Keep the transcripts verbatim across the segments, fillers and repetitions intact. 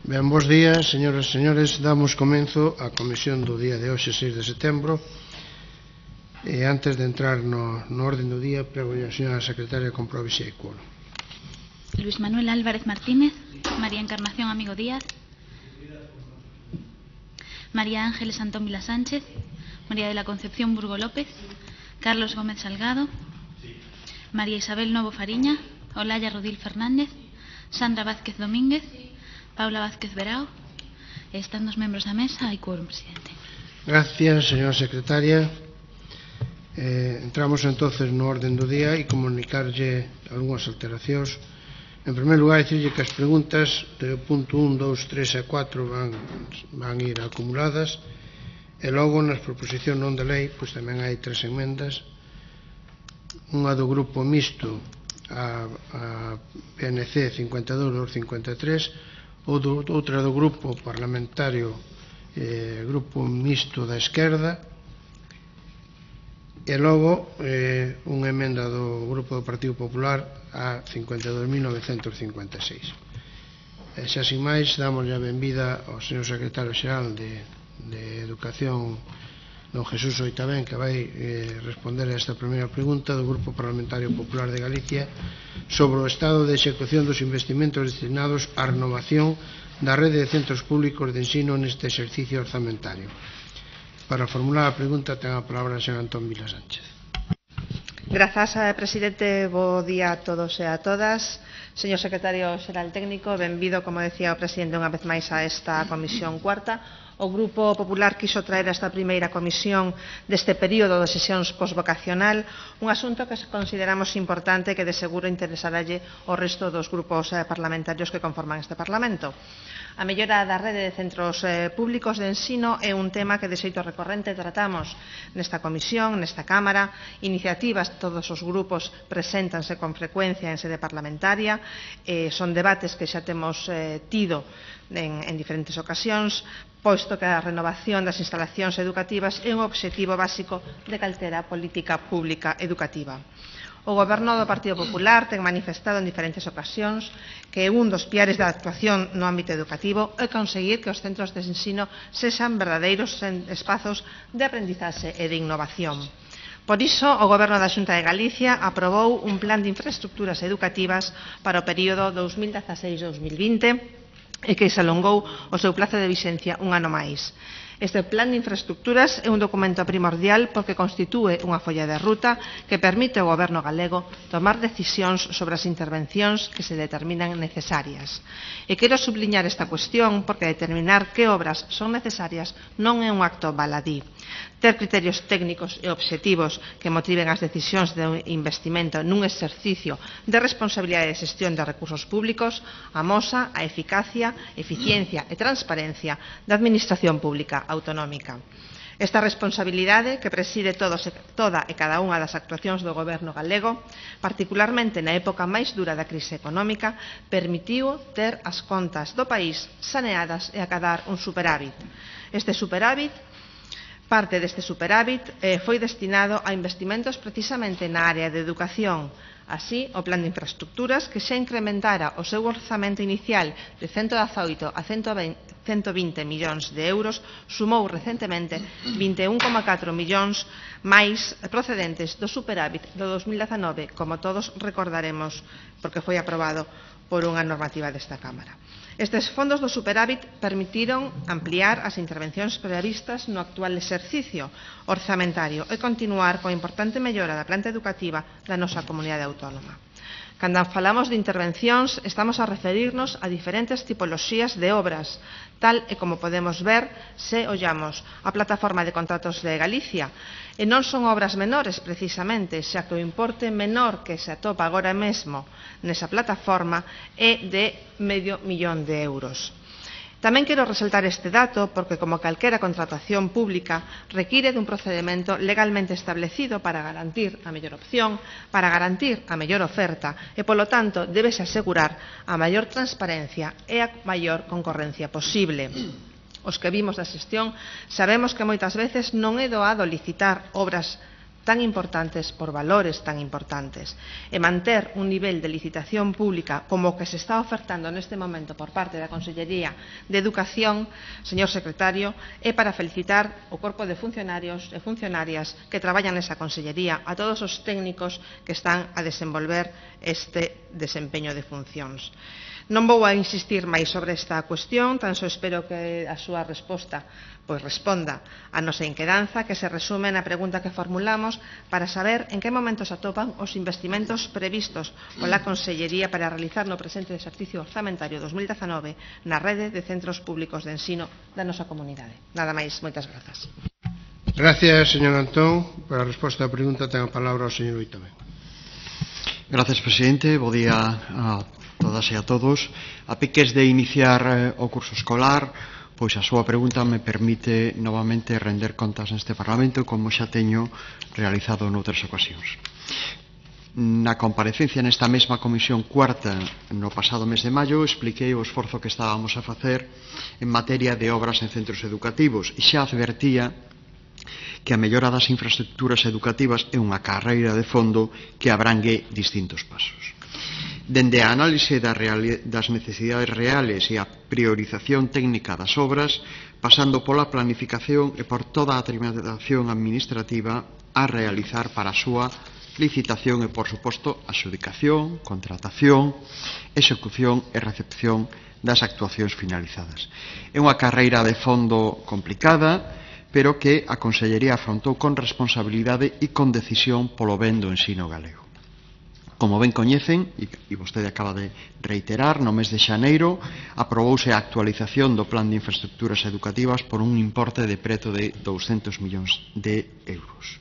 Ben, bos días, señoras e señores. Damos comenzo á comisión do día de hoxe, seis de setembro. E antes de entrar no, no orden do día, prego a señora secretaria que comprobe se hai quórum. Luis Manuel Álvarez Martínez, María Encarnación Amigo Díaz, María Ángeles Antón Vila Sánchez, María de la Concepción Burgo López, Carlos Gómez Salgado, María Isabel Novo Fariña, Olaya Rodil Fernández, Sandra Vázquez Domínguez, Paula Vázquez Verao. Están dos membros da mesa, hai quórum, presidente. Gracias, señora secretaria. Eh, entramos entonces no orden do día e comunicarlle algunhas alteracións. En primeiro lugar, dicirlle que as preguntas do punto un, dous, tres e catro van, van ir acumuladas, e logo nas proposicións non de lei pois tamén hai tres enmendas, unha do grupo mixto a, a P N C cincuenta e dous dos cincuenta e tres, ou do, outra do grupo parlamentario eh, grupo mixto da esquerda, e logo eh, unha emenda do grupo do Partido Popular a cincuenta e dous mil novecentos cincuenta e seis. E xa sin máis, damos a benvida ao señor secretario xeral de, de Educación, don Jesús Oitabén, que vai eh, responder a esta primeira pregunta do Grupo Parlamentario Popular de Galicia sobre o estado de execución dos investimentos destinados á renovación da rede de centros públicos de ensino neste exercicio orzamentario. Para formular a pregunta ten a palabra o señor Antón Vila Sánchez. Grazas, presidente. Bo día a todos e a todas. Señor secretario xeral técnico, benvido, como decía o presidente, unha vez máis a esta comisión cuarta. O Grupo Popular quiso traer a esta primeira comisión deste período de sesións posvocacional un asunto que consideramos importante que de seguro interesaralle ao resto dos grupos parlamentarios que conforman este Parlamento. A mellora da rede de centros eh, públicos de ensino é un tema que de xeito recorrente tratamos nesta comisión, nesta Cámara. Iniciativas, todos os grupos preséntanse con frecuencia en sede parlamentaria, eh, son debates que xa temos eh, tido en, en diferentes ocasións, posto que a renovación das instalacións educativas é un obxectivo básico de calquera política pública educativa. O Goberno do Partido Popular ten manifestado en diferentes ocasións que un dos piares da actuación no ámbito educativo é conseguir que os centros de ensino sexan verdadeiros espazos de aprendizaxe e de innovación. Por iso, o Goberno da Xunta de Galicia aprobou un plan de infraestructuras educativas para o período dous mil dezaseis a dous mil vinte e que se alongou o seu prazo de vixencia un ano máis. Este plan de infraestructuras é un documento primordial porque constitúe unha folla de ruta que permite ao Goberno galego tomar decisións sobre as intervencións que se determinan necesarias. E quero subliñar esta cuestión porque determinar que obras son necesarias non é un acto baladí. Ter criterios técnicos e obxectivos que motiven as decisións de investimento nun exercicio de responsabilidade de xestión de recursos públicos amosa a eficacia, eficiencia e transparencia da administración pública autonómica. Esta responsabilidade, que preside todos, toda e cada unha das actuacións do Goberno galego, particularmente na época máis dura da crise económica, permitiu ter as contas do país saneadas e acadar un superávit. Este superávit Parte deste superávit eh, foi destinado a investimentos precisamente na área de educación. Así, o plan de infraestructuras, que xa incrementara o seu orzamento inicial de ciento dezaoito a ciento vinte millóns de euros, sumou recentemente vinte e un coma catro millóns máis procedentes do superávit do dos mil dezanove, como todos recordaremos, porque foi aprobado por unha normativa desta Cámara. Estes fondos do superávit permitiron ampliar as intervencións previstas no actual exercicio orzamentario e continuar coa importante mellora da planta educativa da nosa comunidade autónoma. Cando falamos de intervencións, estamos a referirnos a diferentes tipoloxías de obras, tal e como podemos ver se ollamos a plataforma de contratos de Galicia. E non son obras menores, precisamente, xa que o importe menor que se atopa agora mesmo nesa plataforma é de medio millón de euros. Tamén quero resaltar este dato porque, como calquera contratación pública, require dun procedimento legalmente establecido para garantir a mellor opción, para garantir a mellor oferta e, polo tanto, débese asegurar a maior transparencia e a maior concorrencia posible. Os que vimos da xestión sabemos que moitas veces non é doado licitar obras tan importantes por valores tan importantes e manter un nivel de licitación pública como o que se está ofertando neste momento por parte da Consellería de Educación, señor secretario, é para felicitar o corpo de funcionarios e funcionarias que traballan nesa Consellería, a todos os técnicos que están a desenvolver este desempeño de funcións. Non vou a insistir máis sobre esta cuestión, tan só espero que a súa resposta pois responda a nosa inquedanza, que se resume na pregunta que formulamos para saber en que momento se atopan os investimentos previstos pola Consellería para realizar no presente exercicio orzamentario dos mil dezanove na rede de centros públicos de ensino da nosa comunidade. Nada máis, moitas grazas. Gracias, señor Antón. Para a resposta á pregunta ten a palabra o señor Oitavén. Gracias, presidente. Bo día a todas e a todos. A piques de iniciar eh, o curso escolar, pois a súa pregunta me permite novamente render contas neste Parlamento, como xa teño realizado noutras ocasións. Na comparecencia nesta mesma comisión cuarta no pasado mes de maio expliquei o esforzo que estábamos a facer en materia de obras en centros educativos e xa advertía que a mellora das infraestructuras educativas é unha carreira de fondo que abrangue distintos pasos. Dende a análise das necesidades reales e a priorización técnica das obras, pasando pola planificación e por toda a tramitación administrativa a realizar para a súa licitación e, por suposto, adxudicación, contratación, execución e recepción das actuacións finalizadas. É unha carreira de fondo complicada, pero que a Consellería afrontou con responsabilidade e con decisión polo ben do ensino galego. Como ben coñecen, e vostede acaba de reiterar, no mes de xaneiro aprobouse a actualización do Plan de Infraestructuras Educativas por un importe de preto de douscentos millóns de euros.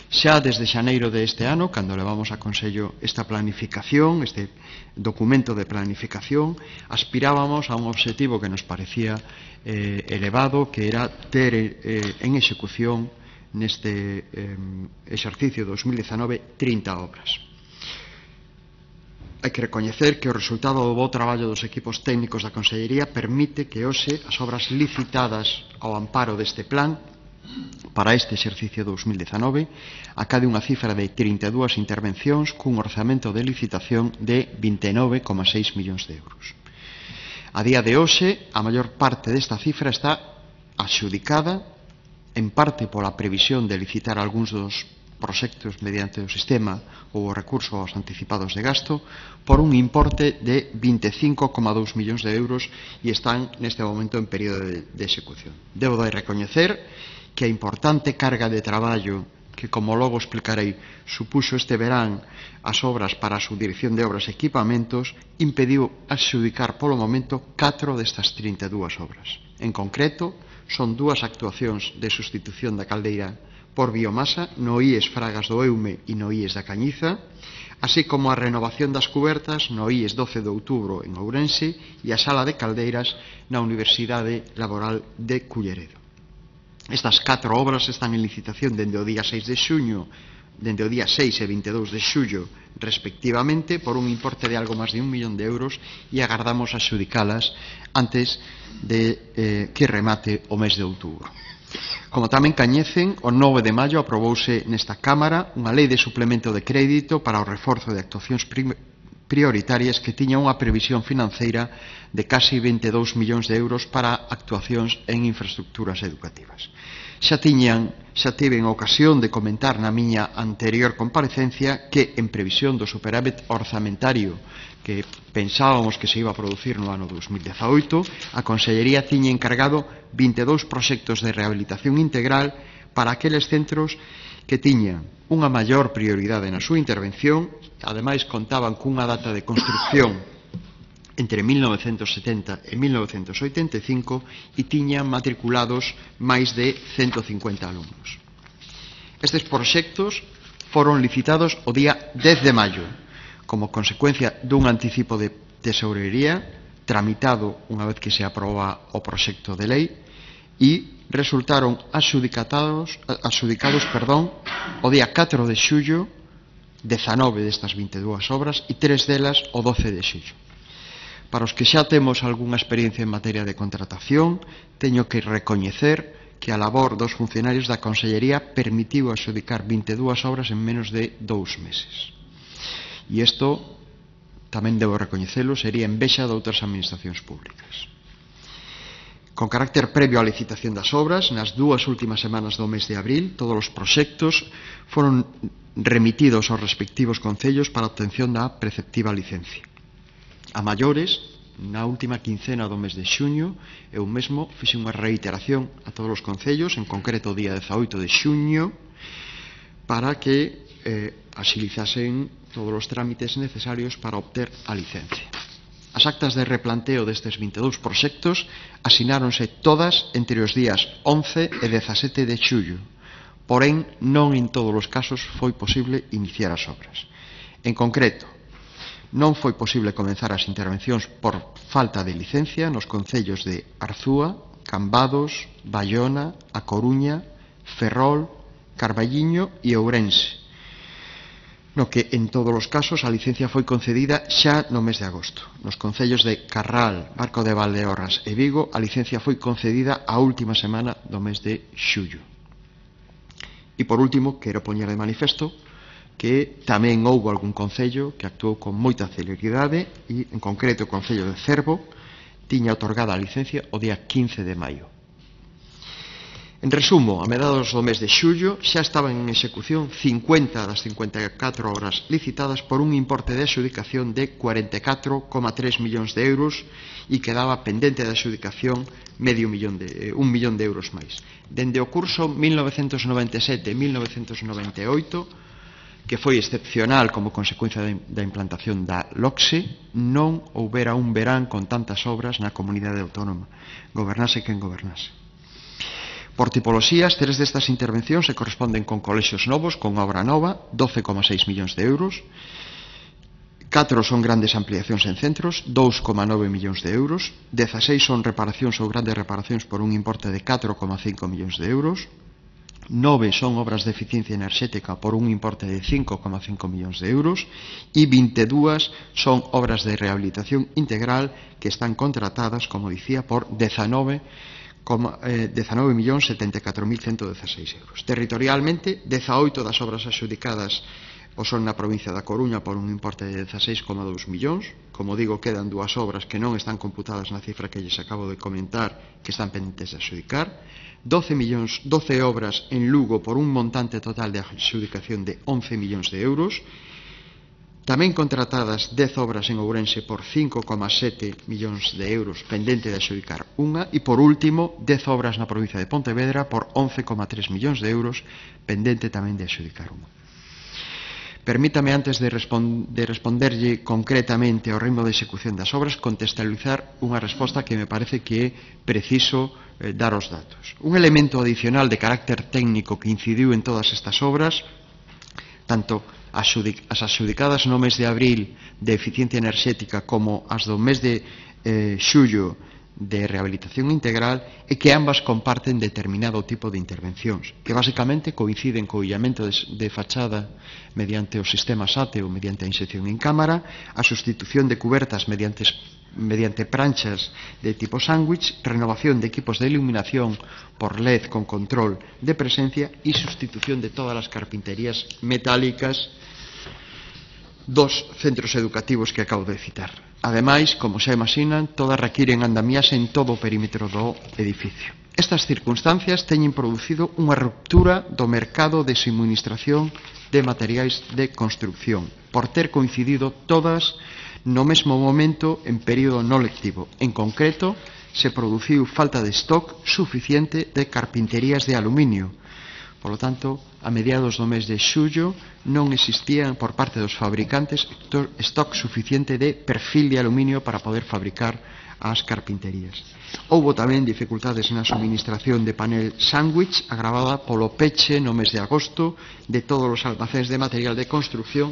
Xa desde xaneiro deste ano, cando levamos a Consello esta planificación, este documento de planificación, aspirábamos a un obxectivo que nos parecía eh, elevado, que era ter eh, en execución neste eh, exercicio dos mil dezanove trinta obras. Hai que recoñecer que o resultado do bo traballo dos equipos técnicos da Consellería permite que hoxe as obras licitadas ao amparo deste plan para este exercicio dos mil dezanove acade unha cifra de trinta e dúas intervencións cun orzamento de licitación de vinte e nove coma seis millóns de euros. A día de hoxe, a maior parte desta cifra está adxudicada, en parte pola previsión de licitar algúns dos proxectos mediante o sistema ou o recurso aos anticipados de gasto por un importe de vinte e cinco coma dous millóns de euros e están neste momento en período de, de execución. Debo de recoñecer que a importante carga de traballo que, como logo explicarei, supuxo este verán as obras para a subdirección de obras e equipamentos impediu adxudicar polo momento catro destas trinta e dúas obras. En concreto, son dúas actuacións de sustitución da caldeira por biomasa no I E S Fragas do Eume e no I E S da Cañiza, así como a renovación das cubertas no I E S doce de outubro en Ourense e a sala de caldeiras na Universidade Laboral de Culleredo. Estas catro obras están en licitación dende o día seis de xuño, dende o día seis e vinte e dous de xullo, respectivamente, por un importe de algo máis de un millón de euros e agardamos a xudicalas antes de eh, que remate o mes de outubro. Como tamén coñecen, o nove de maio aprobouse nesta Cámara unha lei de suplemento de crédito para o reforzo de actuacións prioritarias que tiña unha previsión financeira de casi vinte e dous millóns de euros para actuacións en infraestructuras educativas. Xa tiñan, xa tiven ocasión de comentar na miña anterior comparecencia que, en previsión do superávit orzamentario que pensábamos que se iba a producir no ano dos mil dezaoito, a Consellería tiña encargado vinte e dous proxectos de rehabilitación integral para aqueles centros que tiñan unha maior prioridade na súa intervención, ademais contaban cunha data de construcción entre mil novecentos setenta e mil novecentos oitenta e cinco e tiñan matriculados máis de cento cincuenta alumnos. Estes proxectos foron licitados o día dez de maio, como consecuencia dun anticipo de tesourería tramitado unha vez que se aproba o proxecto de lei e resultaron adxudicados, adxudicados perdón, o día catro de xullo dezanove destas vinte e dúas obras e tres delas o doce de xullo. Para os que xa temos algunha experiencia en materia de contratación, teño que recoñecer que a labor dos funcionarios da Consellería permitiu adxudicar vinte e dúas obras en menos de dous meses. E isto, tamén debo recoñecelo, sería envexa de outras administracións públicas. Con carácter previo á licitación das obras, nas dúas últimas semanas do mes de abril, todos os proxectos foron remitidos aos respectivos concellos para a obtención da preceptiva licencia. A maiores, na última quincena do mes de xuño, eu mesmo fixe unha reiteración a todos os concellos, en concreto o día dezaoito de xuño, para que eh, axilizasen todos os trámites necesarios para obter a licencia. As actas de replanteo destes vinte e dous proxectos asináronse todas entre os días once e dezasete de xullo, porén non en todos os casos foi posible iniciar as obras. En concreto, non foi posible comenzar as intervencións por falta de licencia nos concellos de Arzúa, Cambados, Baiona, A Coruña, Ferrol, Carballiño e Ourense, no que en todos os casos a licencia foi concedida xa no mes de agosto. Nos concellos de Carral, Barco de Valdeorras e Vigo, a licencia foi concedida a última semana do mes de xullo. E por último, quero poñer de manifesto que tamén houbo algún concello que actuou con moita celeridade e, en concreto, o concello de Cervo tiña otorgada a licencia o día quince de maio. En resumo, a meados do mes de xullo xa estaban en execución cincuenta das cincuenta e catro obras licitadas por un importe de adxudicación de cuarenta e catro coma tres millóns de euros e quedaba pendente de adxudicación medio millón de, un millón de euros máis. Dende o curso mil novecentos noventa e sete a mil novecentos noventa e oito, que foi excepcional como consecuencia da implantación da LOCSE, non houbera un verán con tantas obras na comunidade autónoma, gobernase quen gobernase. Por tipoloxías, tres destas intervencións se corresponden con colexios novos, con obra nova, doce coma seis millóns de euros, catro son grandes ampliacións en centros, dous coma nove millóns de euros, dezaseis son reparacións ou grandes reparacións por un importe de catro coma cinco millóns de euros, nove son obras de eficiencia enerxética por un importe de cinco coma cinco millóns de euros e vinte e dúas son obras de rehabilitación integral que están contratadas, como dicía, por dezanove millóns setenta e catro mil ciento dezaseis euros. Territorialmente, dezaoito das obras adxudicadas o son na provincia da Coruña por un importe de dezaseis coma dous millóns. Como digo, quedan dúas obras que non están computadas na cifra que lles acabo de comentar, que están pendentes de adxudicar. doce millóns, doce obras en Lugo por un montante total de adxudicación de once millóns de euros. Tamén contratadas dez obras en Ourense por cinco coma sete millóns de euros, pendente de adxudicar unha, e por último, dez obras na provincia de Pontevedra por once coma tres millóns de euros, pendente tamén de adxudicar unha. Permítame, antes de, respond de responderlle concretamente ao ritmo de execución das obras, contextualizar unha resposta que me parece que é preciso eh, dar os datos. Un elemento adicional de carácter técnico que incidiu en todas estas obras, tanto as adxudicadas no mes de abril de eficiencia enerxética como as do mes de eh, xullo de rehabilitación integral, é que ambas comparten determinado tipo de intervencións, que basicamente coinciden co illamento de, de fachada mediante o sistema SATE ou mediante a inxección en cámara, a sustitución de cubertas mediante, mediante pranchas de tipo sándwich, renovación de equipos de iluminación por L E D con control de presencia e sustitución de todas as carpinterías metálicas dos centros educativos que acabo de citar. Ademais, como xa imaginan, todas requiren andamiaxe en todo o perímetro do edificio. Estas circunstancias teñen producido unha ruptura do mercado de suministración de materiais de construcción, por ter coincidido todas no mesmo momento en período non lectivo. En concreto, se produciu falta de stock suficiente de carpinterías de aluminio. Por lo tanto, a mediados do mes de xullo non existía por parte dos fabricantes stock suficiente de perfil de aluminio para poder fabricar as carpinterías. Houbo tamén dificultades na suministración de panel sándwich agravada polo peche no mes de agosto de todos os almacéns de material de construcción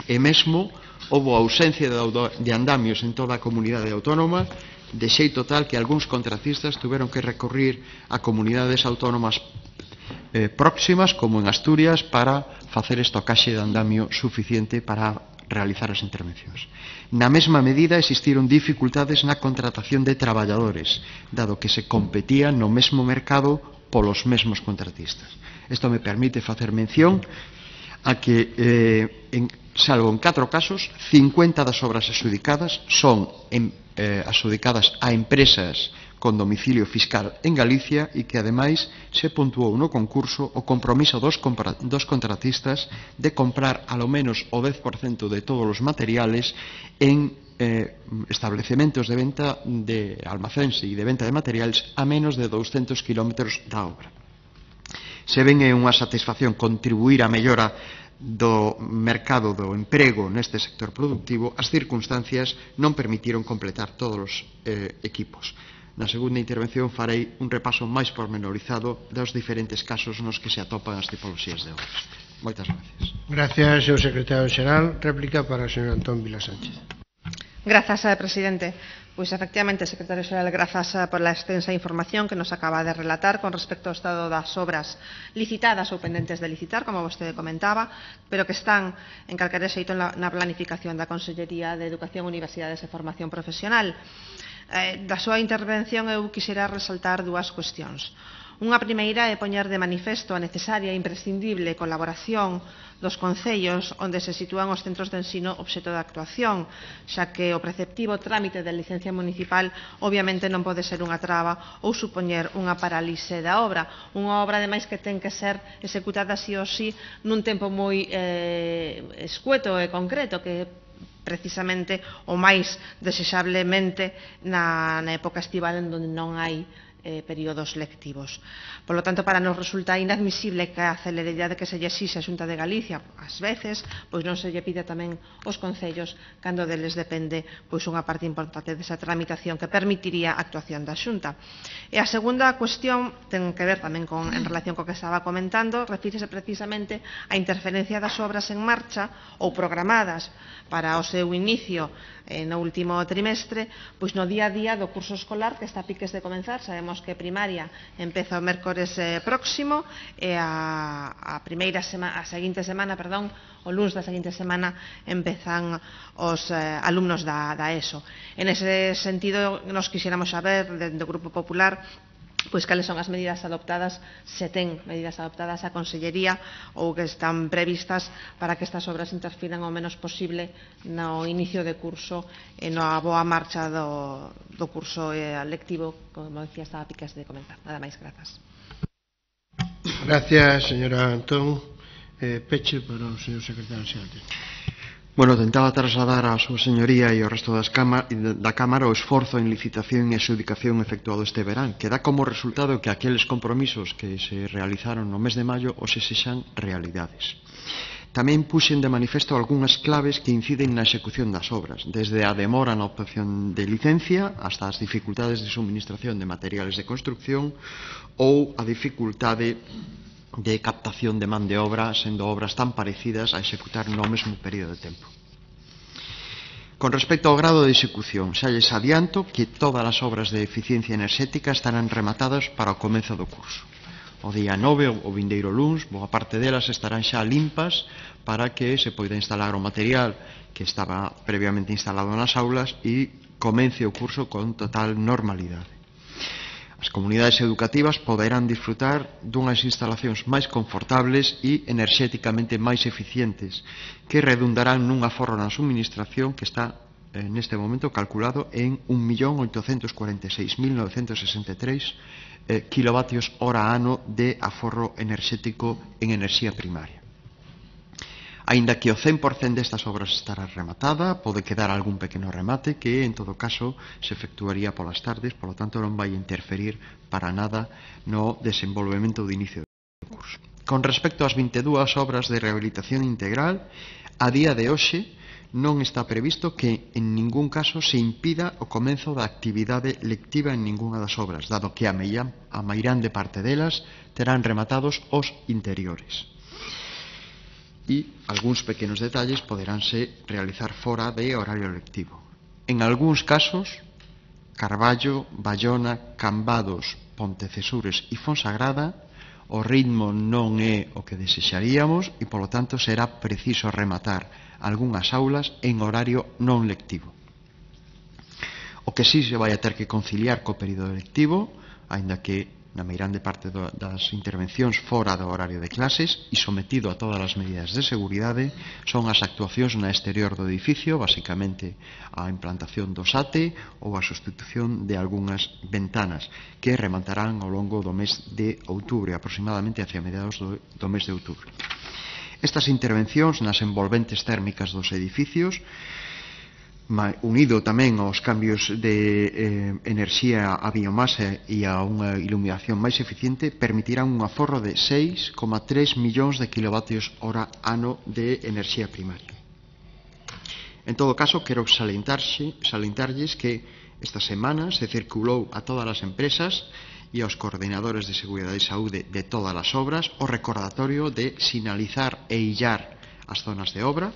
e mesmo houbo ausencia de andamios en toda a comunidade autónoma, de xeito tal que algúns contratistas tuveron que recurrir a comunidades autónomas Eh, próximas, como en Asturias, para facer estocaxe de andamio suficiente para realizar as intervencións. Na mesma medida existiron dificultades na contratación de traballadores, dado que se competía no mesmo mercado polos mesmos contratistas. Isto me permite facer mención a que, eh, en, salvo en catro casos, cincuenta das obras adxudicadas son en, eh, adxudicadas a empresas con domicilio fiscal en Galicia e que, ademais, se puntuou no concurso o compromiso dos, dos contratistas de comprar alo menos o dez por cento de todos os materiales en eh, establecementos de venta de almacéns e de venta de materiales a menos de douscentos kilómetros da obra. Se ven é unha satisfacción contribuir á mellora do mercado do emprego neste sector productivo, as circunstancias non permitiron completar todos os eh, equipos. Na segunda intervención farei un repaso máis pormenorizado dos diferentes casos nos que se atopan as tipoloxías de obras. Moitas gracias. Gracias, señor secretario xeral. Réplica para o señor Antón Vila Sánchez. Grazas, presidente. Pois, efectivamente, secretario xeral, grazas por la extensa información que nos acaba de relatar con respecto ao estado das obras licitadas ou pendentes de licitar, como vostede comentaba, pero que están en calquera xeito na planificación da Consellería de Educación, Universidades e Formación Profesional. Eh, da súa intervención eu quixera resaltar dúas cuestións. Unha primeira é poñer de manifesto a necesaria e imprescindible colaboración dos concellos onde se sitúan os centros de ensino obxecto de actuación, xa que o preceptivo trámite de licencia municipal obviamente non pode ser unha traba ou supoñer unha parálise da obra. Unha obra, ademais, que ten que ser executada sí ou sí nun tempo moi eh, escueto e concreto, que precisamente o máis desexablemente na, na época estival en donde non hai eh, períodos lectivos. Por lo tanto, para nos resulta inadmisible que a celeridade que se lle exixe a Xunta de Galicia, ás veces, pois non se lle pide tamén aos concellos cando deles depende pois unha parte importante desa tramitación que permitiría a actuación da Xunta. E a segunda cuestión ten que ver tamén con, en relación co que estaba comentando, refírese precisamente á interferencia das obras en marcha ou programadas para o seu inicio eh, no último trimestre, pois no día a día do curso escolar que está a piques de comenzar. Sabemos que primaria empeza o mércores eh, próximo e a, a primeira semana, a seguinte semana, perdón, o luns da seguinte semana empezan os eh, alumnos da, da ESO. En ese sentido, nos quixéramos saber, do Grupo Popular, pois cales son as medidas adoptadas, se ten medidas adoptadas a Consellería ou que están previstas para que estas obras interfiran o menos posible no inicio de curso e na boa marcha do, do curso eh, lectivo, como decía, estaba a piques de comentar. Nada máis, grazas. Gracias, señora Antón. Eh, peche para o señor secretario xeral. Bueno, tentaba trasladar a súa señoría e ao resto das cama, da Cámara o esforzo en licitación e adxudicación efectuado este verán, que dá como resultado que aqueles compromisos que se realizaron no mes de maio os se sexan realidades. Tamén puxen de manifesto algunhas claves que inciden na execución das obras, desde a demora na obtención de licencia hasta as dificultades de suministración de materiales de construcción ou a dificultade de captación de man de obra, sendo obras tan parecidas a executar no mesmo período de tempo. Con respecto ao grado de execución, xa lles adianto que todas as obras de eficiencia enerxética estarán rematadas para o comenzo do curso. O día nove, o vindeiro luns, boa parte delas estarán xa limpas para que se poida instalar o material que estaba previamente instalado nas aulas e comence o curso con total normalidade. As comunidades educativas poderán disfrutar dunhas instalacións máis confortables e enerxéticamente máis eficientes que redundarán nun aforro na suministración que está en este momento calculado en un millón oitocentos cuarenta e seis mil novecentos sesenta e tres eh, kilovatios hora ano de aforro enerxético en enerxía primaria. Aínda que o cen por cento destas obras estará rematada, pode quedar algún pequeno remate que, en todo caso, se efectuaría polas tardes, polo tanto non vai interferir para nada no desenvolvemento do inicio do curso. Con respecto ás vinte e dúas obras de rehabilitación integral, a día de hoxe non está previsto que en ningún caso se impida o comenzo da actividade lectiva en ningunha das obras, dado que a mairande parte delas terán rematados os interiores. E algúns pequenos detalles poderánse realizar fora de horario lectivo. En algúns casos, Carballo, Bayona, Cambados, Pontecesures e Fonsagrada, o ritmo non é o que desexaríamos e, polo tanto, será preciso rematar algunhas aulas en horario non lectivo. O que sí se vai a ter que conciliar co período lectivo, aínda que na meirande parte do, das intervencións fora do horario de clases e sometido a todas as medidas de seguridade, son as actuacións na exterior do edificio, basicamente a implantación do S A T E ou a sustitución de algunhas ventanas que rematarán ao longo do mes de outubro, aproximadamente hacia mediados do, do mes de outubro. Estas intervencións nas envolventes térmicas dos edificios, unido tamén aos cambios de eh, enerxía a biomasa e a unha iluminación máis eficiente, permitirán un aforro de seis coma tres millóns de kilovatios hora ano de enerxía primaria. En todo caso, quero salientarlles que esta semana se circulou a todas as empresas e aos coordinadores de Seguridade e Saúde de todas as obras o recordatorio de sinalizar e illar as zonas de obra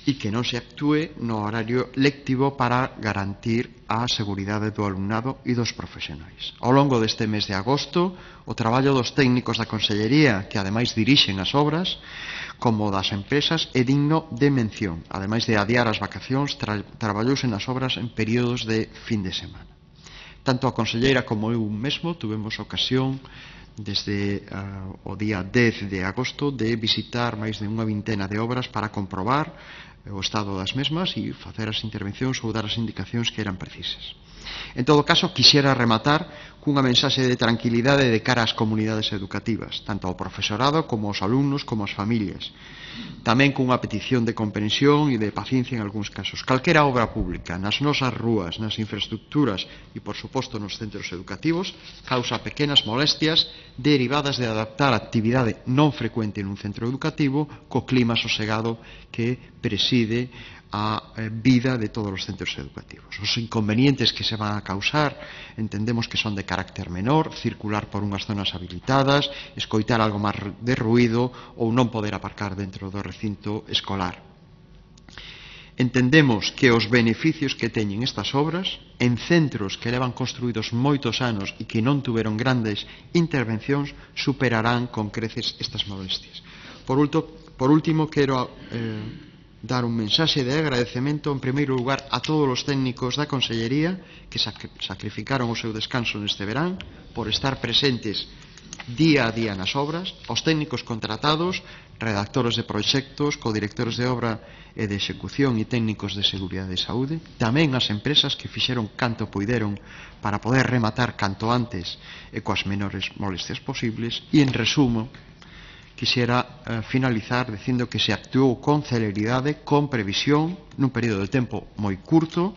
e que non se actúe no horario lectivo para garantir a seguridade do alumnado e dos profesionais. Ao longo deste mes de agosto, o traballo dos técnicos da Consellería, que ademais dirixen as obras, como das empresas, é digno de mención. Ademais de adiar as vacacións, tra traballouse nas obras en períodos de fin de semana. Tanto a conselleira como eu mesmo tuvemos ocasión desde uh, o día dez de agosto de visitar máis de unha vintena de obras para comprobar o estado das mesmas e facer as intervencións ou dar as indicacións que eran precisas. En todo caso, quixera rematar cunha mensaxe de tranquilidade de cara ás comunidades educativas, tanto ao profesorado como aos alumnos como ás familias. Tamén cunha petición de comprensión e de paciencia en algúns casos. Calquera obra pública nas nosas rúas, nas infraestructuras e, por suposto, nos centros educativos causa pequenas molestias derivadas de adaptar a actividade non frecuente nun centro educativo co clima sosegado que preside a vida de todos os centros educativos. Os inconvenientes que se van a causar entendemos que son de carácter menor, circular por unhas zonas habilitadas, escoitar algo máis de ruído ou non poder aparcar dentro do recinto escolar. Entendemos que os beneficios que teñen estas obras en centros que levan construídos moitos anos e que non tuveron grandes intervencións superarán con creces estas molestias. Por, ulto, por último, quero eh, dar un mensaxe de agradecemento en primeiro lugar a todos os técnicos da Consellería que sacrificaron o seu descanso neste verán por estar presentes día a día nas obras, aos técnicos contratados, redactores de proxectos, codirectores de obra e de execución e técnicos de seguridade e saúde, tamén as empresas que fixeron canto poideron para poder rematar canto antes e coas menores molestias posibles e, en resumo, quixera eh, finalizar dicindo que se actuou con celeridade, con previsión, nun período de tempo moi curto,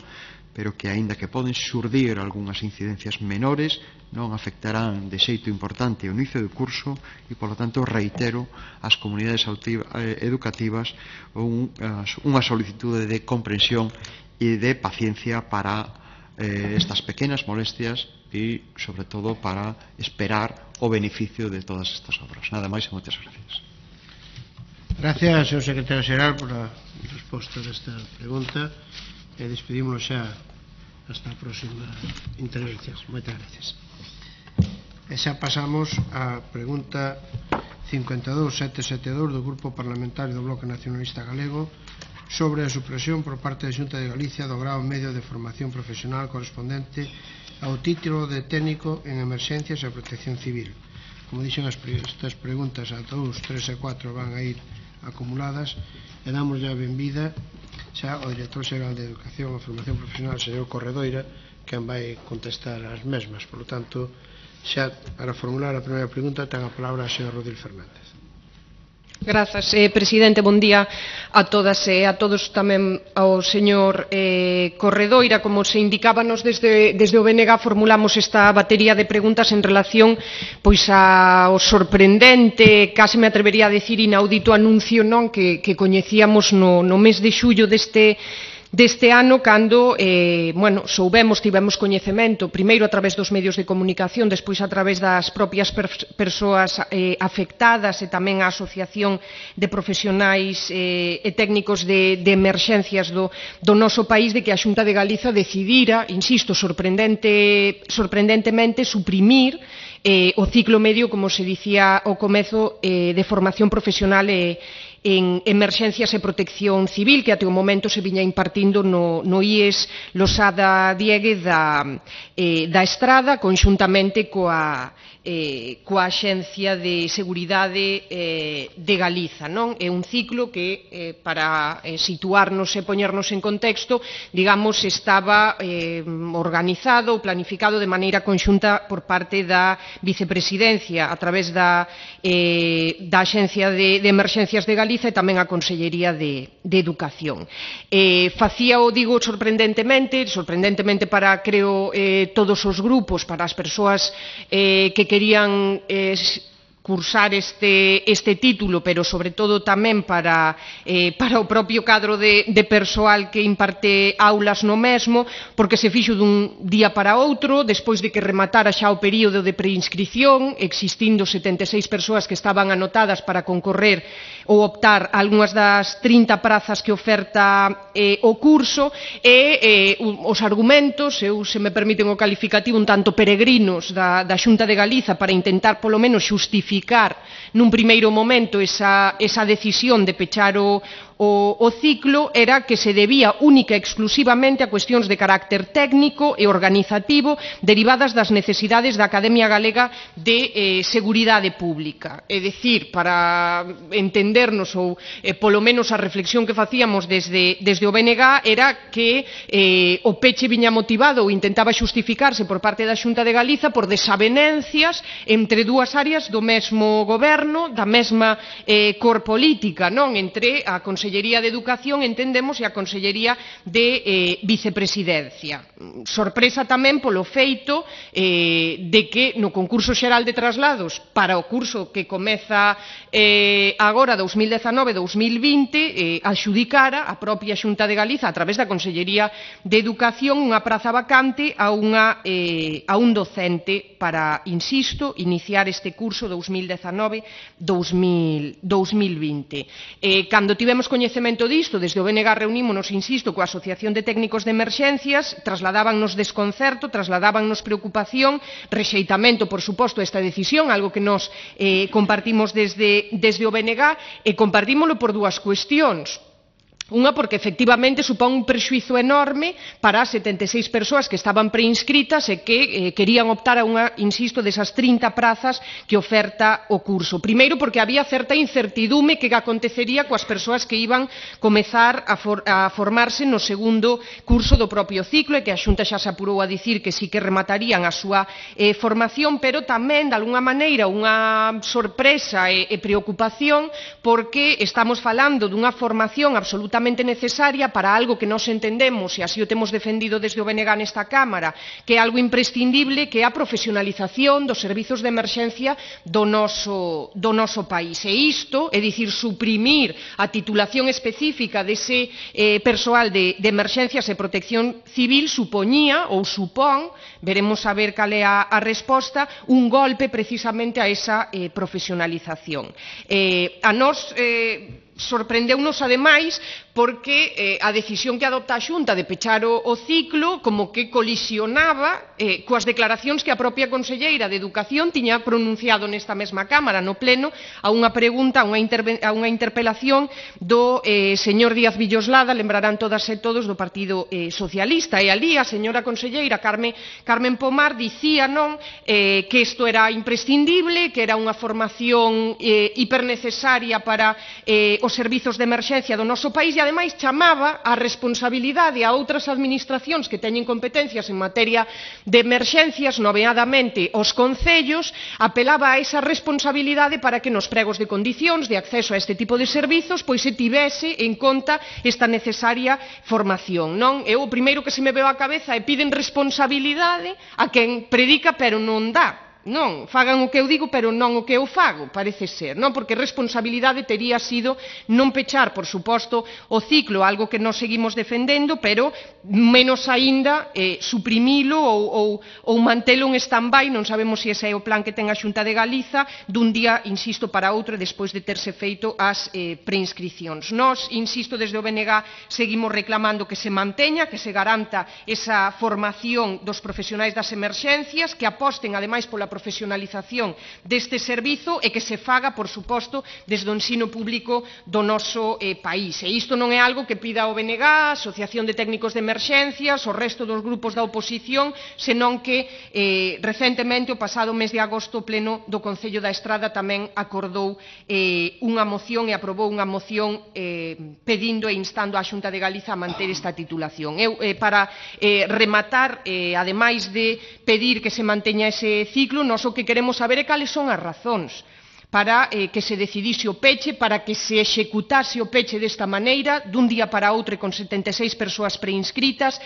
pero que, aínda que poden xurdir algunhas incidencias menores, non afectarán de xeito importante o inicio do curso e, polo tanto, reitero ás comunidades educativas un, unha solicitude de comprensión e de paciencia para eh, estas pequenas molestias e, sobre todo, para esperar o beneficio de todas estas obras. Nada máis e moitas gracias. Gracias, señor secretario xeral, por a resposta desta pregunta e despedímonos xa hasta a próxima intervención. Moitas gracias. E xa pasamos á pregunta cincuenta e dous mil setecentos setenta e dous do Grupo Parlamentario do Bloque Nacionalista Galego sobre a supresión por parte da Xunta de Galicia do grao medio de formación profesional correspondente ao título de técnico en emerxencias e protección civil. Como dixen, estas preguntas a dous, tres e catro van a ir acumuladas e damos ya benvida xa ao Director Xeral de Educación e Formación Profesional, señor Corredoira, que vai contestar as mesmas. Por lo tanto, xa para formular a primeira pregunta ten a palabra a señor Rodil Fernández. Grazas, eh, presidente, bon día a todas e a todos, tamén ao señor eh, Corredoira. Como se indicábanos desde, desde o B N G, formulamos esta batería de preguntas en relación pois ao sorprendente, case me atrevería a decir inaudito anuncio non que, que coñecíamos no, no mes de xullo deste deste ano, cando eh, bueno, soubemos, tivemos coñecemento, primeiro a través dos medios de comunicación, despois a través das propias persoas eh, afectadas e tamén a Asociación de Profesionais eh, e Técnicos de, de Emerxencias do, do noso país, de que a Xunta de Galiza decidira, insisto, sorprendente, sorprendentemente, suprimir eh, o ciclo medio, como se dicía ao comezo, eh, de formación profesional e en Emerxencias e Protección Civil, que até o momento se viña impartindo no, no I E S Losada Diegue da, eh, da Estrada, conxuntamente coa Eh, coa Axencia de Seguridade eh, de Galiza, non? É un ciclo que, eh, para eh, situarnos e poñernos en contexto, digamos, estaba eh, organizado, planificado de maneira conxunta por parte da Vicepresidencia a través da, eh, da Axencia de, de Emerxencias de Galiza e tamén a Consellería de, de Educación. Eh, facía o, digo, sorprendentemente, sorprendentemente para, creo, eh, todos os grupos, para as persoas eh, que querían eh, cursar este, este título, pero sobre todo tamén para, eh, para o propio cadro de, de persoal que imparte aulas no mesmo, porque se fixo dun día para outro, despois de que rematara xa o período de preinscripción, existindo setenta e seis persoas que estaban anotadas para concorrer ou optar a algunhas das trinta prazas que oferta eh, o curso, e eh, os argumentos, eu se me permiten o calificativo un tanto peregrinos da, da Xunta de Galiza para intentar polo menos xustificar nun primeiro momento esa, esa decisión de pechar o, o, o ciclo, era que se debía única e exclusivamente a cuestións de carácter técnico e organizativo derivadas das necesidades da Academia Galega de eh, Seguridade Pública. É dicir, para entendernos, ou eh, polo menos a reflexión que facíamos desde, desde o B N G era que eh, o peche viña motivado ou intentaba xustificarse por parte da Xunta de Galiza por desavenencias entre dúas áreas do mesmo goberno, da mesma eh, cor política, non? Entre a Consellería de Educación, entendemos, e a Consellería de eh, Vicepresidencia. Sorpresa tamén polo feito eh, de que no concurso xeral de traslados para o curso que comeza eh, agora dous mil dezanove dous mil vinte, eh, adxudicara a propia Xunta de Galiza a través da Consellería de Educación unha praza vacante a, unha, eh, a un docente para, insisto, iniciar este curso dous mil dezanove dous mil vinte. Eh, cando tivemos coñecemento disto, desde o B N G reunímonos, insisto, coa Asociación de Técnicos de Emerxencias, trasladábannos desconcerto, trasladábannos preocupación, rexeitamento, por suposto, a esta decisión, algo que nos eh, compartimos desde, desde o B N G, e compartímolo por dúas cuestións. Unha, porque efectivamente supón un prexuízo enorme para as setenta e seis persoas que estaban preinscritas e que eh, querían optar a unha, insisto, desas trinta prazas que oferta o curso. Primeiro, porque había certa incertidume que acontecería coas persoas que iban comezar a, for, a formarse no segundo curso do propio ciclo, e que a Xunta xa se apurou a dicir que sí que rematarían a súa eh, formación, pero tamén, de alguna maneira, unha sorpresa e, e preocupación, porque estamos falando dunha formación absolutamente necesaria para algo que nós entendemos, e así o temos defendido desde o B N G nesta Cámara, que é algo imprescindible, que é a profesionalización dos servizos de emerxencia do noso, do noso país. E isto, é dicir, suprimir a titulación específica dese eh, persoal de, de emerxencias e protección civil, supoñía, ou supón, veremos a ver cal é a, a resposta, un golpe precisamente a esa eh, profesionalización. Eh, a nós eh, sorprendeunos ademais porque eh, a decisión que adopta a Xunta de pechar o, o ciclo como que colisionaba eh, coas declaracións que a propia Conselleira de Educación tiña pronunciado nesta mesma Cámara, no Pleno, a unha pregunta, a unha, a unha interpelación do eh, señor Díaz Villoslada, lembrarán todas e todos, do Partido eh, Socialista, e ali a señora Conselleira Carmen, Carmen Pomar dicía, non, eh, que isto era imprescindible, que era unha formación eh, hipernecesaria para eh, os servizos de emerxencia do noso país, e ademais chamaba a responsabilidade a outras administracións que teñen competencias en materia de emerxencias, nomeadamente os concellos, apelaba a esa responsabilidade para que nos pregos de condicións de acceso a este tipo de servizos pois se tivese en conta esta necesaria formación, non? Eu o primeiro que se me veo á cabeza é piden responsabilidade a quen predica pero non dá. Non, fagan o que eu digo, pero non o que eu fago, parece ser, non? Porque responsabilidade tería sido non pechar, por suposto, o ciclo, algo que nós seguimos defendendo, pero menos aínda eh, suprimilo ou, ou, ou mantelo en stand-by, non sabemos se ese é o plan que ten a Xunta de Galiza, dun día, insisto, para outro, despois de terse feito as eh, preinscricións. Nós, insisto, desde o B N G seguimos reclamando que se manteña, que se garanta esa formación dos profesionais das emerxencias, que aposten, ademais, pola profesionalización deste servizo e que se faga, por suposto, desde o ensino público do noso eh, país. E isto non é algo que pida o B N G, a Asociación de Técnicos de Emerxencias, o resto dos grupos da oposición, senón que eh, recentemente, o pasado mes de agosto, o Pleno do Concello da Estrada tamén acordou eh, unha moción e aprobou unha moción eh, pedindo e instando á Xunta de Galiza a manter esta titulación. Eu, eh, para eh, rematar, eh, ademais de pedir que se manteña ese ciclo, nós o que queremos saber é cales son as razóns para eh, que se decidise o peche, para que se executase o peche desta maneira, dun día para outro con setenta e seis persoas preinscritas,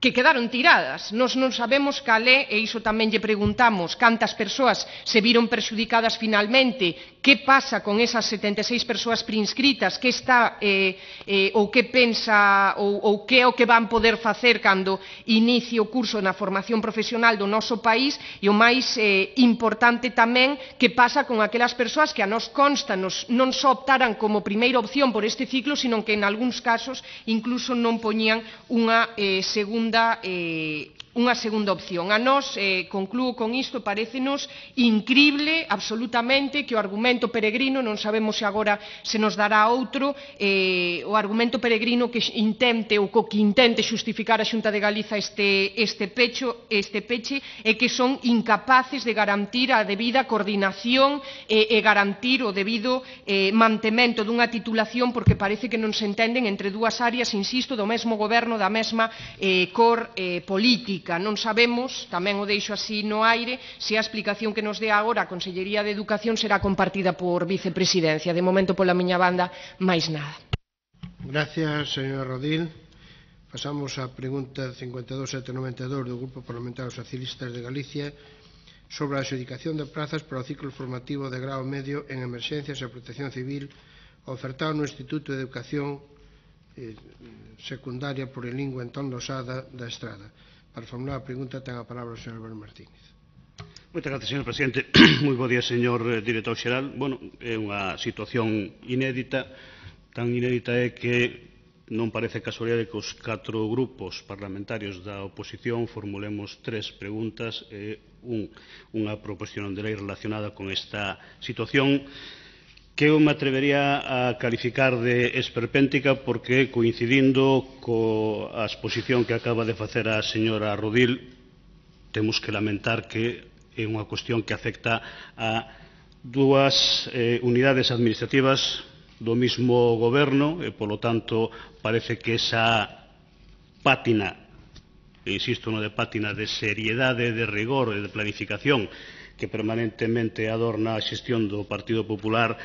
que quedaron tiradas. Nos non sabemos cal é, e iso tamén lle preguntamos, cantas persoas se viron perxudicadas finalmente, que pasa con esas setenta e seis persoas preinscritas, que está, eh, eh, ou que pensa, ou, ou que é o que van poder facer cando inicie o curso na formación profesional do noso país, e o máis eh, importante tamén, que pasa con aquelas persoas que a nos consta nos, non só optaran como primeira opción por este ciclo, sino que en algúns casos incluso non poñían unha eh, segunda Eh, unha segunda opción. A nós, eh, conclúo con isto, parécenos incrible, absolutamente, que o argumento peregrino, non sabemos se agora se nos dará outro, eh, o argumento peregrino que intente ou co que intente xustificar a Xunta de Galiza este, este, pecho, este peche é que son incapaces de garantir a debida coordinación e, e garantir o debido eh, mantemento dunha titulación, porque parece que non se entenden entre dúas áreas, insisto, do mesmo goberno, da mesma eh, cor eh, política. Non sabemos, tamén o deixo así no aire, se a explicación que nos dé agora a Consellería de Educación será compartida por Vicepresidencia. De momento, pola miña banda, máis nada. Gracias, señor Rodil. Pasamos á pregunta cincuenta e dous mil setecentos e noventa e dous do Grupo Parlamentario Socialistas de Galicia sobre a adxudicación de prazas para o ciclo formativo de grao medio en Emerxencias e Protección Civil ofertado no Instituto de Educación eh, Secundaria Plurilingüe Antón Losada da Estrada. Para formular a pregunta, ten a palabra o señor Albert Martínez. Moitas gracias, señor presidente. Moi bo día, señor director xeral. Bueno, é unha situación inédita, tan inédita é que non parece casualidade que os catro grupos parlamentarios da oposición formulemos tres preguntas e un, unha proposición de lei relacionada con esta situación que eu me atrevería a calificar de esperpéntica, porque coincidindo coa exposición que acaba de facer a señora Rodil, temos que lamentar que é unha cuestión que afecta a dúas eh, unidades administrativas do mismo goberno e, polo tanto, parece que esa pátina, e insisto no de pátina, de seriedade, de rigor e de planificación que permanentemente adorna a xestión do Partido Popular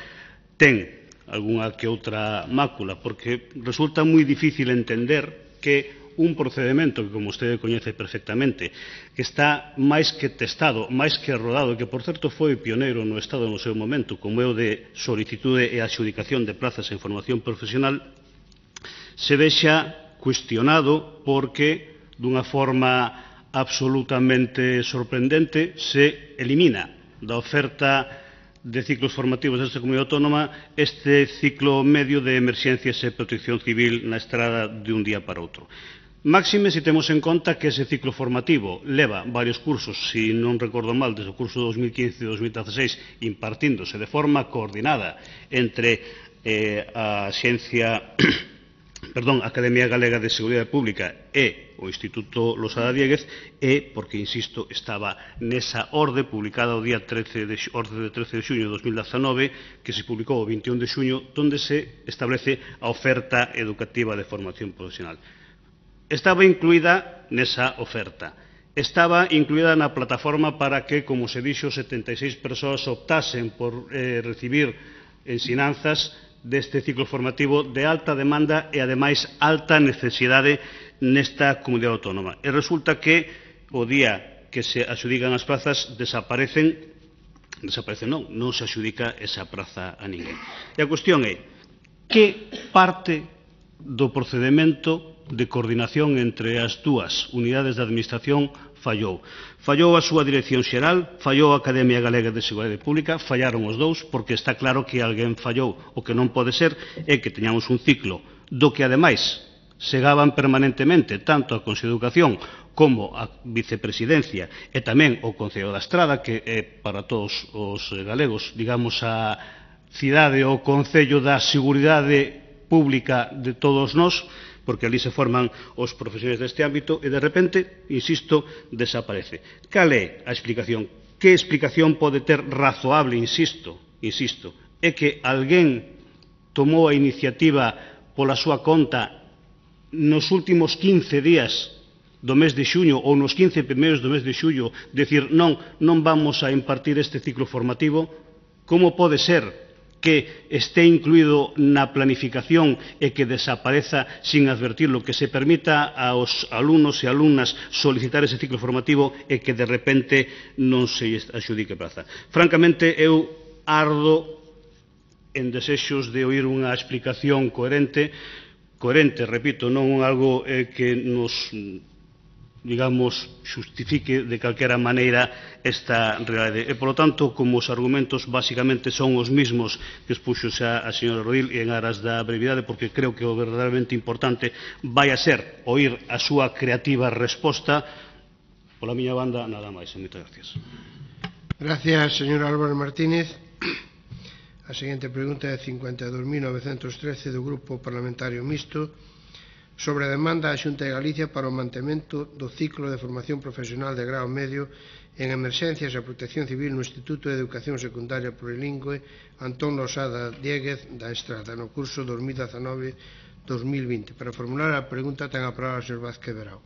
ten algunha que outra mácula, porque resulta moi difícil entender que un procedimento que, como vostede coñece perfectamente, que está máis que testado, máis que rodado, que, por certo, foi pioneiro no Estado no seu momento, como é o de solicitude e adxudicación de plazas en formación profesional, se vexa cuestionado porque, dunha forma absolutamente sorprendente, se elimina da oferta de ciclos formativos desta comunidade autónoma este ciclo medio de emerxencias e protección civil na estrada de un día para outro. Máxime se temos en conta que ese ciclo formativo leva varios cursos, se non recordo mal, desde o curso dos mil quince e dos mil dieciséis, impartíndose de forma coordinada entre eh, a Xencia, perdón, a Academia Galega de Seguridade Pública e o Instituto Losada Dieguez, e porque, insisto, estaba nesa orde publicada o día trece de, orde de trece de xuño de dos mil dezanove, que se publicou o veintiún de xuño, onde se establece a oferta educativa de formación profesional. Estaba incluída nesa oferta. Estaba incluída na plataforma para que, como se dixo, setenta e seis persoas optasen por eh, recibir ensinanzas deste ciclo formativo de alta demanda e, ademais, alta necesidade nesta comunidade autónoma. E resulta que o día que se adxudican as plazas desaparecen, desaparecen non, non se adxudica esa praza a ninguén. E a cuestión é que parte do procedimento de coordinación entre as dúas unidades de administración fallou. Fallou a súa dirección xeral, fallou a Academia Galega de Seguridade Pública, fallaron os dous, porque está claro que alguén fallou. O que non pode ser é que teñamos un ciclo do que, ademais, segaban permanentemente tanto a Consello de Educación como a Vicepresidencia e tamén o Concello da Estrada, que é para todos os galegos, digamos, a cidade ou concello da seguridade pública de todos nós, porque ali se forman os profesionais deste ámbito, e de repente, insisto, desaparece. Cal é a explicación? Que explicación pode ter razoable, insisto, insisto, é que alguén tomou a iniciativa pola súa conta nos últimos quince días do mes de xuño ou nos quince primeiros do mes de xullo, decir, non, non vamos a impartir este ciclo formativo? Como pode ser que este incluído na planificación e que desapareza sin advertirlo, que se permita aos alumnos e alumnas solicitar ese ciclo formativo e que de repente non se adxudique praza? Francamente, eu ardo en desexos de oír unha explicación coherente, coherente, repito, non algo eh, que nos, digamos, xustifique de calquera maneira esta realidade. E, polo tanto, como os argumentos basicamente son os mismos que expuxo xa a señora Rodil, e en aras da brevidade, porque creo que o verdadeiramente importante vai a ser oír a súa creativa resposta, pola miña banda, nada máis. Moitas gracias. Gracias, señor Álvaro Martínez. A seguinte pregunta é cincuenta e dous mil novecentos trece do Grupo Parlamentario Mixto sobre a demanda da Xunta de Galicia para o mantemento do ciclo de formación profesional de grao medio en emerxencias e protección civil no Instituto de Educación Secundaria Plurilingüe Antón Losada Diéguez da Estrada no curso dos mil dezanove dos mil vinte. Para formular a pregunta ten a palabra o señor Vázquez Verao.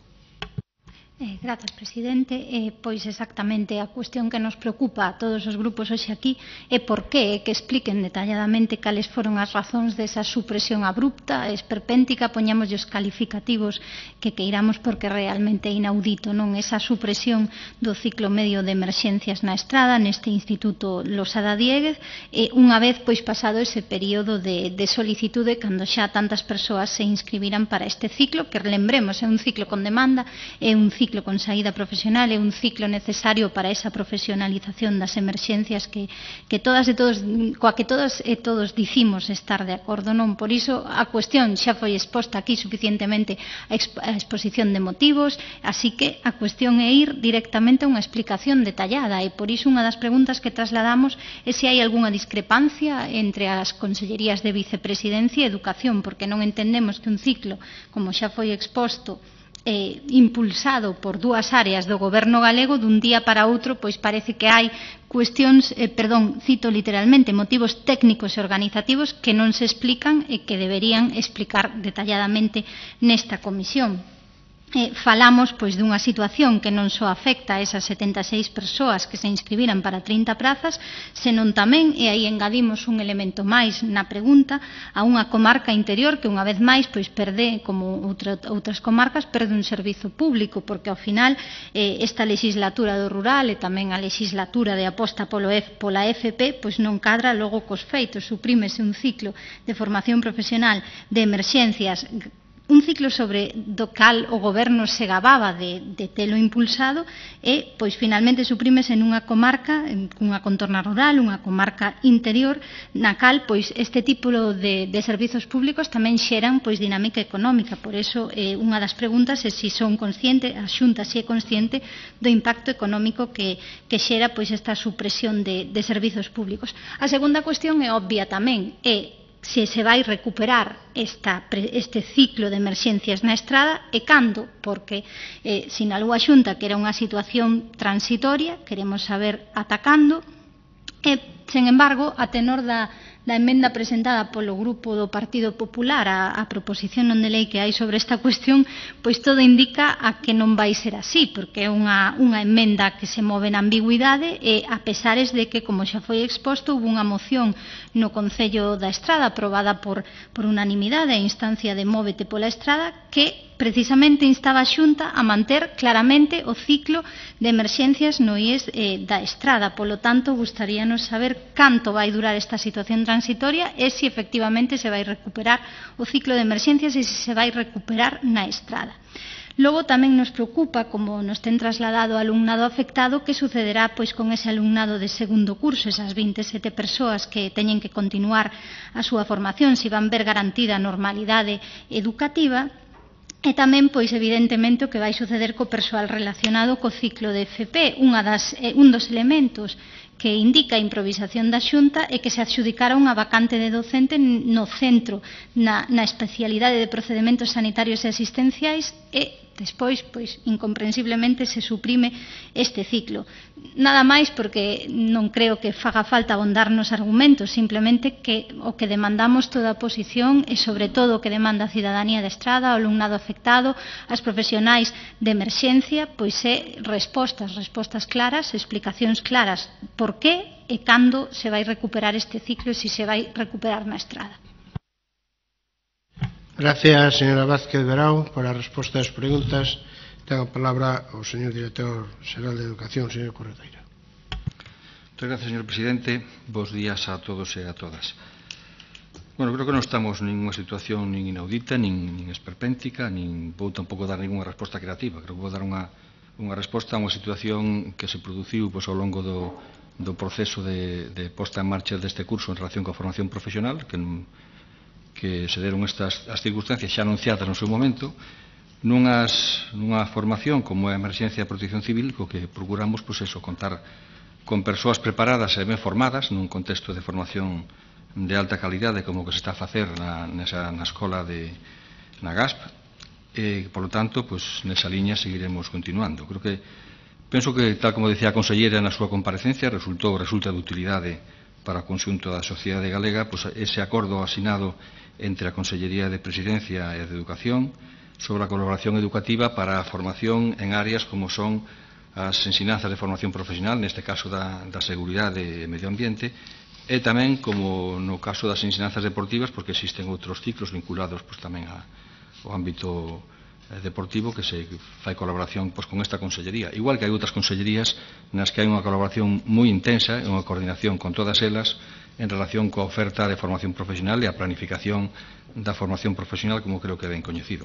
Eh, grazas, presidente. Eh, pois exactamente a cuestión que nos preocupa a todos os grupos hoxe aquí é por que, que expliquen detalladamente cales foron as razóns desa supresión abrupta, esperpéntica, poñamos os calificativos que queiramos, porque realmente é inaudito, non? Esa supresión do ciclo medio de emerxencias na Estrada, neste Instituto Losada Diéguez, e unha vez pois pasado ese período de, de solicitude, cando xa tantas persoas se inscribiran para este ciclo, que lembremos, é un ciclo con demanda, é un ciclo con saída profesional, é un ciclo necesario para esa profesionalización das emerxencias que, que todas e todos, coa que todas e todos dicimos estar de acordo, non? Por iso a cuestión xa foi exposta aquí suficientemente a, exp a exposición de motivos, así que a cuestión é ir directamente a unha explicación detallada, e por iso unha das preguntas que trasladamos é se hai algunha discrepancia entre as consellerías de Vicepresidencia e Educación, porque non entendemos que un ciclo, como xa foi exposto, Eh, impulsado por dúas áreas do goberno galego, dun día para outro, pois parece que hai cuestións, eh, perdón, cito literalmente, motivos técnicos e organizativos que non se explican e que deberían explicar detalladamente nesta comisión. Eh, falamos pois dunha situación que non só afecta a esas setenta e seis persoas que se inscribiran para trinta prazas, senón tamén, e aí engadimos un elemento máis na pregunta, a unha comarca interior que unha vez máis pois perde, como outra, outras comarcas, perde un servizo público, porque ao final eh, esta legislatura do rural e tamén a legislatura de aposta polo F, pola F P pois non cadra logo cos feitos, suprímese un ciclo de formación profesional de emerxencias, un ciclo sobre do cal o goberno se gababa de, de telo impulsado, e pois finalmente suprímese nunha comarca, unha contorna rural, unha comarca interior, na cal pois este tipo de, de servizos públicos tamén xeran pois dinámica económica. Por eso eh, unha das preguntas é se si son consciente, a Xunta se si é consciente do impacto económico que, que xera pois esta supresión de, de servizos públicos. A segunda cuestión é obvia tamén, é se se vai recuperar esta, este ciclo de emerxencias na Estrada e cando, porque eh, sinalou a Xunta que era unha situación transitoria, queremos saber atacando, e, sen embargo, a tenor da, da emenda presentada polo Grupo do Partido Popular a, a proposición non de lei que hai sobre esta cuestión, pois todo indica a que non vai ser así, porque é unha, unha emenda que se move na ambigüidade, e a pesares de que, como xa foi exposto, hubo unha moción no Concello da Estrada aprobada por, por unanimidade a instancia de Móvete pola Estrada, que precisamente instaba a Xunta a manter claramente o ciclo de emerxencias no I E S eh, da Estrada. Polo tanto, gustaríanos saber canto vai durar esta situación transitoria e se efectivamente se vai recuperar o ciclo de emerxencias e se se vai recuperar na Estrada. Logo tamén nos preocupa, como nos ten trasladado o alumnado afectado, que sucederá pois con ese alumnado de segundo curso, esas vinte e sete persoas que teñen que continuar a súa formación, se van ver garantida a normalidade educativa, E tamén, pois, evidentemente, o que vai suceder co persoal relacionado co ciclo de F P. Unha das, eh, un dos elementos que indica a improvisación da Xunta é que se adxudicara unha vacante de docente no centro na, na especialidade de procedementos sanitarios e asistenciais e despois, pois, incomprensiblemente se suprime este ciclo. Nada máis porque non creo que faga falta abondarnos argumentos, simplemente que o que demandamos toda a oposición e sobre todo o que demanda a cidadanía de Estrada, o alumnado afectado, as profesionais de emerxencia, pois é respostas, respostas claras, explicacións claras por qué e cando se vai recuperar este ciclo e se se vai recuperar na Estrada. Gracias, señora Vázquez Verao, por a resposta ás preguntas. Ten a palabra o señor director xeral de Educación, señor Corredeira. Moitas gracias, señor presidente. Bos días a todos e a todas. Bueno, creo que non estamos nunha situación nin inaudita, nin, nin esperpéntica, nin vou tampouco dar ninguna resposta creativa. Creo que vou dar unha, unha resposta a unha situación que se produciu pois, ao longo do, do proceso de, de posta en marcha deste curso en relación coa formación profesional, que que se deron estas as circunstancias xa anunciadas no seu momento, nunhas, nunha formación como é a emerxencia de protección civil, co que procuramos, pois eso, contar con persoas preparadas e ben formadas nun contexto de formación de alta calidade como o que se está a facer na, nesa, na escola de, na G A S P, e, por lo tanto, pois, nesa liña seguiremos continuando. Creo que, penso que, tal como decía a consellera na súa comparecencia, resultou, resulta de utilidade para o conxunto da sociedade galega, pois, ese acordo asinado entre a Consellería de Presidencia e de Educación sobre a colaboración educativa para a formación en áreas como son as ensinanzas de formación profesional, neste caso da, da seguridade e medio ambiente, e tamén, como no caso das ensinanzas deportivas, porque existen outros ciclos vinculados pois, tamén a, ao ámbito deportivo que se fai colaboración pois, con esta Consellería. Igual que hai outras consellerías nas que hai unha colaboración moi intensa e unha coordinación con todas elas en relación coa oferta de formación profesional e a planificación da formación profesional, como creo que é ben coñecido.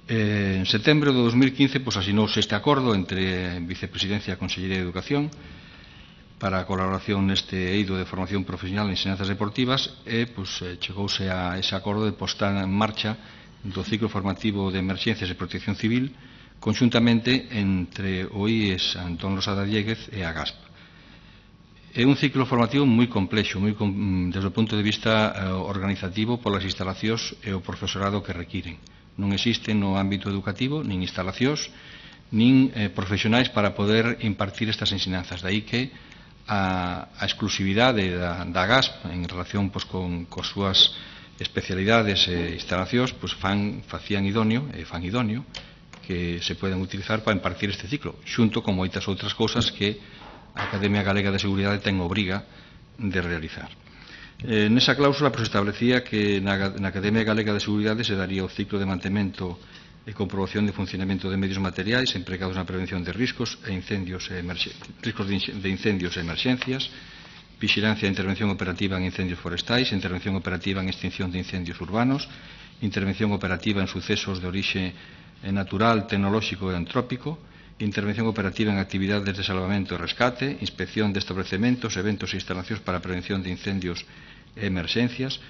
Eh, en setembro de dos mil quince pois, asinouse este acordo entre Vicepresidencia e Consellería de Educación para a colaboración neste eido de formación profesional en ensinanzas deportivas e pois, chegouse a ese acordo de postar en marcha do ciclo formativo de emerxencias e protección civil conxuntamente entre o I E S Antón Losada Dieguez e a G A S P. É un ciclo formativo moi complexo, moi, desde o punto de vista eh, organizativo polas instalacións e o profesorado que requiren. Non existen no ámbito educativo nin instalacións nin eh, profesionais para poder impartir estas ensinanzas. De aí que a, a exclusividade da, da G A S P en relación pois, con, con súas especialidades e instalacións pois, fan, facían idóneo e fan idóneo que se poden utilizar para impartir este ciclo, xunto con moitas outras cousas que a Academia Galega de Seguridade ten obriga de realizar. Eh, nesa cláusula pois, establecía que na, na Academia Galega de Seguridade se daría o ciclo de mantemento e comprobación de funcionamento de medios materiais empregados na prevención de riscos e incendios e riscos de incendios e emerxencias, vixilancia e intervención operativa en incendios forestais, intervención operativa en extinción de incendios urbanos, intervención operativa en sucesos de orixe natural, tecnolóxico e antrópico, intervención operativa en actividades de salvamento e rescate, inspección de establecementos, eventos e instalacións para a prevención de incendios e emerxencias,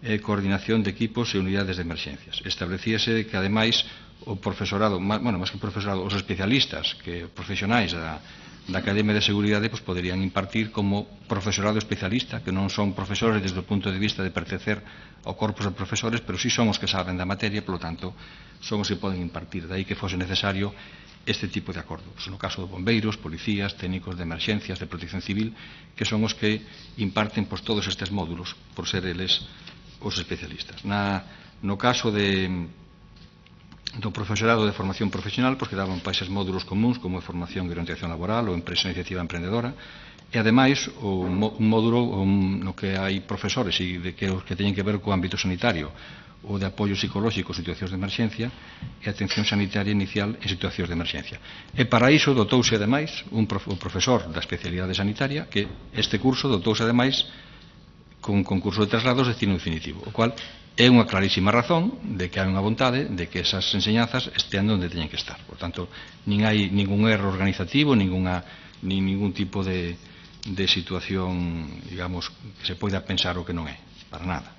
e coordinación de equipos e unidades de emerxencias. Establecíase que, ademais, o profesorado, bueno, máis que o profesorado, os especialistas, que profesionais da, da Academia de Seguridade, pues, poderían impartir como profesorado especialista, que non son profesores desde o punto de vista de pertencer ao corpus de profesores, pero sí son os que saben da materia, polo tanto, son os que poden impartir. De aí que fose necesario este tipo de acordo. Pues, no caso de bombeiros, policías, técnicos de emerxencias, de protección civil, que son os que imparten pues, todos estes módulos, por ser eles os especialistas. Na, no caso de, do profesorado de formación profesional, pues, que daban para eses módulos comuns, como é formación e orientación laboral ou empresa iniciativa emprendedora, e, ademais, o, un módulo un, no que hai profesores e de que, que teñen que ver co ámbito sanitario, ou de apoio psicolóxico en situacións de emerxencia e atención sanitaria inicial en situacións de emerxencia. E para iso dotouse ademais un prof, o profesor da especialidade sanitaria que este curso dotouse ademais con concurso de traslados de destino definitivo, o cual é unha clarísima razón de que hai unha vontade de que esas enseñanzas estean onde teñen que estar. Por tanto, nin hai ningún erro organizativo, ninguna, nin ningún tipo de, de situación, digamos, que se poida pensar o que non é, para nada.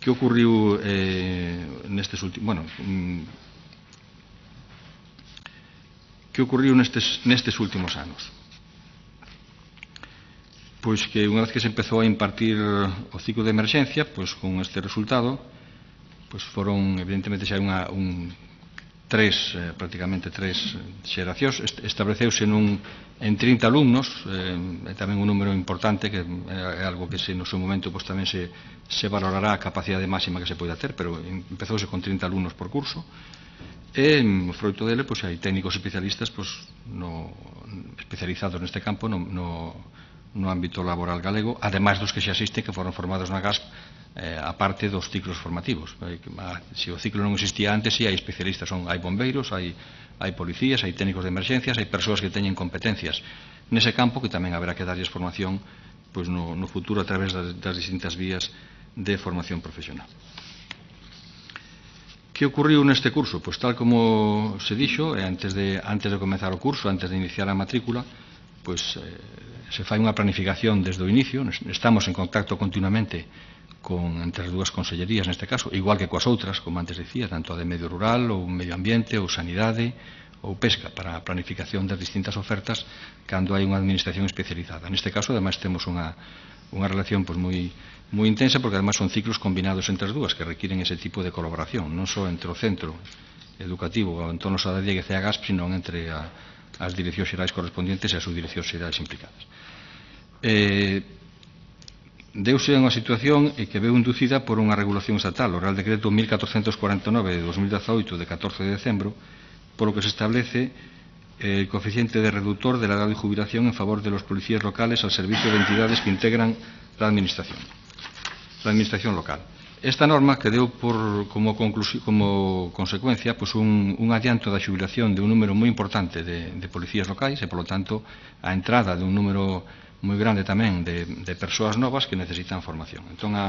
que ocurriu eh, nestes últimos... Bueno, mm, que ocurriu nestes, nestes últimos anos? Pois que unha vez que se empezou a impartir o ciclo de emerxencia, pois con este resultado, pois foron, evidentemente, xa unha, un tres, eh, prácticamente tres xeracións, estableceuse nun, en trinta alumnos, eh, é tamén un número importante, que é algo que se, no seu momento pois, tamén se, se valorará a capacidade máxima que se poida ter, pero empezouse con trinta alumnos por curso, e froito dele pois, hai técnicos especialistas pois, no, especializados neste campo no, no, no ámbito laboral galego, ademais dos que se asisten que foron formados na G A S P eh, a parte dos ciclos formativos. Se o ciclo non existía antes, si hai especialistas, son, hai bombeiros, hai, hai policías, hai técnicos de emerxencias, hai persoas que teñen competencias nese campo que tamén haberá que darlles formación pois, no, no futuro a través das, das distintas vías de formación profesional. Que ocurriu neste curso? Pois tal como se dixo, antes de, antes de comenzar o curso, antes de iniciar a matrícula, pois eh, se fai unha planificación desde o inicio, estamos en contacto continuamente con, entre as dúas consellerías neste caso, igual que coas outras, como antes dicía, tanto a de medio rural, ou medio ambiente, ou sanidade, ou pesca, para a planificación das distintas ofertas cando hai unha administración especializada. Neste caso, ademais, temos unha, unha relación pois, moi, moi intensa, porque ademais son ciclos combinados entre as dúas, que requiren ese tipo de colaboración, non só entre o centro educativo, o entorno Sada Dieguez e a G A S P, sino entre a, as direccións xerais correspondientes e as subdireccións xerais implicadas. Eh, Deuse unha situación que veu inducida por unha regulación estatal, o Real Decreto mil catorcentos cuarenta e nove de dos mil dezaoito de catorce de decembro, polo que se establece el coeficiente de reductor de la edad de jubilación en favor de los policías locales al servicio de entidades que integran la administración, la administración local. Esta norma que deu por, como, como consecuencia pues un, un adianto da xubilación de un número moi importante de, de policías locais e, polo tanto, a entrada de un número moi grande tamén de, de persoas novas que necesitan formación. Entón, a,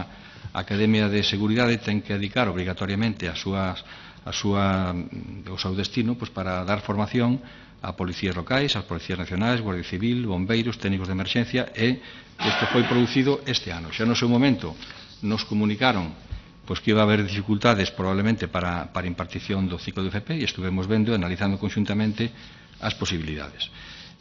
a Academia de Seguridade ten que dedicar obrigatoriamente a, súas, a súa, o seu destino pues, para dar formación a policías locais, as policías nacionais, Guardia Civil, bombeiros, técnicos de emerxencia, e isto foi producido este ano. Xa no seu momento nos comunicaron pois, que iba a haber dificultades probablemente para, para impartición do ciclo de F P e estuvemos vendo e analizando conxuntamente as posibilidades.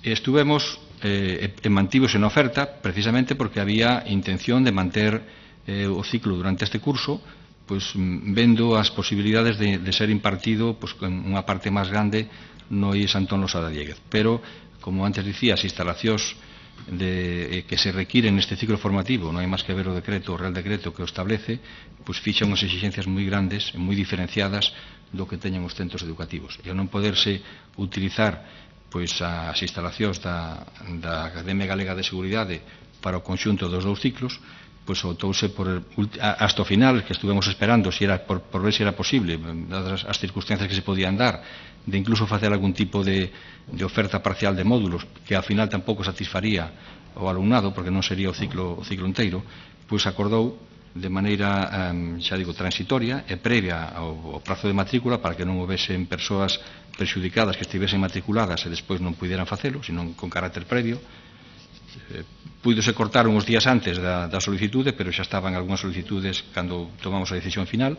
E estuvemos eh, e mantívose na oferta precisamente porque había intención de manter eh, o ciclo durante este curso pois, vendo as posibilidades de, de ser impartido pois, con unha parte máis grande no I E S Antón Losada Dieguez. Pero, como antes dicía, as instalacións de, eh, que se requiren neste ciclo formativo, non hai máis que ver o decreto, o Real Decreto que o establece, pois fixa unhas exigencias moi grandes e moi diferenciadas do que teñen os centros educativos. E ao non poderse utilizar pois as instalacións da, da Academia Galega de Seguridade para o conxunto dos dous ciclos, pois optouse por hasta o final, que estuvemos esperando si era, por, por ver se era posible, dadas as circunstancias que se podían dar, de incluso facer algún tipo de, de oferta parcial de módulos, que ao final tampouco satisfaría o alumnado, porque non sería o ciclo, o ciclo inteiro, pois acordou de maneira, um, xa digo, transitoria e previa ao, ao prazo de matrícula para que non houvesen persoas prexudicadas que estivesen matriculadas e despois non puderan facelo, sino con carácter previo. Eh, Púidose cortar uns días antes da, da solicitude, pero xa estaban algunhas solicitudes cando tomamos a decisión final.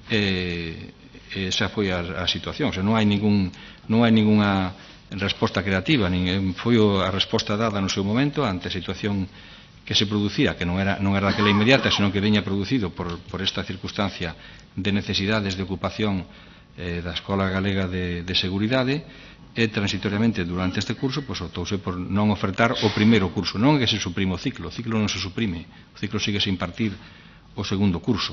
E, esa foi a, a situación. O sea, non hai ningún, non hai ninguna resposta creativa, nin, foi a resposta dada no seu momento ante a situación que se producía, que non era, non era aquela inmediata, senón que veña producido por, por esta circunstancia de necesidades de ocupación eh, da Escola Galega de, de Seguridade, e transitoriamente durante este curso pois, optouse por non ofertar o primeiro curso. Non é que se suprime o ciclo, o ciclo non se suprime, o ciclo sigue se impartir o segundo curso,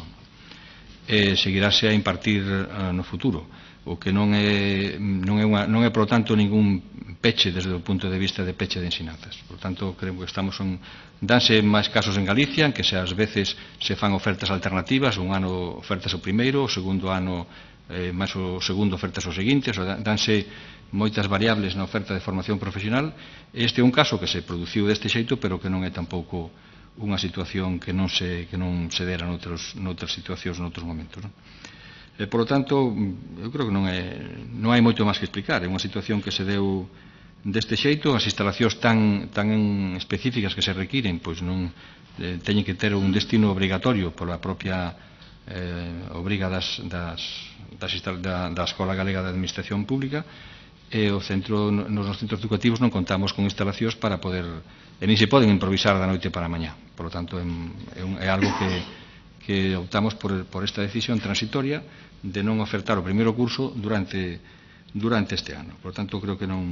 e seguirase a impartir uh, no futuro, o que non é, non é, unha, non é, por tanto, ningún peche desde o punto de vista de peche de ensinanzas. Por tanto, creo que estamos en, danse máis casos en Galicia, en que se ás veces se fan ofertas alternativas, un ano ofertas o primeiro, o segundo ano eh, máis o segundo ofertas o seguinte, o danse moitas variables na oferta de formación profesional. Este é un caso que se produciu deste xeito, pero que non é tampouco unha situación que non se, que non se dera noutros, noutras situacións, noutros momentos. Non? E, por lo tanto, eu creo que non, é, non hai moito máis que explicar. É unha situación que se deu deste xeito, as instalacións tan, tan específicas que se requiren, pois non eh, teñen que ter un destino obrigatorio pola propia eh, obriga das, das, das, da, da Escola Galega de Administración Pública, e o centro, nos centros educativos non contamos con instalacións para poder, e nin se poden improvisar da noite para a mañá. Por lo tanto, é, é, un, é algo que, que optamos por, por esta decisión transitoria de non ofertar o primeiro curso durante, durante este ano. Por lo tanto, creo que non,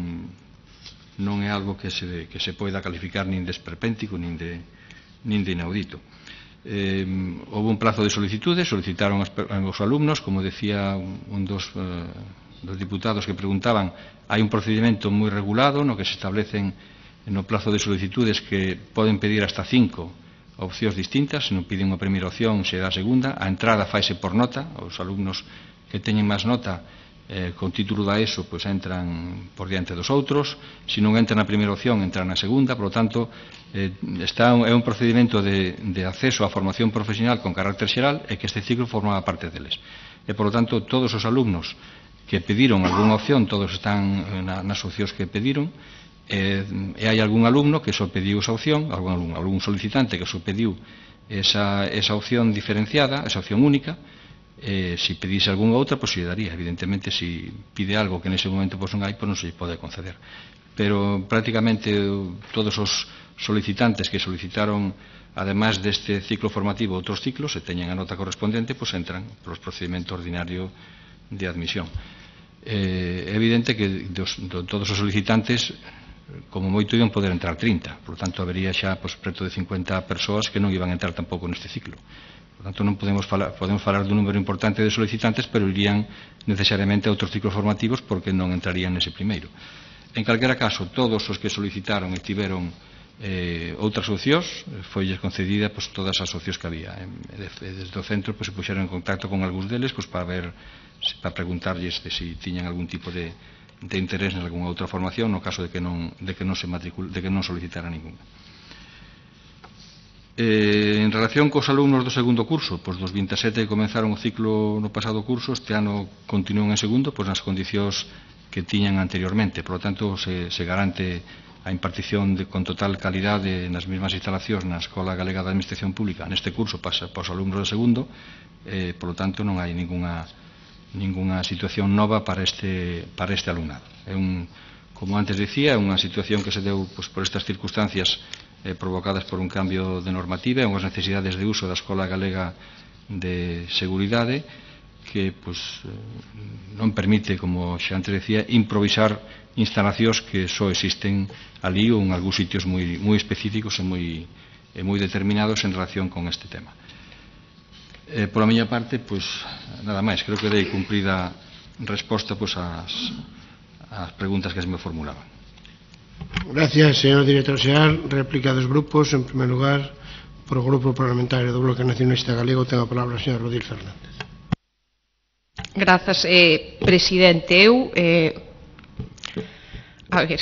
non é algo que se, que se poida calificar nin de esperpéntico nin de, nin de inaudito. Eh, houve un plazo de solicitudes, solicitaron os, os alumnos, como decía un dos... Eh, dos diputados que preguntaban, hai un procedimento moi regulado no que se establecen no plazo de solicitudes que poden pedir hasta cinco opcións distintas. Se non piden a primeira opción, se dá a segunda. A entrada faise por nota. Os alumnos que teñen máis nota eh, con título da ESO pois entran por diante dos outros. Se non entran na primeira opción, entran na segunda. Por lo tanto, eh, está un, é un procedimento de, de acceso á formación profesional con carácter xeral e que este ciclo formaba parte deles. E, por lo tanto, todos os alumnos que pediron algunha opción, todos están na, nas opcións que pediron, e, e hai algún alumno que só pediu esa opción, algún, alumno, algún solicitante que só pediu esa, esa opción diferenciada, esa opción única. E, se pedise algunha outra, pois se daría. Evidentemente, se pide algo que nese momento pois non hai, pois non se pode conceder. Pero prácticamente todos os solicitantes que solicitaron, además deste ciclo formativo, outros ciclos, se teñen a nota correspondente, pois entran polos procedimentos ordinarios de admisión. É evidente que dos, de todos os solicitantes, como moito iban poder entrar trinta, por tanto habería xa pois, preto de cincuenta persoas que non iban a entrar tampouco neste ciclo. Por tanto, non podemos falar, podemos falar dun número importante de solicitantes, pero irían necesariamente a outros ciclos formativos porque non entrarían nese primeiro. En calquera caso, todos os que solicitaron e tiveron eh, outras opcións, foilles concedida pois, todas as opcións que había. E desde o centro pois, se puxeron en contacto con algúns deles pois, para ver, para preguntarlles de si tiñan algún tipo de, de interés en algunha outra formación no caso de que non, de que non, se matricul, de que non solicitara ninguna. Eh, en relación cos alumnos do segundo curso, pois dos vinte e sete que comenzaron o ciclo no pasado curso, este ano continúan en segundo pois nas condicións que tiñan anteriormente. Por lo tanto, se, se garante a impartición de, con total calidade nas mesmas instalacións na Escola Galega de Administración Pública neste curso para, para os alumnos do segundo. Eh, por lo tanto, non hai ninguna ninguna situación nova para este, para este alumnado. É un, como antes decía, é unha situación que se deu pois, por estas circunstancias eh, provocadas por un cambio de normativa e unhas necesidades de uso da Escola Galega de Seguridade que pois, non permite, como xa antes decía, improvisar instalacións que só existen ali ou en algúns sitios moi, moi específicos e moi, e moi determinados en relación con este tema. Eh, pola miña parte, pois, nada máis. Creo que dei cumprida resposta pois, ás, ás preguntas que se me formulaban. Gracias, señor director xeral. Réplica dos grupos. En primer lugar, por o Grupo Parlamentario do Bloque Nacionalista Galego, ten a palabra o señor Rodil Fernández. Grazas, eh, presidente. Eu, eh, a ver,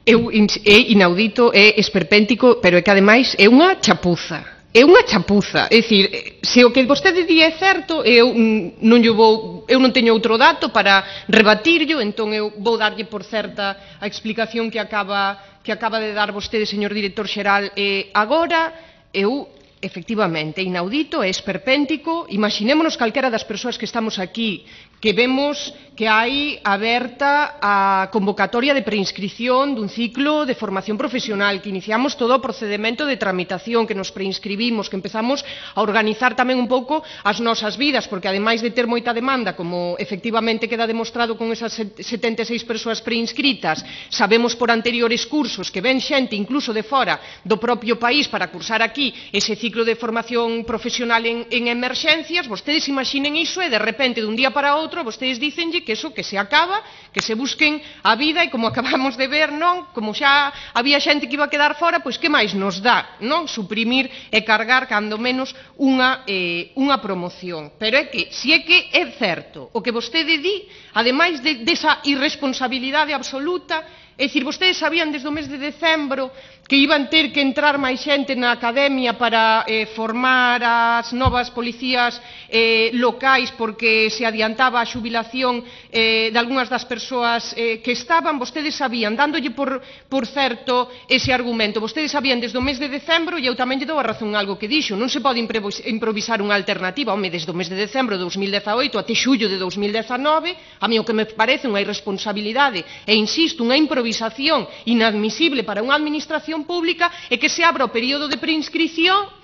eu é inaudito, é esperpéntico, pero é que ademais é unha chapuza. É unha chapuza, é dicir, se o que vostede di é certo, eu non, lle vou, eu non teño outro dato para rebatirlo, entón eu vou darlle por certa a explicación que acaba, que acaba de dar vostede, señor director xeral. E agora, eu, efectivamente, inaudito, é esperpéntico. Imaxinémonos calquera das persoas que estamos aquí, que vemos que hai aberta a convocatoria de preinscripción dun ciclo de formación profesional, que iniciamos todo o procedimento de tramitación, que nos preinscribimos, que empezamos a organizar tamén un pouco as nosas vidas, porque ademais de ter moita demanda, como efectivamente queda demostrado con esas setenta e seis persoas preinscritas, sabemos por anteriores cursos que ven xente incluso de fora do propio país para cursar aquí ese ciclo de formación profesional en, en emerxencias. Vostedes imaginen iso e de repente, dun día para outro, vostedes dicenlle que eso, que se acaba, que se busquen a vida, e como acabamos de ver, non, como xa había xente que iba a quedar fora, pois que máis nos dá, non, suprimir e cargar cando menos unha, eh, unha promoción. Pero é que, se é que é certo o que vostede di, ademais de, desa irresponsabilidade absoluta, É dicir, vostedes sabían desde o mes de decembro que iban ter que entrar máis xente na academia para eh, formar as novas policías eh, locais porque se adiantaba a xubilación eh, de algunhas das persoas eh, que estaban. Vostedes sabían, dándolle por, por certo ese argumento, vostedes sabían desde o mes de decembro, e eu tamén lle dou a razón algo que dixo, non se pode improvisar unha alternativa. Home, desde o mes de decembro de dos mil dezaoito até xullo de dos mil dezanove, a mí o que me parece unha irresponsabilidade e, insisto, unha improvisación inadmisible para unha administración pública é que se abra o período de preinscrición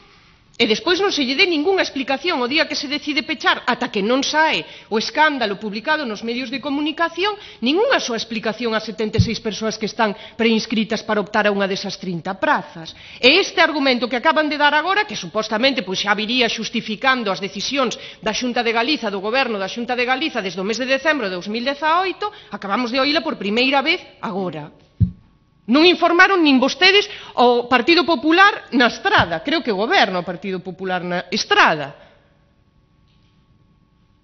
e despois non se lle dé ningunha explicación o día que se decide pechar, ata que non sae o escándalo publicado nos medios de comunicación, ningunha súa explicación ás setenta e seis persoas que están preinscritas para optar a unha desas trinta prazas. E este argumento que acaban de dar agora, que supostamente pois, xa viría xustificando as decisións da Xunta de Galiza, do Goberno da Xunta de Galiza desde o mes de decembro de dos mil dezaoito, acabamos de oíla por primeira vez agora. Non informaron nin vostedes ao Partido Popular na Estrada, creo que goberna o Partido Popular na Estrada.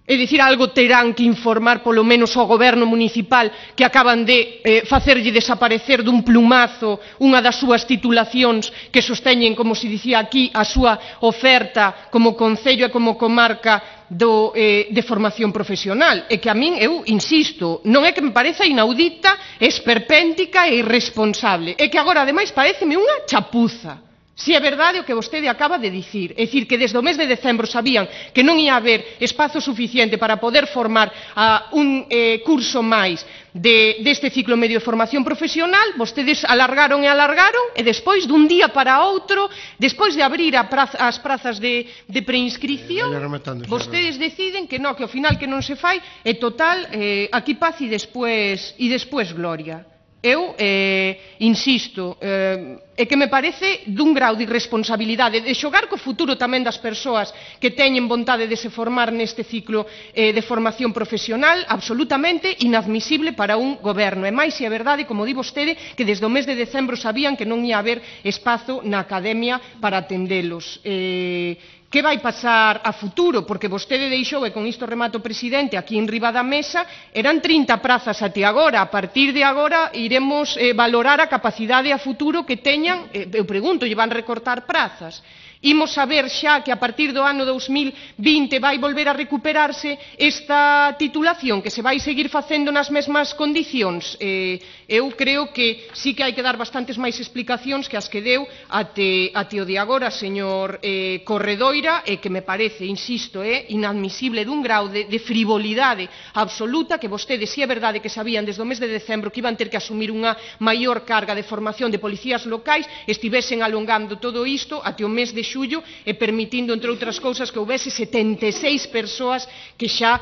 É dicir, algo terán que informar polo menos ao goberno municipal que acaban de eh, facerlle desaparecer dun plumazo unha das súas titulacións que sosteñen, como se dicía aquí, a súa oferta como concello e como comarca do, eh, de formación profesional. E que a min, eu insisto, non é que me pareza inaudita, esperpéntica e irresponsable. É que agora, ademais, pareceme unha chapuza. Si é verdade o que vostede acaba de dicir, é dicir, que desde o mes de decembro sabían que non ia haber espazo suficiente para poder formar a un eh, curso máis de, deste ciclo medio de formación profesional, vostedes alargaron e alargaron, e despois, dun día para outro, despois de abrir a praza, as prazas de, de preinscripción, eh, vostedes deciden que non, que ao final que non se fai, e total, eh, aquí paz e despois, e despois gloria. Eu, eh, insisto, eh, é que me parece dun grau de irresponsabilidade, de xogar co futuro tamén das persoas que teñen vontade de se formar neste ciclo eh, de formación profesional, absolutamente inadmisible para un goberno. E máis se é verdade, como di vostede, que desde o mes de decembro sabían que non ia haber espazo na academia para atendelos. Eh, Que vai pasar a futuro? Porque vostede deixou, e con isto remato, presidente, aquí en riba da mesa, eran trinta prazas até agora. A partir de agora iremos eh, valorar a capacidade a futuro que teñan, eh, eu pregunto, lle van recortar prazas. Imos saber xa que a partir do ano dous mil vinte vai volver a recuperarse esta titulación, que se vai seguir facendo nas mesmas condicións. Eh, eu creo que sí que hai que dar bastantes máis explicacións que as que deu até, até o de agora, señor eh, Corredoira, e que me parece, insisto, é eh, inadmisible dun grau de, de frivolidade absoluta, que vostedes, si é verdade que sabían desde o mes de decembro que iban ter que asumir unha maior carga de formación de policías locais, estivesen alongando todo isto até o mes de xullo e permitindo, entre outras cousas, que houvese setenta e seis persoas que xa,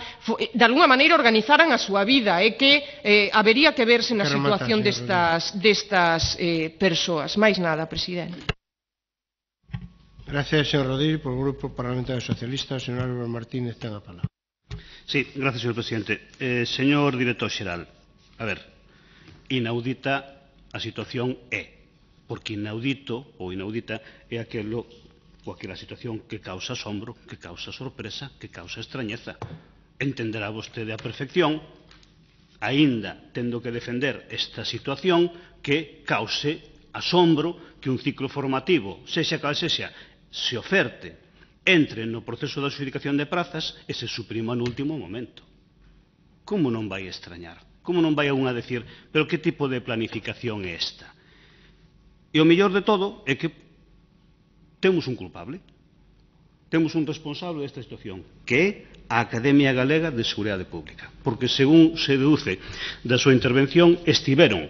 de alguna maneira, organizaran a súa vida, e que eh, habería que verse na situación destas, destas eh, persoas. Máis nada, presidente. Gracias, señor Rodríguez. Por el Grupo Parlamentario Socialista, señor Álvaro Martínez, ten a palabra. Sí, gracias, señor presidente. Eh, señor director xeral, a ver, inaudita a situación é, porque inaudito ou inaudita é aquelo ou aquela situación que causa asombro, que causa sorpresa, que causa extrañeza. Entenderá vostede a perfección, aínda tendo que defender esta situación, que cause asombro que un ciclo formativo, sexa cal sexa, se oferte, entre no proceso de adxudicación de prazas e se suprima no último momento. Como non vai extrañar? Como non vai a unha decir, pero que tipo de planificación é esta? E o mellor de todo é que temos un culpable, temos un responsable desta situación, que é a Academia Galega de Seguridade Pública, porque, según se deduce da súa intervención, estiveron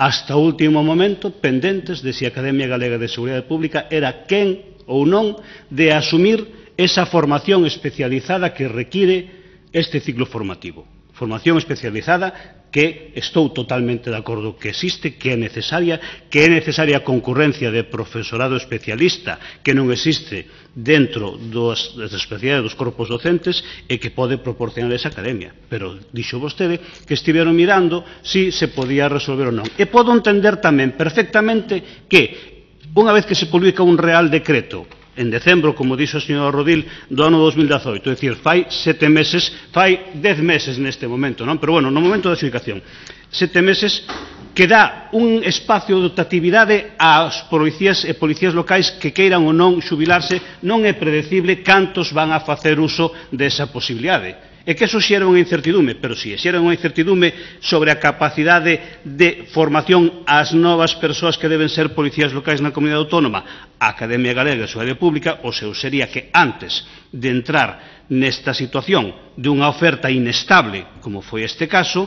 hasta o último momento pendentes de se a Academia Galega de Seguridade Pública era quen ou non de asumir esa formación especializada que require este ciclo formativo. Formación especializada que estou totalmente de acordo que existe, que é necesaria, que é necesaria a concurrencia de profesorado especialista que non existe dentro das, das especialidades dos corpos docentes e que pode proporcionar esa academia. Pero dixo vostede que estiveron mirando si se podía resolver ou non. E podo entender tamén perfectamente que, unha vez que se publica un real decreto en decembro, como dixo o señor Rodil, do ano dos mil dezaoito, é dicir, fai sete meses, fai dez meses neste momento, non? Pero, bueno, no momento da adxudicación, sete meses, que dá un espacio de optatividade ás policías e policías locais que queiran ou non xubilarse, non é predecible cantos van a facer uso desa posibilidade. É que eso xera unha incertidume, pero si xera unha incertidume sobre a capacidade de formación ás novas persoas que deben ser policías locais na comunidade autónoma, a Academia Galega de Seguridade Pública, o seu sería que antes de entrar nesta situación de unha oferta inestable, como foi este caso,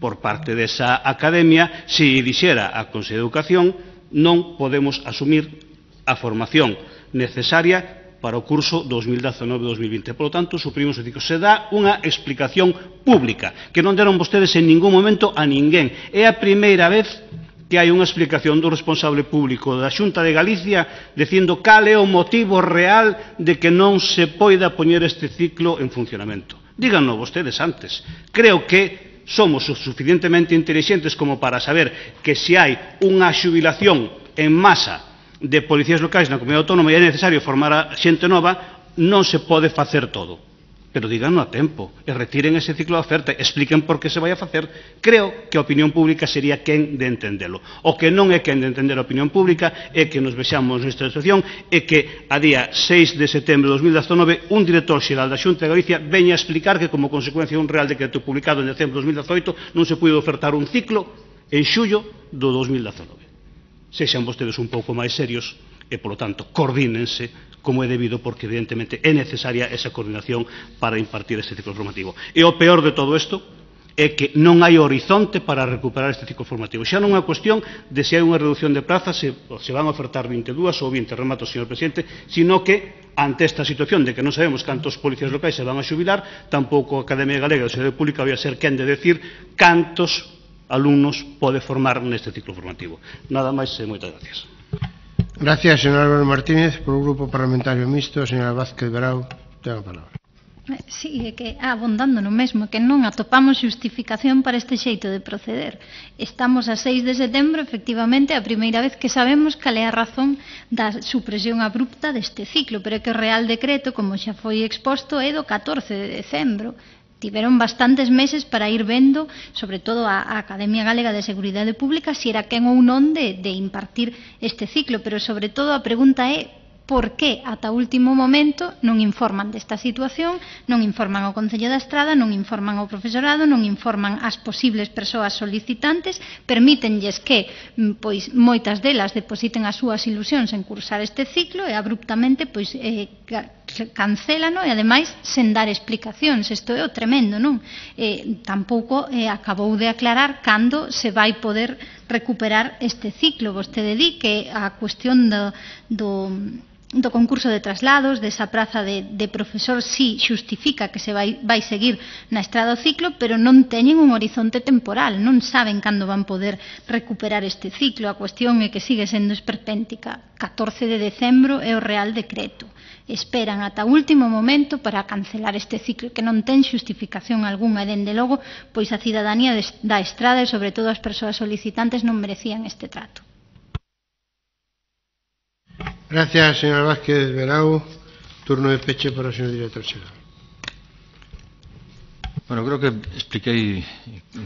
por parte desa academia, se dixera a Consello de Educación, non podemos asumir a formación necesaria para o curso dos mil dezanove dos mil vinte. Por lo tanto, suprimimos o ciclo. Se dá unha explicación pública, que non deron vostedes en ningún momento a ninguén. É a primeira vez que hai unha explicación do responsable público da Xunta de Galicia dicindo cal é o motivo real de que non se poida poñer este ciclo en funcionamento. Díganlo vostedes antes. Creo que somos o suficientemente intelixentes como para saber que se hai unha xubilación en masa de policías locais na comunidade autónoma e é necesario formar a xente nova, non se pode facer todo. Pero díganlo a tempo, e retiren ese ciclo de oferta, expliquen por que se vai a facer. Creo que a opinión pública sería quen de entendelo. O que non é quen de entender a opinión pública é que nos vexamos nesta situación e que a día seis de setembro de dos mil dezanove un director xeral da Xunta de Galicia veña a explicar que como consecuencia de un real decreto publicado en decembro de dos mil dezoito non se puido ofertar un ciclo en xullo do dos mil dezanove. Sexan vostedes un pouco máis serios e, polo tanto, coordínense como é debido, porque evidentemente é necesaria esa coordinación para impartir este ciclo formativo. E o peor de todo isto é que non hai horizonte para recuperar este ciclo formativo. Xa non é unha cuestión de se hai unha reducción de plazas, se, se van a ofertar vinte e dúas ou vinte, remato, señor presidente, sino que, ante esta situación de que non sabemos cantos policías locais se van a xubilar, tampouco a Academia Galega de Seguridade Pública vai a ser quen de decir cantos alumnos pode formar neste ciclo formativo. Nada máis e moitas gracias. Gracias, señor Álvaro Martínez. Por un grupo parlamentario mixto, señora Vázquez Verao, ten a palabra. Sí, é que abondando no mesmo, que non atopamos xustificación para este xeito de proceder. Estamos a seis de setembro, efectivamente, a primeira vez que sabemos cal é a razón da supresión abrupta deste ciclo, pero é que o Real Decreto, como xa foi exposto, é do catorce de decembro. Tiveron bastantes meses para ir vendo, sobre todo a, a Academia Galega de Seguridade Pública, se era quen ou non de, de impartir este ciclo, pero sobre todo a pregunta é por que ata o último momento non informan desta situación, non informan ao Concello da Estrada, non informan ao profesorado, non informan ás posibles persoas solicitantes, permítenlles que pois moitas delas depositen as súas ilusións en cursar este ciclo e abruptamente pois eh, cancélano e ademais sen dar explicacións. Isto é o tremendo, non? Eh, tampouco eh, acabou de aclarar cando se vai poder recuperar este ciclo. Vostede di que a cuestión do, do do concurso de traslados, desa praza de, de profesor, sí xustifica que se vai, vai seguir na estrada o ciclo, pero non teñen un horizonte temporal, non saben cando van poder recuperar este ciclo. A cuestión é que sigue sendo esperpéntica. catorce de decembro é o Real Decreto. Esperan ata o último momento para cancelar este ciclo que non ten xustificación algunha e, dende logo, pois a cidadanía da estrada e, sobre todo, as persoas solicitantes non merecían este trato. Gracias, señora Vázquez Verao. Turno de peche para o señor director xeral. Bueno, creo que expliquei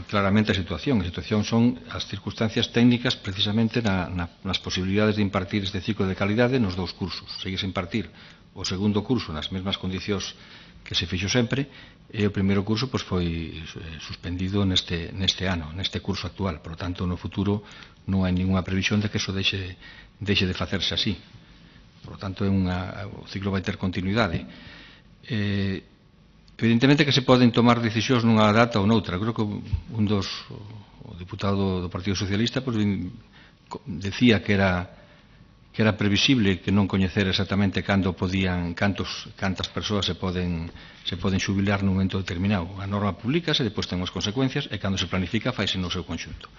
claramente a situación. A situación son as circunstancias técnicas precisamente na, na, nas posibilidades de impartir este ciclo de calidade nos dous cursos. Seguise a impartir o segundo curso nas mesmas condicións que se fixo sempre e o primeiro curso pois, foi suspendido neste, neste ano, neste curso actual. Por lo tanto, no futuro non hai ninguna previsión de que eso deixe, deixe de facerse así. Por lo tanto, é unha, o ciclo vai ter continuidade. Eh, evidentemente que se poden tomar decisións nunha data ou noutra. Creo que un dos, o diputado do Partido Socialista pois, decía que era que era previsible que non coñecer exactamente cando podían, cantos, cantas persoas se poden, se poden xubilar nun momento determinado. A norma publicase, depois ten as consecuencias e cando se planifica faise no seu conxunto.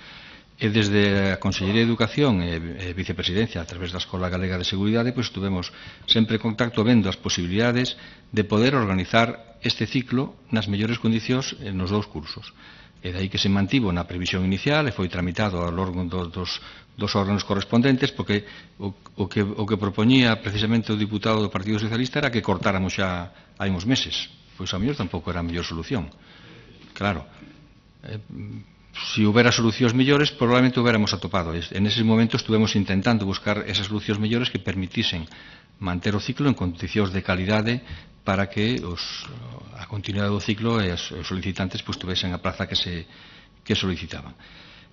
E desde a Consellería de Educación e Vicepresidencia a través da Escola Galega de Seguridade pois tuvemos sempre contacto vendo as posibilidades de poder organizar este ciclo nas mellores condicións nos dous cursos. E dai que se mantivo na previsión inicial e foi tramitado ao longo dos, dos, dos órganos correspondentes porque o, o, que, o que propoñía precisamente o diputado do Partido Socialista era que cortáramos xa hai uns meses. Pois a mellor tampouco era a mellor solución. Claro, eh, se houbera solucións mellores, probablemente houbéramos atopado. En eses momentos estuvemos intentando buscar esas solucións mellores que permitisen manter o ciclo en condicións de calidade para que os, a continuidade do ciclo e os solicitantes pues, tuvesen a praza que se que solicitaban.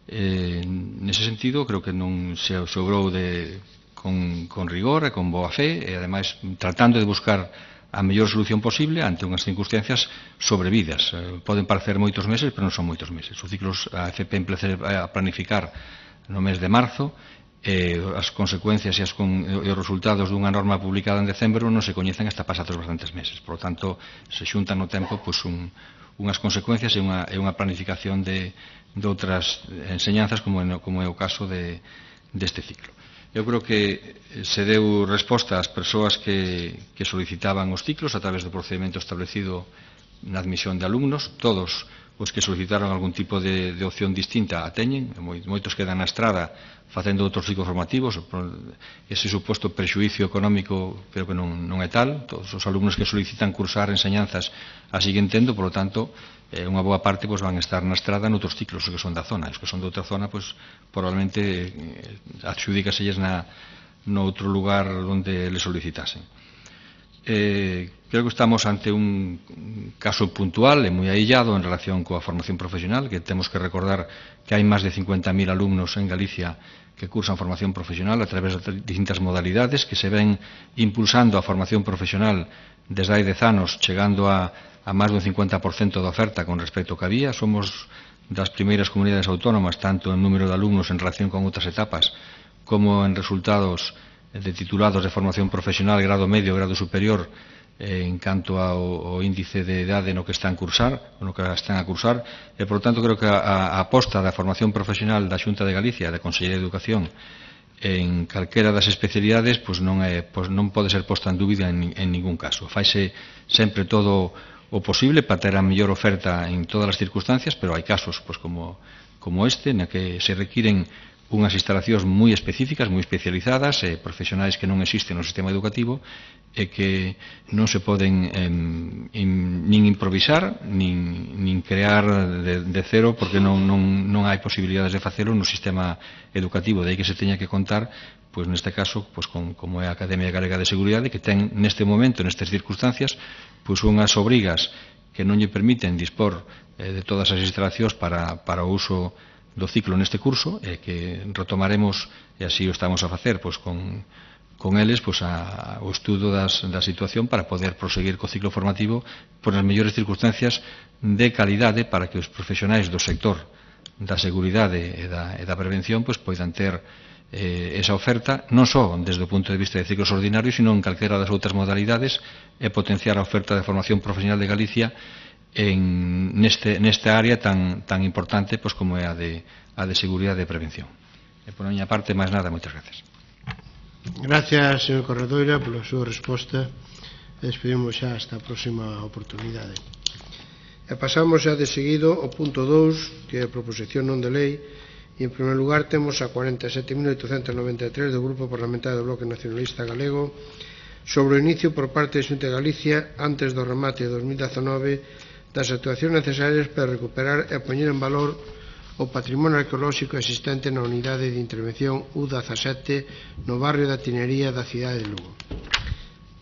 Eh, nese sentido, creo que non se, se obrou de, con, con rigor e con boa fe, e ademais tratando de buscar a mellor solución posible ante unhas circunstancias sobrevidas. Eh, poden parecer moitos meses, pero non son moitos meses. Os ciclos a F P empece a planificar no mes de marzo, eh, as consecuencias e, as con, e os resultados dunha norma publicada en decembro non se coñecen hasta pasados bastantes meses. Por lo tanto, se xuntan no tempo pues, un, unhas consecuencias e unha, e unha planificación de, de outras enseñanzas como, en, como é o caso de, deste ciclo. Eu creo que se deu resposta ás persoas que, que solicitaban os ciclos a través do procedimento establecido na admisión de alumnos. Todos os que solicitaron algún tipo de, de opción distinta a teñen, moitos quedan na estrada facendo outros ciclos formativos. Ese suposto prexuicio económico creo que non, non é tal. Todos os alumnos que solicitan cursar enseñanzas así que entendo, por lo tanto, eh, unha boa parte pues, van a estar na estrada noutros ciclos, os que son da zona. Os que son de outra zona, pues, probablemente eh, adxudícaselles na, no outro lugar onde le solicitasen. Eh, creo que estamos ante un caso puntual e moi aillado en relación coa formación profesional, que temos que recordar que hai máis de cincuenta mil alumnos en Galicia que cursan formación profesional a través de distintas modalidades, que se ven impulsando a formación profesional desde hai dez anos, chegando a, a máis dun cincuenta por cento da oferta con respecto ao que había. Somos das primeiras comunidades autónomas, tanto en número de alumnos en relación con outras etapas, como en resultados de titulados de formación profesional, grado medio, grado superior, eh, en canto ao, ao índice de idade no que están a cursar, no que están a cursar, e, por tanto, creo que a, a aposta da formación profesional da Xunta de Galicia, da Consellería de Educación, en calquera das especialidades, pues non, é, pues non pode ser posta en dúbida en, en ningún caso. Faise sempre todo o posible para ter a mellor oferta en todas as circunstancias, pero hai casos pues, como, como este, na que se requiren unhas instalacións moi específicas, moi especializadas, eh, profesionais que non existen no sistema educativo e que non se poden eh, in, nin improvisar, nin, nin crear de, de cero, porque non, non, non hai posibilidades de facelo no sistema educativo. De aí que se teña que contar, pois neste caso, pois con, como é a Academia Galega de Seguridade, que ten neste momento, nestas circunstancias, pois unhas obrigas que non lle permiten dispor eh, de todas as instalacións para, para o uso do ciclo neste curso, e que retomaremos, e así o estamos a facer, pois, con, con eles pois, a, o estudo das, da situación para poder proseguir co ciclo formativo por as mellores circunstancias de calidade para que os profesionais do sector da seguridade e da, e da prevención pois, poidan ter eh, esa oferta, non só desde o punto de vista de ciclos ordinarios, sino en calquera das outras modalidades, e potenciar a oferta de formación profesional de Galicia en neste, nesta área tan, tan importante pues, como é a de, a de seguridade e prevención. E por a miña parte, máis nada, moitas gracias. Gracias, señor Corredoira, pola súa resposta. Despedimos xa hasta a próxima oportunidade. E pasamos xa de seguido ao punto dous, que é a proposición non de lei, e en primeiro lugar temos a cuarenta e sete mil oitocentos noventa e tres do Grupo Parlamentario do Bloque Nacionalista Galego sobre o inicio por parte da Xunta de Galicia antes do remate de dos mil dezanove das actuacións necesarias para recuperar e poñer en valor o patrimonio arqueolóxico existente na unidade de intervención U dezasete no barrio da Tinería da cidade de Lugo.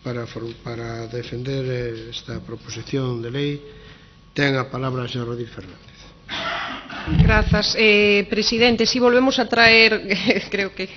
Para, para defender esta proposición de lei ten a palabra o señor Rodil Fernández. Grazas, eh, presidente. Si volvemos a traer, creo que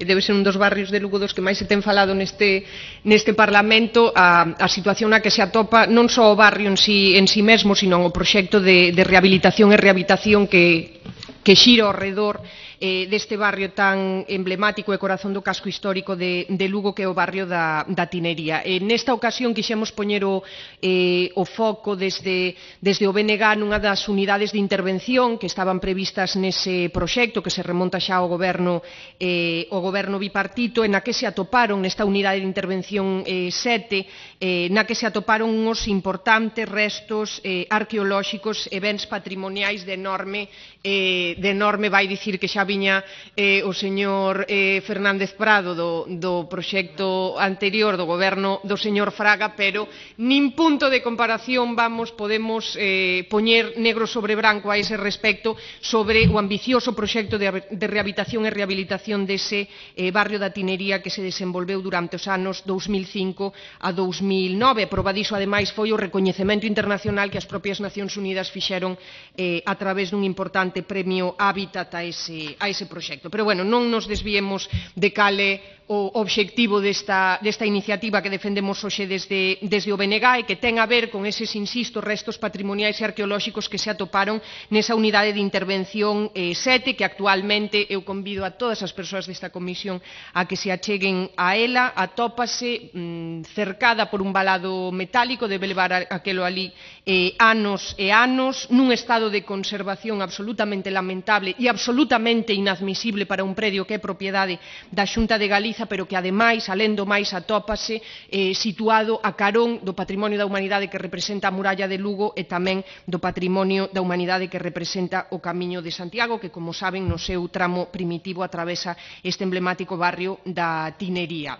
debe ser un dos barrios de Lugo dos que máis se ten falado neste, neste Parlamento, a, a situación na que se atopa non só o barrio en si, en si mesmo, sino o proxecto de, de rehabilitación e rehabilitación que, que xira ao redor eh, deste barrio tan emblemático e corazón do casco histórico de, de Lugo, que é o barrio da, da Tinería. Eh, nesta ocasión quixemos poñer o, eh, o foco desde, desde o B N G nunha das unidades de intervención que estaban previstas nese proxecto que se remonta xa ao goberno, eh, o goberno bipartito, en na que se atoparon nesta unidade de intervención eh, sete, eh, na que se atoparon uns importantes restos eh, arqueolóxicos e bens patrimoniais de enorme eh, eh, de enorme vai dicir que xa viña eh, o señor eh, Fernández Prado do, do proxecto anterior do goberno do señor Fraga, pero nin punto de comparación vamos, podemos eh, poñer negro sobre branco a ese respecto sobre o ambicioso proxecto de, de rehabilitación e rehabilitación dese eh, barrio da Tinería que se desenvolveu durante os anos dous mil cinco a dous mil nove. Proba diso, ademais, foi o recoñecemento internacional que as propias Nacións Unidas fixeron eh, a través dun importante premio Hábitat a ese, a ese proxecto. Pero, bueno, non nos desviemos de cale o obxectivo desta, desta iniciativa que defendemos hoxe desde, desde o B N G e que ten a ver con eses, insisto, restos patrimoniais e arqueolóxicos que se atoparon nesa unidade de intervención eh, sete, que actualmente eu convido a todas as persoas desta comisión a que se acheguen a ela. Atópase mm, cercada por un valado metálico, debe levar a, aquelo ali eh, anos e anos, nun estado de conservación absolutamente lamentable e absolutamente inadmisible para un predio que é propiedade da Xunta de Galicia, pero que, ademais, alén do máis, atópase eh, situado a carón do patrimonio da humanidade que representa a muralla de Lugo e tamén do patrimonio da humanidade que representa o Camiño de Santiago, que, como saben, no seu tramo primitivo atravesa este emblemático barrio da Tinería.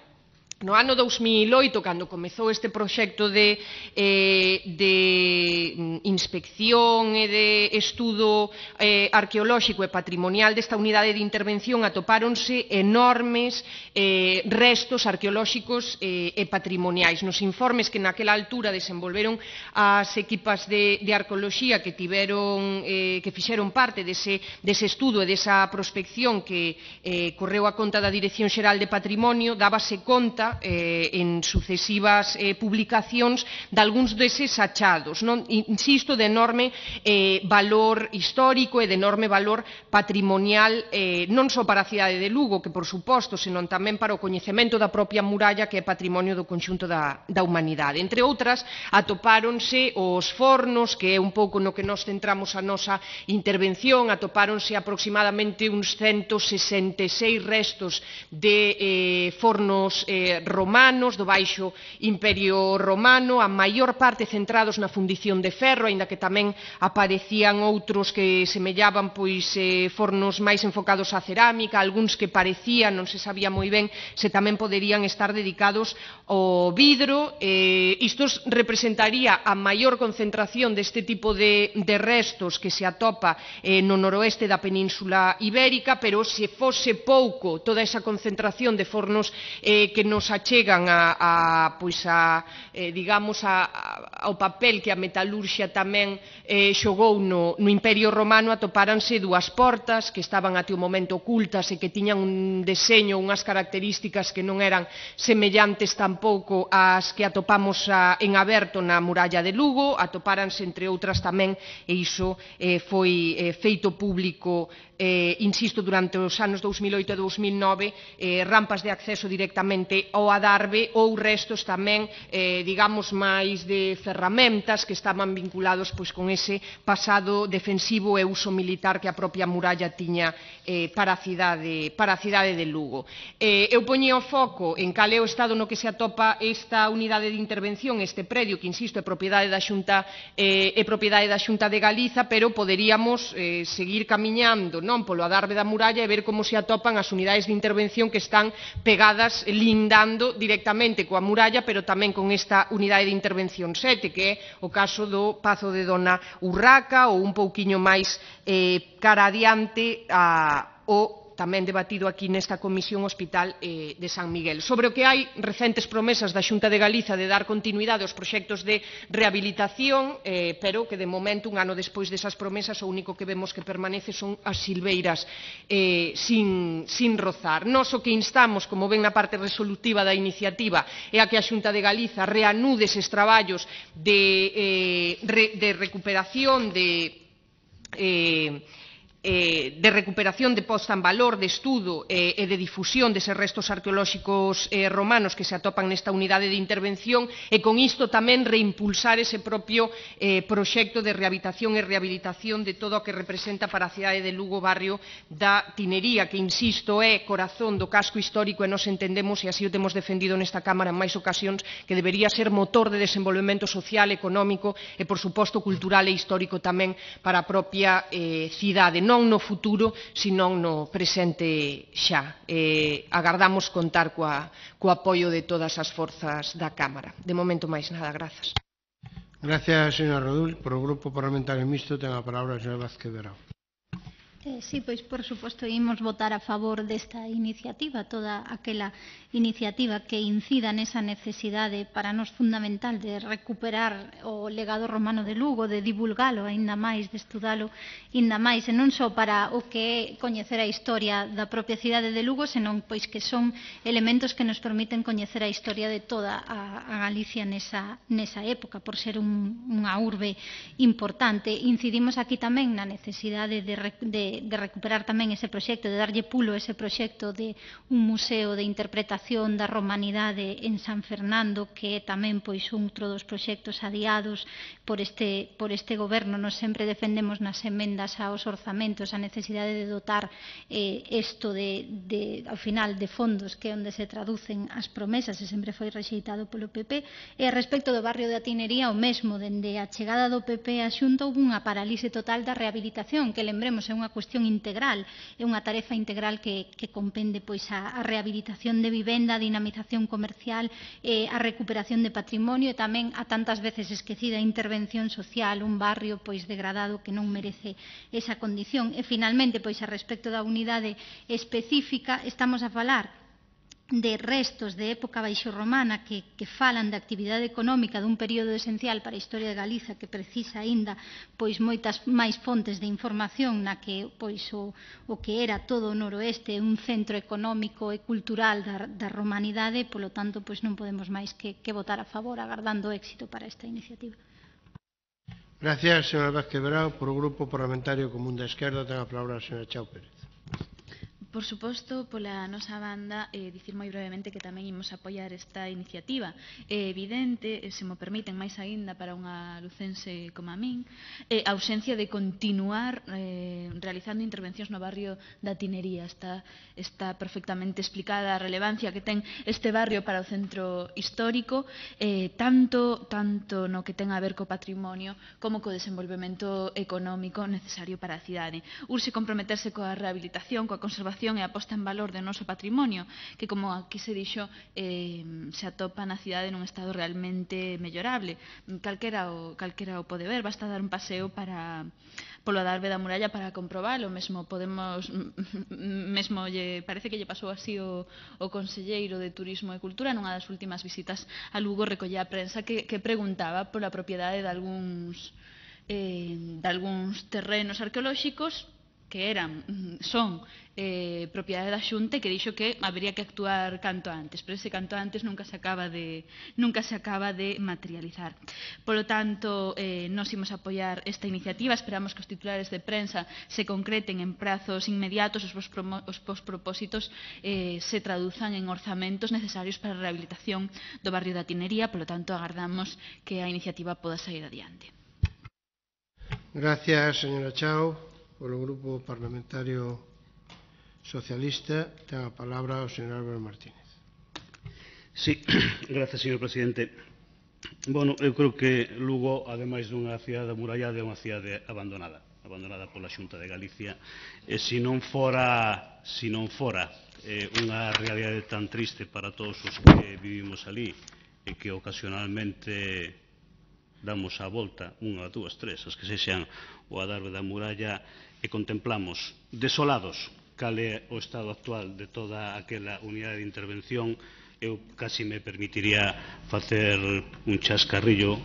No ano dous mil oito, cando comezou este proxecto de, eh, de inspección e de estudo eh, arqueolóxico e patrimonial desta unidade de intervención, atopáronse enormes eh, restos arqueolóxicos eh, e patrimoniais. Nos informes que naquela altura desenvolveron as equipas de, de arqueoloxía que tiveron, eh, que fixeron parte dese, dese estudo e desa prospección que eh, correu a conta da Dirección Xeral de Patrimonio, dábase conta Eh, en sucesivas eh, publicacións de algúns deses achados, non? Insisto, de enorme eh, valor histórico e de enorme valor patrimonial, eh, non só para a cidade de Lugo, que por suposto, senón tamén para o coñecemento da propia muralla, que é patrimonio do conxunto da, da humanidade. Entre outras, atopáronse os fornos, que é un pouco no que nos centramos a nosa intervención, atopáronse aproximadamente uns ciento sesenta e seis restos de eh, fornos eh, romanos do baixo Imperio Romano, a maior parte centrados na fundición de ferro, aínda que tamén aparecían outros que semellaban pois eh, fornos máis enfocados á cerámica, algúns que parecían, non se sabía moi ben se tamén poderían estar dedicados ao vidro. Eh, isto representaría a maior concentración deste tipo de, de restos que se atopa eh, no noroeste da Península Ibérica, pero se fose pouco toda esa concentración de fornos eh, que nos achegan a, a, pois a eh, digamos a, a, ao papel que a metalurxia tamén eh, xogou no, no Imperio Romano, atopáranse dúas portas que estaban até o momento ocultas e que tiñan un deseño, unhas características que non eran semellantes tampouco ás que atopamos a, en aberto na muralla de Lugo. Atopáranse, entre outras, tamén, e iso eh, foi eh, feito público, eh, insisto, durante os anos dous mil oito e dous mil nove, eh, rampas de acceso directamente ao adarve ou restos tamén, eh, digamos, máis de ferramentas que estaban vinculados pois con ese pasado defensivo e uso militar que a propia muralla tiña eh, para a cidade, para a cidade de Lugo. Eh, eu poñía o foco en cal é o estado no que se atopa esta unidade de intervención, este predio que, insisto, é propiedade da Xunta, eh, é propiedade da Xunta de Galiza, pero poderíamos eh, seguir camiñando, non, polo adarve da muralla e ver como se atopan as unidades de intervención que están pegadas, lindando directamente coa muralla, pero tamén con esta unidade de intervención sete, que é o caso do Pazo de Dona Urraca, ou un pouquiño máis eh, cara adiante a, o tamén debatido aquí nesta Comisión Hospital eh, de San Miguel. Sobre o que hai recentes promesas da Xunta de Galiza de dar continuidade aos proxectos de rehabilitación, eh, pero que de momento, un ano despois desas promesas, o único que vemos que permanece son as silveiras eh, sin, sin rozar. Nos o que instamos, como ven na parte resolutiva da iniciativa, é a que a Xunta de Galiza reanude eses traballos de, eh, re, de recuperación de... Eh, eh, de recuperación, de posta en valor, de estudo eh, e de difusión deses restos arqueolóxicos eh, romanos que se atopan nesta unidade de intervención, e con isto tamén reimpulsar ese propio eh, proxecto de rehabilitación e rehabilitación de todo o que representa para a cidade de Lugo barrio da Tinería, que, insisto, é corazón do casco histórico, e nos entendemos, e así o temos defendido nesta Cámara en máis ocasións, que debería ser motor de desenvolvemento social, económico e, por suposto, cultural e histórico tamén para a propia eh, cidade. non no futuro, senón no presente xa. Eh, agardamos contar coa, co apoio de todas as forzas da Cámara. De momento, máis nada, grazas. Gracias, señora Rodul. Por o Grupo Parlamentario Mixto ten a palabra a señora Vázquez Verao. Eh, sí, pois por suposto imos votar a favor desta iniciativa, toda aquela iniciativa que incida nesa necesidade para nos fundamental de recuperar o legado romano de Lugo, de divulgalo aínda máis, de estudalo aínda máis, e non só para o que é coñecer a historia da propia cidade de Lugo, senón pois que son elementos que nos permiten coñecer a historia de toda a, a Galicia nesa, nesa época, por ser un, unha urbe importante. Incidimos aquí tamén na necesidade de, de de recuperar tamén ese proxecto, de darlle pulo a ese proxecto de un museo de interpretación da romanidade en San Fernando, que é tamén pois outro dos proxectos adiados por este, por este goberno. Nos sempre defendemos nas emendas aos orzamentos a necesidade de dotar eh, isto de, de, ao final de fondos, que é onde se traducen as promesas, e sempre foi rexeitado polo P P. E a respecto do barrio de Atinería, o mesmo, dende a chegada do P P á Xunta houve unha parálise total da rehabilitación, que lembremos é unha cuestión integral, é unha tarefa integral que, que compende pois a, a rehabilitación de vivenda, a dinamización comercial, eh, a recuperación de patrimonio e tamén a tantas veces esquecida intervención social, un barrio pois degradado que non merece esa condición. E finalmente, pois a respecto da unidade específica, estamos a falar de restos de época baixorromana que, que falan da actividade económica dun período esencial para a historia de Galiza, que precisa aínda pois moitas máis fontes de información, na que pois o, o que era todo o noroeste un centro económico e cultural da, da romanidade. Polo tanto, pois non podemos máis que, que votar a favor, agardando éxito para esta iniciativa. Gracias, señora Vázquez Verao. Por o Grupo Parlamentario Común da Esquerda ten a palabra a señora Chao Pérez. Por suposto, pola nosa banda, eh, dicir moi brevemente que tamén imos apoiar esta iniciativa. É evidente, se mo permiten máis aínda para unha lucense como a min, eh, a ausencia de continuar eh, realizando intervencións no barrio da Tinería. Está, está perfectamente explicada a relevancia que ten este barrio para o centro histórico, eh, tanto, tanto no que ten a ver co patrimonio como co desenvolvemento económico necesario para a cidade. Urxe comprometerse coa rehabilitación, coa conservación e a posta en valor do noso patrimonio, que, como aquí se dixo, eh, se atopa na cidade nun estado realmente mellorable. Calquera o, calquera o pode ver, basta dar un paseo para polo adarve da muralla para comprobalo. Mesmo podemos, mesmo lle, parece que lle pasou así o, o conselleiro de Turismo e Cultura nunha das últimas visitas a Lugo, recollía a prensa que, que preguntaba pola propiedade de algúns, eh, de algúns terrenos arqueolóxicos que eran, son eh, propiedade da Xunta, e que dixo que habería que actuar canto antes, pero ese canto antes nunca se acaba de, nunca se acaba de materializar. Polo tanto, eh, nos imos apoiar esta iniciativa, esperamos que os titulares de prensa se concreten en prazos inmediatos, os, os pospropósitos eh, se traduzan en orzamentos necesarios para a rehabilitación do barrio da Tinería. Polo tanto, agardamos que a iniciativa poda sair adiante. Gracias, señora Chao. Por o Grupo Parlamentario Socialista ten a palabra o señor Álvaro Martínez. Sí, gracias, señor presidente. Bueno, eu creo que Lugo, ademais dunha cidade amurallada, é unha cidade abandonada, abandonada pola Xunta de Galicia, e se non fora, se non fora eh, unha realidade tan triste para todos os que vivimos ali, e que ocasionalmente damos a volta, unha, dúas, tres, as que sexan o adarve da muralla, e contemplamos desolados cal é o estado actual de toda aquela unidade de intervención. Eu casi me permitiría facer un chascarrillo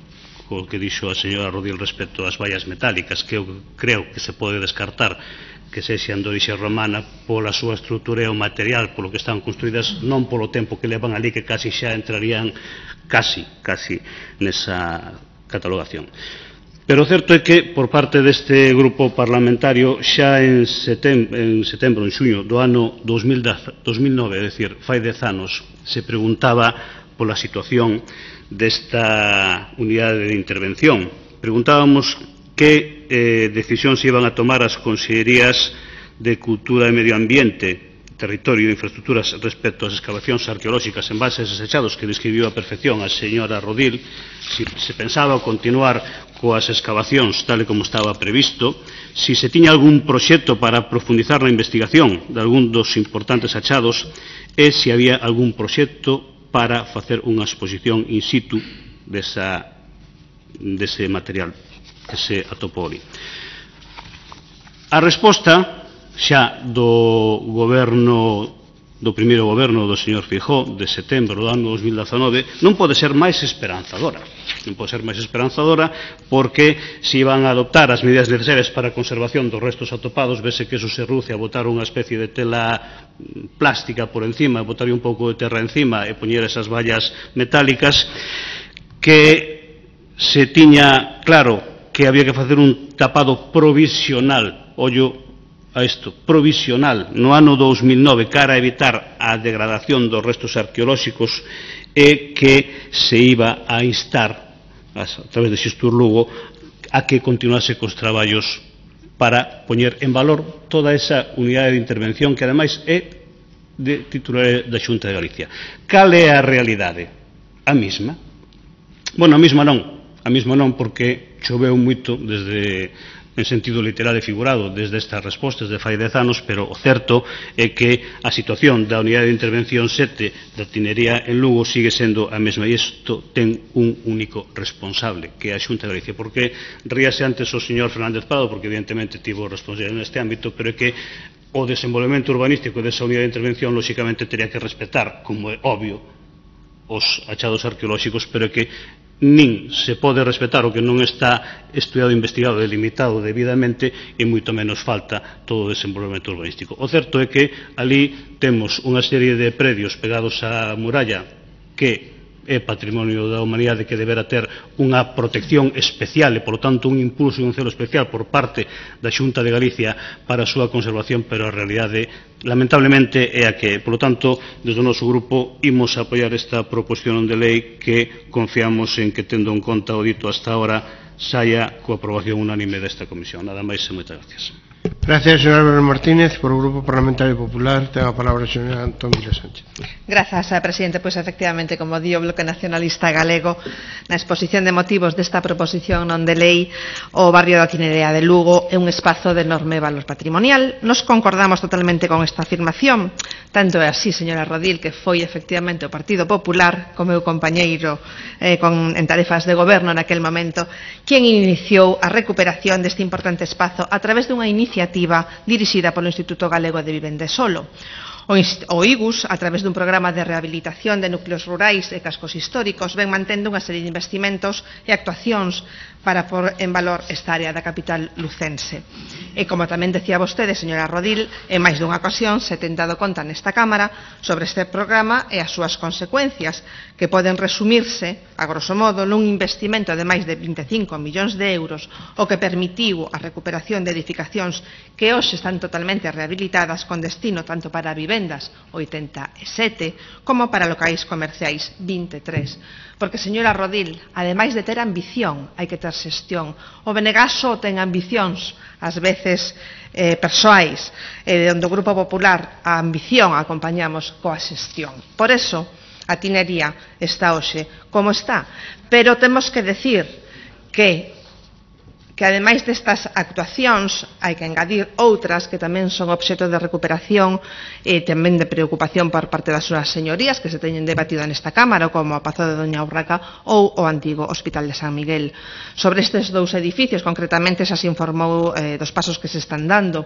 co que dixo a señora Rodil respecto ás vallas metálicas, que eu creo que se pode descartar que sexan de orixe romana pola súa estrutura e o material polo que están construídas, non polo tempo que levan ali, que casi xa entrarían casi, casi nesa catalogación. Pero o certo é que, por parte deste grupo parlamentario, xa en setembro, en, setembro, en xuño do ano dos mil nove, é dicir, fai dez anos, se preguntaba pola situación desta unidade de intervención. Preguntábamos que eh, decisións iban a tomar as consellerías de Cultura e Medio Ambiente territorio e infraestructuras respecto ás excavacións arqueolóxicas en bases desechados que describiu a perfección a señora Rodil, si se pensaba continuar coas excavacións tal e como estaba previsto, si se tiña algún proxecto para profundizar na investigación de algún dos importantes achados e se había algún proxecto para facer unha exposición in situ desa, dese material que se atopou ali. A resposta xa do goberno, do primeiro goberno do señor Feijóo de setembro do ano dos mil dezanove non pode ser máis esperanzadora. Non pode ser máis esperanzadora porque se iban a adoptar as medidas necesarias para a conservación dos restos atopados, vese que eso se reduce a botar unha especie de tela plástica por encima, botar un pouco de terra encima e poñer esas vallas metálicas, que se tiña claro que había que facer un tapado provisional, ollo a isto, provisional, no ano dos mil nove, cara a evitar a degradación dos restos arqueolóxicos e que se iba a instar, a través de Xestur Lugo, a que continuase cos traballos para poñer en valor toda esa unidade de intervención que, ademais, é de titular da Xunta de Galicia. Cal é a realidade? A mesma. Bueno, a mesma non. A mesma non porque choveu moito desde, en sentido literal e figurado, desde estas respostas de fai dez anos, pero o certo é que a situación da unidade de intervención sete da Tinería en Lugo sigue sendo a mesma, e isto ten un único responsable, que é a Xunta de Galicia. Porque ríase antes o señor Fernández Prado, porque evidentemente tivo responsabilidade neste ámbito, pero é que o desenvolvemento urbanístico desa unidade de intervención lóxicamente teria que respetar, como é obvio, os achados arqueolóxicos, pero é que nin se pode respetar o que non está estudiado, investigado, delimitado debidamente, e moito menos falta todo o desenvolvemento urbanístico. O certo é que ali temos unha serie de predios pegados á muralla que é patrimonio da humanidade, que deberá ter unha protección especial e, por tanto, un impulso e un celo especial por parte da Xunta de Galicia para a súa conservación, pero a realidade, lamentablemente, é a que, por lo tanto, desde o noso grupo imos a apoiar esta proposición de lei que confiamos en que, tendo en conta o dito hasta ahora, saia coa aprobación unánime desta comisión. Nada máis e moitas gracias. Gracias, señor Álvaro Martínez. Por o Grupo Parlamentario Popular, ten a palabra a señora Antón Vila Sánchez. Grazas, presidente. Pois, efectivamente, como di o Bloque Nacionalista Galego, na exposición de motivos desta proposición non de lei, o barrio da Tinerea de Lugo é un espazo de enorme valor patrimonial. Nos concordamos totalmente con esta afirmación. Tanto é así, señora Rodil, que foi efectivamente o Partido Popular, como meu compañeiro eh, con, en tarefas de goberno naquel momento, quen iniciou a recuperación deste importante espazo a través dunha iniciativa dirixida polo Instituto Galego de Vivenda e Solo. O I G U S, a través dun programa de rehabilitación de núcleos rurais e cascos históricos, ven mantendo unha serie de investimentos e actuacións para pôr en valor esta área da capital lucense. E, como tamén decía vostede, señora Rodil, en máis dunha ocasión se ten dado conta nesta Cámara sobre este programa e as súas consecuencias, que poden resumirse, a grosso modo, nun investimento de máis de vinte e cinco millóns de euros, o que permitiu a recuperación de edificacións que hoxe están totalmente rehabilitadas con destino tanto para vivendas oitenta e sete como para locais comerciais vinte e tres. Porque, señora Rodil, ademais de ter ambición, hai que ter xestión. O Benegaso ten ambicións, ás veces eh, persoais, e onde o Grupo Popular a ambición a acompañamos coa xestión. Por eso, a Tinería está hoxe como está. Pero temos que decir que que ademais destas actuacións hai que engadir outras que tamén son obxecto de recuperación e tamén de preocupación por parte das súas señorías que se teñen debatido nesta Cámara, como o Pazo de Doña Urraca ou o antigo Hospital de San Miguel. Sobre estes dous edificios, concretamente, xa se informou eh, dos pasos que se están dando.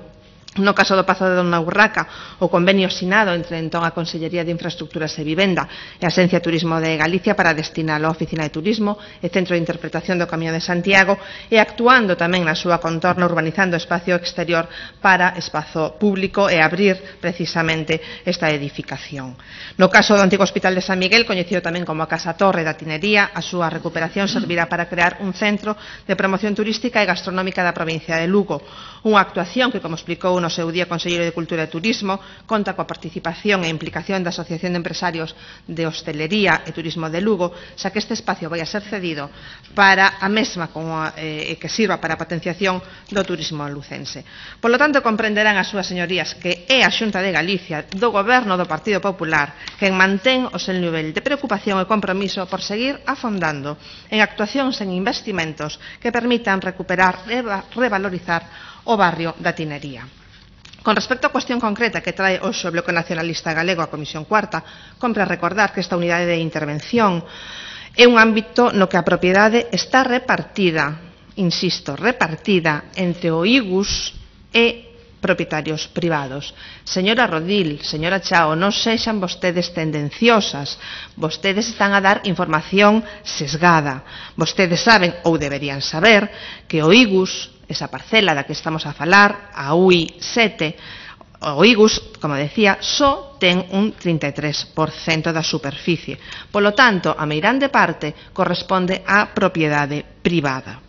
No caso do Pazo de Dona Urraca, o convenio sinado entre entón a Consellería de Infraestructuras e Vivenda e a Axencia de Turismo de Galicia para destinalo á Oficina de Turismo e Centro de Interpretación do Camiño de Santiago, e actuando tamén na súa contorna, urbanizando espacio exterior para espazo público e abrir precisamente esta edificación. No caso do antigo Hospital de San Miguel, coñecido tamén como a Casa Torre da Tinería, a súa recuperación servirá para crear un centro de promoción turística e gastronómica da provincia de Lugo, unha actuación que, como explicou no seu día Conselleiro de Cultura e Turismo, conta coa participación e implicación da Asociación de Empresarios de Hostelería e Turismo de Lugo, xa que este espacio vai a ser cedido para a mesma como, eh, que sirva para a potenciación do turismo lucense. Por lo tanto, comprenderán as súas señorías que é a Xunta de Galicia do Goberno do Partido Popular quen mantén o seu nivel de preocupación e compromiso por seguir afondando en actuacións en investimentos que permitan recuperar e revalorizar o barrio da Tinería. Con respecto á cuestión concreta que trae hoxe o Bloque Nacionalista Galego á Comisión Cuarta, compre recordar que esta unidade de intervención é un ámbito no que a propiedade está repartida, insisto, repartida entre o I G U S e propietarios privados. Señora Rodil, señora Chao, non sexan vostedes tendenciosas, vostedes están a dar información sesgada. Vostedes saben, ou deberían saber, que o I G U S, esa parcela da que estamos a falar, a U I sete, o I G U S, como decía, só ten un trinta e tres por cento da superficie. Polo tanto, a meirande parte corresponde á propiedade privada.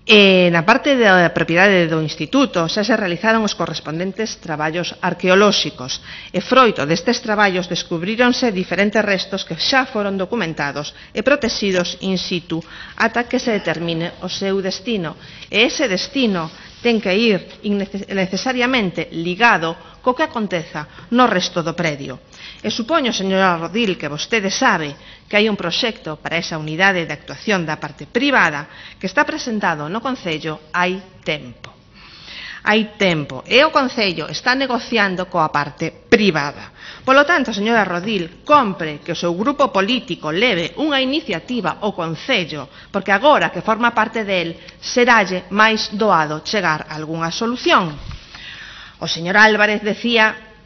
E na parte da propiedade do Instituto xa se realizaron os correspondentes traballos arqueolóxicos e froito destes traballos descubríronse diferentes restos que xa foron documentados e protegidos in situ ata que se determine o seu destino. E ese destino ten que ir necesariamente ligado co que aconteza no resto do predio. E supoño, señora Rodil, que vostede sabe que hai un proxecto para esa unidade de actuación da parte privada que está presentado no Concello hai tempo. Hai tempo. E o Concello está negociando coa parte privada. Polo tanto, señora Rodil, compre que o seu grupo político leve unha iniciativa ao Concello, porque agora que forma parte del, seralle máis doado chegar a algunha solución. O señor Álvarez decía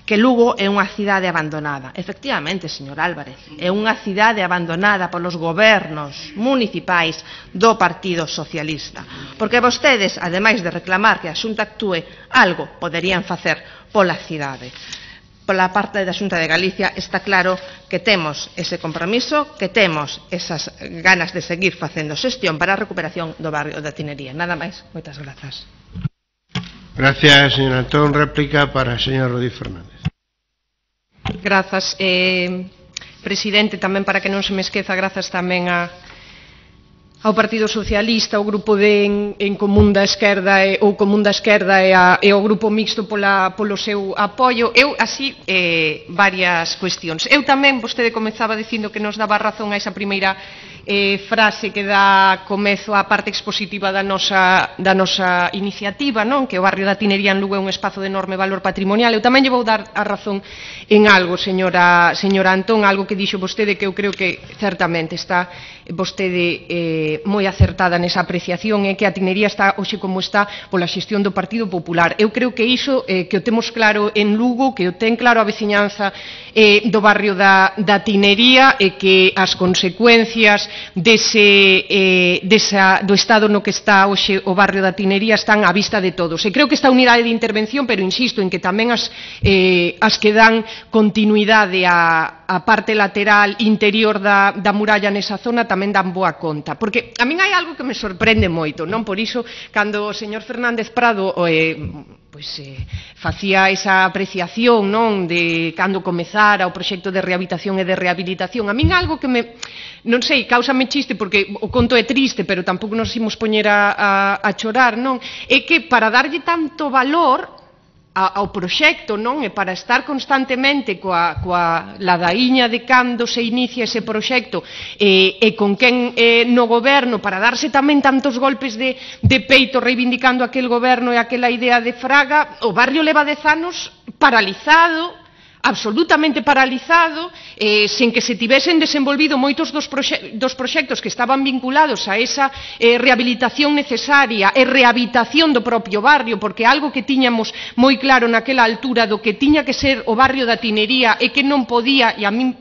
que Lugo é unha cidade abandonada. Efectivamente, señor Álvarez, é unha cidade abandonada polos gobernos municipais do Partido Socialista. Porque vostedes, ademais de reclamar que a Xunta actúe, algo poderían facer pola cidade. Pola parte da Xunta de Galicia está claro que temos ese compromiso, que temos esas ganas de seguir facendo xestión para a recuperación do barrio da Tinería. Nada máis. Moitas grazas. Gracias, señor Antón. Réplica para o señor Rodil Fernández. Grazas, eh, presidente, tamén para que non se me esqueza, grazas tamén a, ao Partido Socialista, ao Grupo de en, en Común da Esquerda e, ou Común da Esquerda e, a, e ao Grupo Mixto pola, polo seu apoio. Eu, así, eh, varias cuestións. Eu tamén, vostede comezaba dicindo que nos daba razón a esa primeira eh, frase que dá comezo á parte expositiva da nosa, da nosa iniciativa, non? Que o barrio da Tinería en Lugo é un espazo de enorme valor patrimonial. Eu tamén lle vou dar a razón en algo, señora, señora Antón, algo que dixo vostede que eu creo que certamente está vostede eh, moi acertada nesa apreciación, é que a Tinería está hoxe como está pola xestión do Partido Popular. Eu creo que iso eh, que o temos claro en Lugo, que o ten claro a veciñanza eh, do barrio da, da Tinería e que as consecuencias dese, eh, desa, do estado no que está hoxe o barrio da Tinería están á vista de todos. E creo que esta unidade de intervención, pero insisto en que tamén as, eh, as que dan continuidade a, a parte lateral interior da, da muralla nesa zona tamén dan boa conta. Porque a min hai algo que me sorprende moito, non? Por iso, cando o señor Fernández Prado eh, pois, eh, facía esa apreciación, non? De cando comezara o proxecto de rehabilitación e de rehabilitación, a min algo que me, non sei, cáusame chiste porque o conto é triste, pero tampouco nos imos poñer a, a, a chorar, non? É que para darlle tanto valor ao proxecto, non? E para estar constantemente coa, coa ladaíña de cando se inicia ese proxecto e, e con quen eh, no goberno, para darse tamén tantos golpes de, de peito reivindicando aquel goberno e aquela idea de Fraga, o barrio leva dez anos paralizado, absolutamente paralizado, eh, sen que se tivesen desenvolvido moitos dos, proxe dos proxectos que estaban vinculados a esa eh, rehabilitación necesaria e rehabilitación do propio barrio, porque algo que tiñamos moi claro naquela altura do que tiña que ser o barrio da Tinería e que non podía, e a min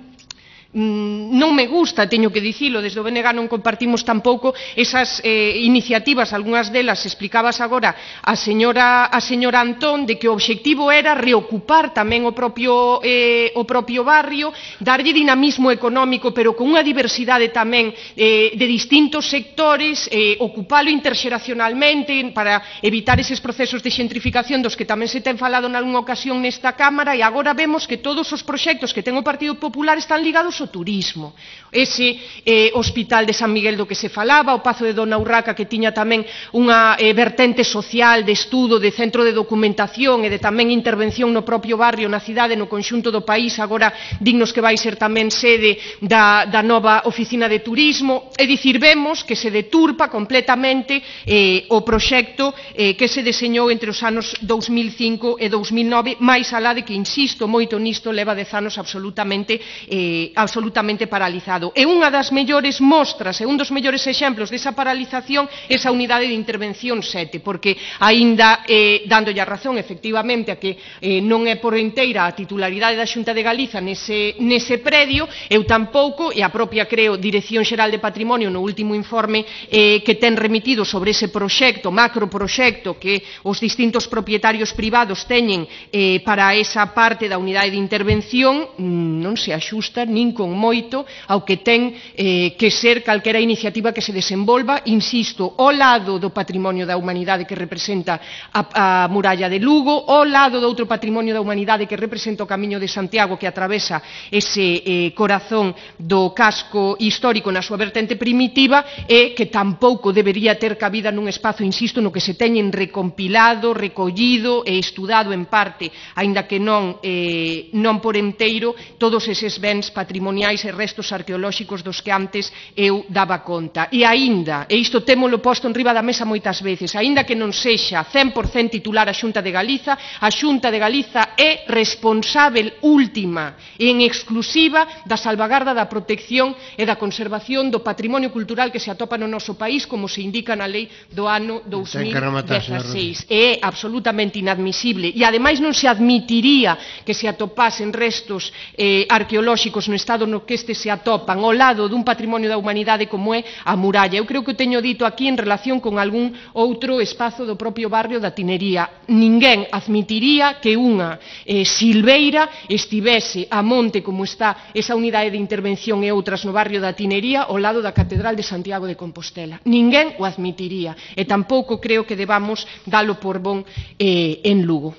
non me gusta, teño que dicilo, desde o B N G non compartimos tampouco esas eh, iniciativas, algunhas delas explicabas agora a señora, a señora Antón, de que o obxectivo era reocupar tamén o propio, eh, o propio barrio, darlle dinamismo económico, pero con unha diversidade tamén eh, de distintos sectores, eh, ocupalo interxeracionalmente para evitar eses procesos de xentrificación dos que tamén se ten falado nalgunha ocasión nesta Cámara, e agora vemos que todos os proxectos que ten o Partido Popular están ligados o turismo. Ese eh, hospital de San Miguel do que se falaba, o Pazo de Dona Urraca, que tiña tamén unha eh, vertente social de estudo, de centro de documentación e de tamén intervención no propio barrio, na cidade, no conxunto do país, agora dignos que vai ser tamén sede da, da nova oficina de turismo. É dicir, vemos que se deturpa completamente eh, o proxecto eh, que se deseñou entre os anos dous mil cinco e dous mil nove, máis alá de que, insisto moito nisto, leva dez anos absolutamente eh, absolutamente paralizado. E unha das mellores mostras e un dos mellores exemplos desa paralización é esa unidade de intervención sete, porque aínda eh, dándolle a razón efectivamente a que eh, non é por enteira a titularidade da Xunta de Galiza nese, nese predio, eu tampouco, e a propia, creo, Dirección Xeral de Patrimonio no último informe eh, que ten remitido sobre ese proxecto, macroproxecto que os distintos propietarios privados teñen eh, para esa parte da unidade de intervención, non se axusta nin con moito ao que ten eh, que ser calquera iniciativa que se desenvolva, insisto, ao lado do patrimonio da humanidade que representa a, a muralla de Lugo, ao lado do outro patrimonio da humanidade que representa o Camiño de Santiago, que atravesa ese eh, corazón do casco histórico na súa vertente primitiva, e que tampouco debería ter cabida nun espazo, insisto, no que se teñen recompilado, recollido e estudado en parte, aínda que non, eh, non por enteiro, todos eses bens patrimoniais e restos arqueolóxicos dos que antes eu daba conta. E aínda, e isto témolo posto en riba da mesa moitas veces, aínda que non sexa cen por cento titular a Xunta de Galiza, a Xunta de Galiza é responsável última e en exclusiva da salvagarda, da protección e da conservación do patrimonio cultural que se atopa no noso país, como se indica na lei do ano dous mil dezasseis. E é absolutamente inadmisible, e ademais non se admitiría que se atopasen restos eh, arqueolóxicos no estado no que este se atopan ao lado dun patrimonio da humanidade como é a muralla. Eu creo que o teño dito aquí en relación con algún outro espazo do propio barrio da Tinería. Ninguén admitiría que unha eh, silveira estivese a monte como está esa unidade de intervención e outras no barrio da Tinería ao lado da Catedral de Santiago de Compostela. Ninguén o admitiría, e tampouco creo que debamos dalo por bon eh, en Lugo.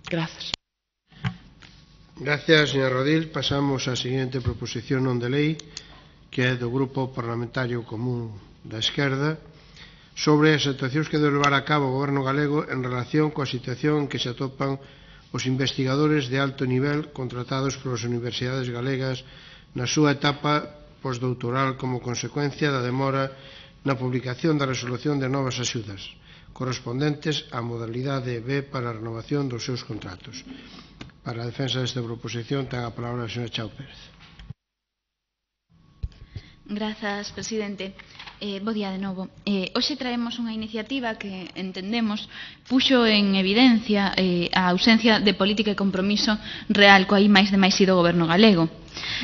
Grazas. Gracias, señor Rodil. Pasamos á seguinte proposición non de lei, que é do Grupo Parlamentario Común da Esquerda, sobre as actuacións que debe levar a cabo o Goberno galego en relación coa situación en que se atopan os investigadores de alto nivel contratados polas universidades galegas na súa etapa postdoutoral como consecuencia da demora na publicación da resolución de novas axudas correspondentes á modalidade B para a renovación dos seus contratos. Para a defensa desta proposición ten a palabra a señora Chao Pérez. Grazas, presidente. Eh, bo día de novo. Eh, hoxe traemos unha iniciativa que entendemos puxo en evidencia eh, a ausencia de política e compromiso real coa I máis de máis I do Goberno galego.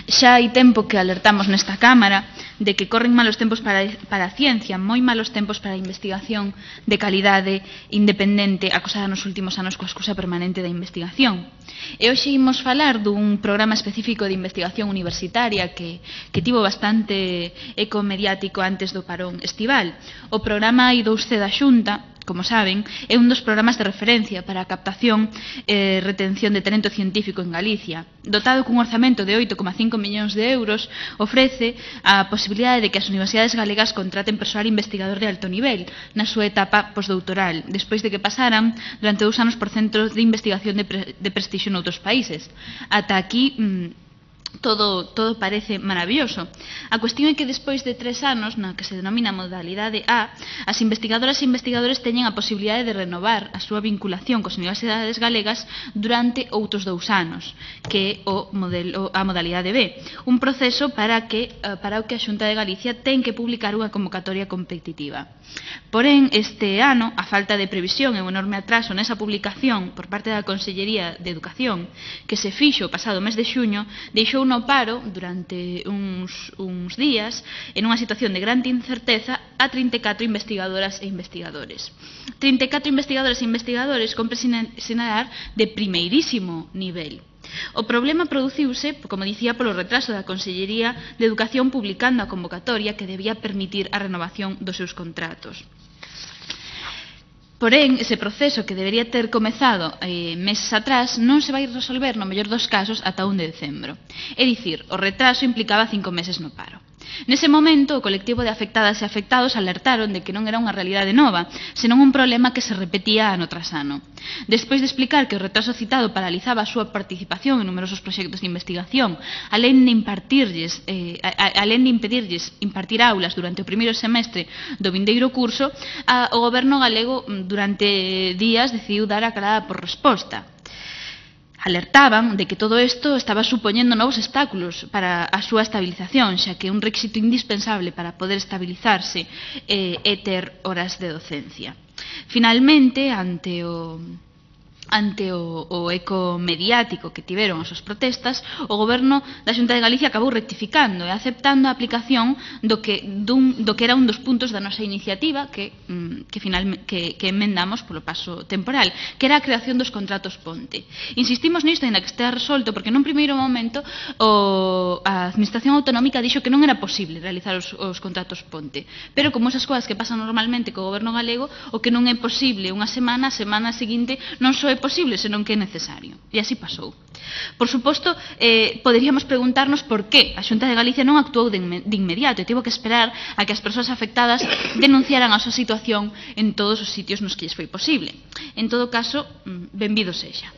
Xa hai tempo que alertamos nesta Cámara de que corren malos tempos para, para a ciencia, moi malos tempos para a investigación de calidade independente acosada nos últimos anos coa excusa permanente da investigación. E hoxe imos falar dun programa específico de investigación universitaria que, que tivo bastante eco mediático antes do parón estival. O programa I dous C da Xunta, como saben, é un dos programas de referencia para a captación e retención de talento científico en Galicia. Dotado cun orzamento de oito coma cinco millóns de euros, ofrece a posibilidade de que as universidades galegas contraten persoal investigador de alto nivel na súa etapa postdoutoral, despois de que pasaran durante dous anos por centros de investigación de, pre de prestixio noutros países. Ata aquí mmm, Todo, todo parece maravilloso. A cuestión é que despois de tres anos, na que se denomina modalidade A, as investigadoras e investigadores teñen a posibilidade de renovar a súa vinculación cos universidades galegas durante outros dous anos, que é o modelo, a modalidade B, un proceso para, que, para o que a Xunta de Galicia ten que publicar unha convocatoria competitiva. Porén, este ano, a falta de previsión e o enorme atraso nesa publicación por parte da Consellería de Educación, que se fixo o pasado mes de xuño, deixou no paro durante uns, uns días, en unha situación de grande incerteza, a trinta e catro investigadoras e investigadores. trinta e catro investigadoras e investigadores compre sinalar de primeirísimo nivel. O problema produciuse, como dicía, polo retraso da Consellería de Educación publicando a convocatoria que debía permitir a renovación dos seus contratos. Porén, ese proceso que debería ter comezado eh, meses atrás non se vai resolver no mellor dos casos ata un de decembro. É dicir, o retraso implicaba cinco meses no paro. Nese momento, o colectivo de afectadas e afectados alertaron de que non era unha realidade nova, senón un problema que se repetía ano tras ano. Despois de explicar que o retraso citado paralizaba a súa participación en numerosos proxectos de investigación, alén de impartirlles, eh, a, alén de impedirlles impartir aulas durante o primeiro semestre do vindeiro curso, a, o goberno galego durante días decidiu dar a calada por resposta. Alertaban de que todo isto estaba supoñendo novos obstáculos para a súa estabilización, xa que un requisito indispensable para poder estabilizarse eh, é ter horas de docencia. Finalmente, ante o... ante o, o eco mediático que tiveron as súas protestas, o goberno da Xunta de Galicia acabou rectificando e aceptando a aplicación do que, dun, do que era un dos puntos da nosa iniciativa que, que, final, que, que emendamos polo paso temporal, que era a creación dos contratos ponte. Insistimos nisto, ainda que estea resolto, porque nun primeiro momento o, a Administración Autonómica dixo que non era posible realizar os, os contratos ponte, pero como esas cousas que pasan normalmente co goberno galego, o que non é posible unha semana, a semana seguinte non só é posible, senón que é necesario. E así pasou. Por suposto, eh, poderíamos preguntarnos por que a Xunta de Galicia non actuou de, de inmediato e tivo que esperar a que as persoas afectadas denunciaran a súa situación en todos os sitios nos que lles foi posible. En todo caso, benvido sexa.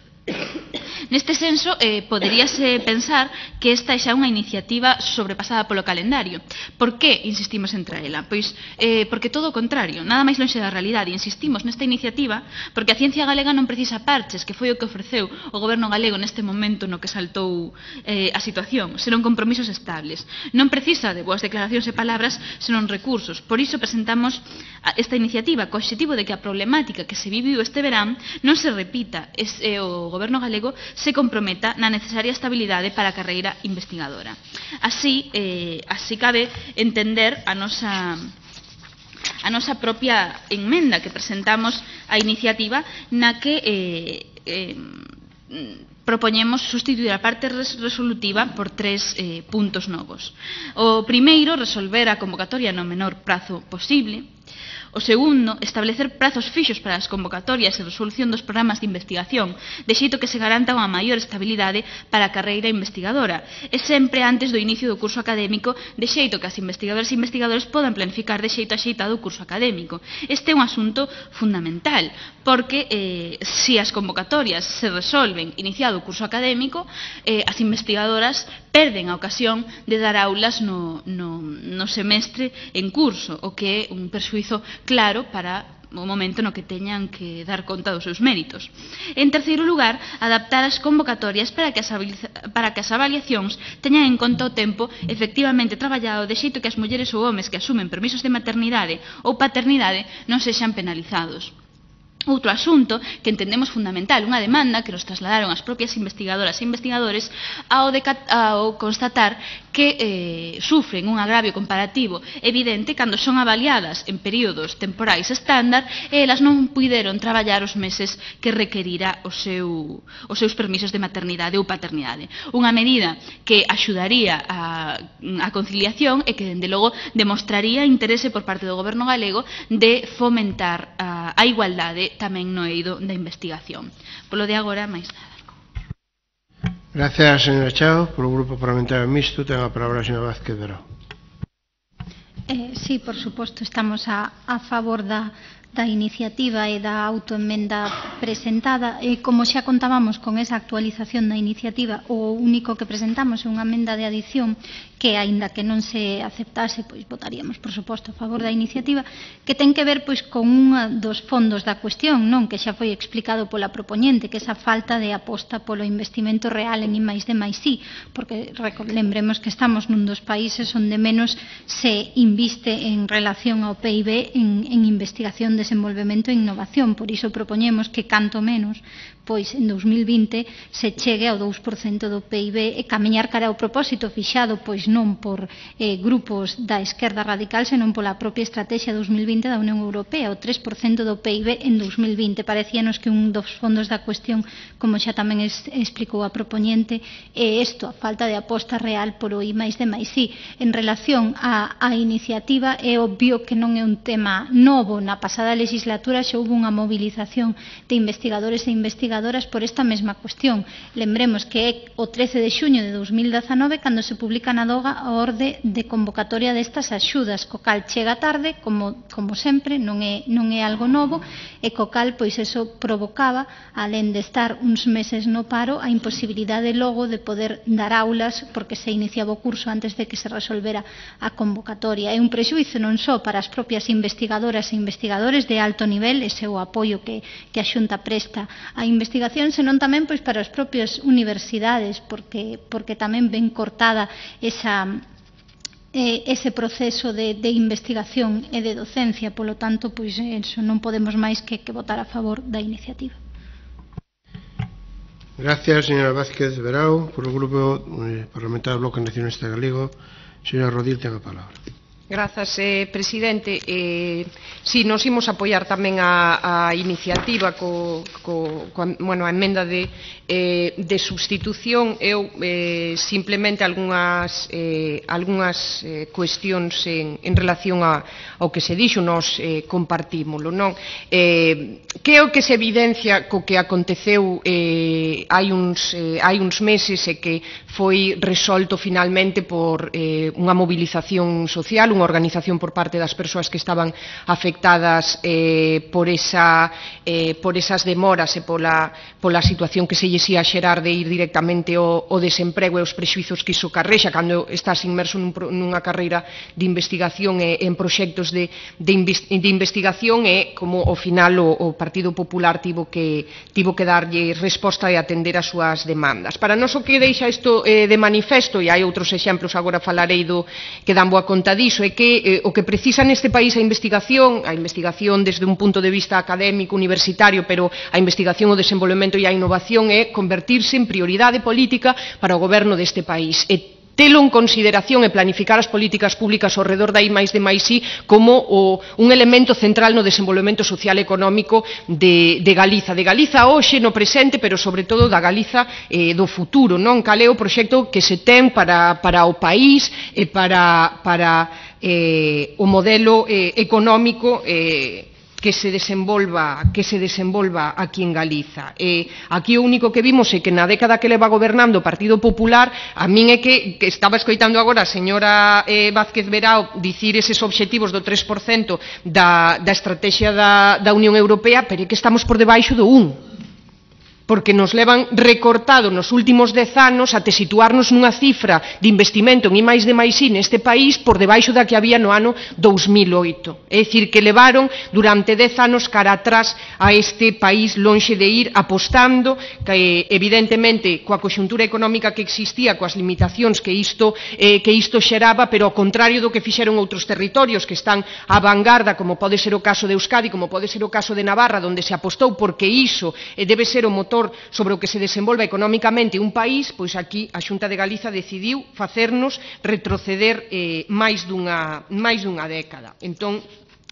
Neste senso, eh, poderíase pensar que esta é xa unha iniciativa sobrepasada polo calendario. Por que insistimos en traela? Pois eh, porque todo o contrario, nada máis lonxe da realidade. Insistimos nesta iniciativa porque a ciencia galega non precisa parches, que foi o que ofreceu o goberno galego neste momento no que saltou eh, a situación, senón compromisos estables. Non precisa de boas declaracións e palabras, senón recursos. Por iso presentamos esta iniciativa co obxectivo de que a problemática que se viviu este verán non se repita e eh, o goberno galego se comprometa na necesaria estabilidade para a carreira investigadora. Así, eh, así cabe entender a nosa a nosa propia enmenda que presentamos á iniciativa na que eh, eh, propoñemos sustituir a parte resolutiva por tres eh, puntos novos. O primeiro, resolver a convocatoria no menor prazo posible. O segundo, establecer prazos fixos para as convocatorias e resolución dos programas de investigación, de xeito que se garanta unha maior estabilidade para a carreira investigadora, e sempre antes do inicio do curso académico, de xeito que as investigadoras e investigadores podan planificar de xeito axeitado o curso académico. Este é un asunto fundamental, porque eh, se as convocatorias se resolven iniciado o curso académico, eh, as investigadoras perden a ocasión de dar aulas no, no, no semestre en curso, o que é un perxuízo claro para o momento no que teñan que dar conta dos seus méritos. En terceiro lugar, adaptar as convocatorias para que as, para que as avaliacións teñan en conta o tempo efectivamente traballado, de xeito que as mulleres ou homes que asumen permisos de maternidade ou paternidade non sexan penalizados. Outro asunto que entendemos fundamental, unha demanda que nos trasladaron as propias investigadoras e investigadores ao, de, ao constatar que eh, sufren un agravio comparativo evidente cando son avaliadas en períodos temporais estándar e elas non puideron traballar os meses que requerira o seu, os seus permisos de maternidade ou paternidade. Unha medida que axudaría a, a conciliación e que, dende logo, demostraría interese por parte do goberno galego de fomentar a, a igualdade tamén no eido da investigación. Polo de agora, máis nada. Gracias, señora Chao. Por o Grupo Parlamentario Mixto, ten a palabra a señora Vázquez Verao. Eh, sí, por suposto, estamos a, a favor da, da iniciativa e da autoemenda presentada. E como xa contábamos con esa actualización da iniciativa, o único que presentamos é unha emenda de adición que, aínda que non se aceptase, pois votaríamos, por suposto, a favor da iniciativa, que ten que ver pois con un dos fondos da cuestión, non, que xa foi explicado pola propoñente, que esa falta de aposta polo investimento real en I máis D máis I, porque lembremos que estamos nun dos países onde menos se inviste en relación ao P I B en, en investigación, desenvolvemento e innovación. Por iso propoñemos que canto menos pois en dous mil vinte se chegue ao dous por cento do P I B e camiñar cara ao propósito fixado pois non por eh, grupos da esquerda radical, senón pola propia estrategia dous mil vinte da Unión Europea, o tres por cento do P I B en dous mil vinte. Parecíanos que un dos fondos da cuestión, como xa tamén es, explicou a propoñente, é isto, a falta de aposta real polo I máis D máis I. En relación á, á iniciativa, é obvio que non é un tema novo. Na pasada legislatura xa houve unha movilización de investigadores e investigadoras por esta mesma cuestión. Lembremos que é o trece de xuño de dous mil dezanove cando se publica na DOGA a orde de convocatoria destas axudas, co cal chega tarde, como, como sempre, non é, non é algo novo, e co cal pois eso provocaba, alén de estar uns meses no paro, a imposibilidade logo de poder dar aulas porque se iniciaba o curso antes de que se resolvera a convocatoria. É un prexuízo non só para as propias investigadoras e investigadores de alto nivel, ese é o apoio que, que a Xunta presta a investigación, senón tamén pois para as propias universidades, porque, porque tamén ven cortada esa, eh, ese proceso de, de investigación e de docencia. Polo tanto, pois eso, non podemos máis que, que votar a favor da iniciativa. Gracias, señora Vázquez Verao. Por o Grupo eh, Parlamentario do Bloque Nacionalista Galego, señora Rodil, ten a palabra. Grazas, eh, presidente. Eh, si, nos imos apoiar tamén a, a iniciativa co, co, co, bueno, a emenda de, eh, de substitución. Eu eh, simplemente algunhas, eh, algunhas eh, cuestións en, en relación a, ao que se dixo, nos eh, compartímolo, non? Eh, que é o que se evidencia co que aconteceu eh, hai, uns, eh, hai uns meses e que foi resolto finalmente por eh, unha movilización social, unha organización por parte das persoas que estaban afectadas eh, por, esa, eh, por esas demoras e pola, pola situación que se lles ia xerar de ir directamente ao, ao desemprego e os prexuizos que iso carrexa cando estás inmerso nun, nunha carreira de investigación e en proxectos de, de, de investigación, e como ao final o, o Partido Popular tivo que, tivo que darlle resposta e atender as súas demandas. Para nós o que deixa isto eh, de manifesto, e hai outros exemplos, agora falarei do que dan boa conta diso, é que eh, o que precisa neste país a investigación, a investigación desde un punto de vista académico, universitario, pero a investigación, o desenvolvemento e a innovación é convertirse en prioridade política para o goberno deste país. E telo en consideración e planificar as políticas públicas ao redor da I máis D máis I como o, un elemento central no desenvolvemento social e económico de, de Galiza. De Galiza hoxe, no presente, pero sobre todo da Galiza eh, do futuro, non? Cal é o proxecto que se ten para, para o país e para, para eh, o modelo eh, económico eh, que se desenvolva que se desenvolva aquí en Galiza. E aquí o único que vimos é que na década que leva gobernando o Partido Popular, a min é que, que estaba escoitando agora a señora eh, Vázquez Verao dicir eses obxectivos do tres por cento da, da estrategia da, da Unión Europea, pero é que estamos por debaixo do un. Porque nos levan recortado nos últimos dez anos até situarnos nunha cifra de investimento en I máis D máis I neste país por debaixo da que había no ano dous mil oito. É dicir, que levaron durante dez anos cara atrás a este país, lonxe de ir apostando, que evidentemente coa conxuntura económica que existía, coas limitacións que isto, eh, que isto xeraba, pero ao contrario do que fixeron outros territorios que están á vanguarda, como pode ser o caso de Euskadi, como pode ser o caso de Navarra, onde se apostou porque iso eh, debe ser o motor sobre o que se desenvolva económicamente un país, pois aquí a Xunta de Galiza decidiu facernos retroceder eh, máis dunha, máis dunha década. Entón,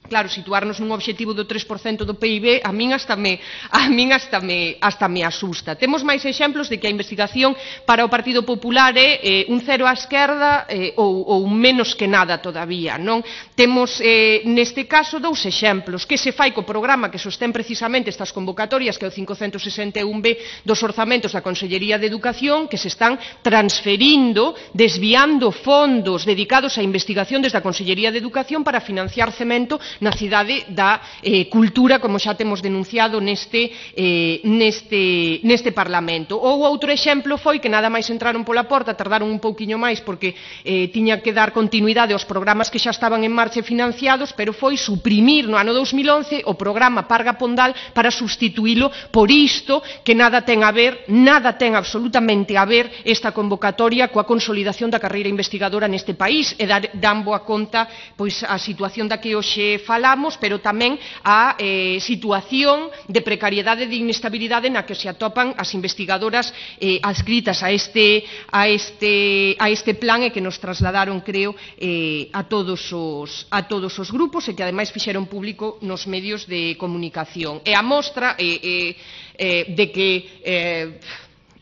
claro, situarnos nun obxectivo do tres por cento do P I B a min hasta me, a min hasta me, hasta me asusta. Temos máis exemplos de que a investigación para o Partido Popular é eh, un cero á esquerda eh, ou, ou menos que nada todavía, non? Temos eh, neste caso dous exemplos, que se fai co programa que sostén precisamente estas convocatorias, que é o quinhentos sesenta e un B dos orzamentos da Consellería de Educación, que se están transferindo, desviando fondos dedicados á investigación desde a Consellería de Educación para financiar cemento na cidade da eh, cultura, como xa temos denunciado neste, eh, neste, neste Parlamento. Ou outro exemplo foi que nada máis entraron pola porta, tardaron un pouquiño máis porque eh, tiña que dar continuidade aos programas que xa estaban en marcha e financiados, pero foi suprimir no ano dous mil once o programa Parga Pondal para sustituílo por isto que nada ten a ver, nada ten absolutamente a ver esta convocatoria coa consolidación da carreira investigadora neste país e dar, dan boa conta pois a situación da que hoxe falamos, pero tamén a eh, situación de precariedade e de inestabilidade na que se atopan as investigadoras eh, adscritas a este, a, este, a este plan e que nos trasladaron, creo, eh, a, todos os, a todos os grupos e que ademais fixeron público nos medios de comunicación. E a mostra eh, eh, eh, de que eh,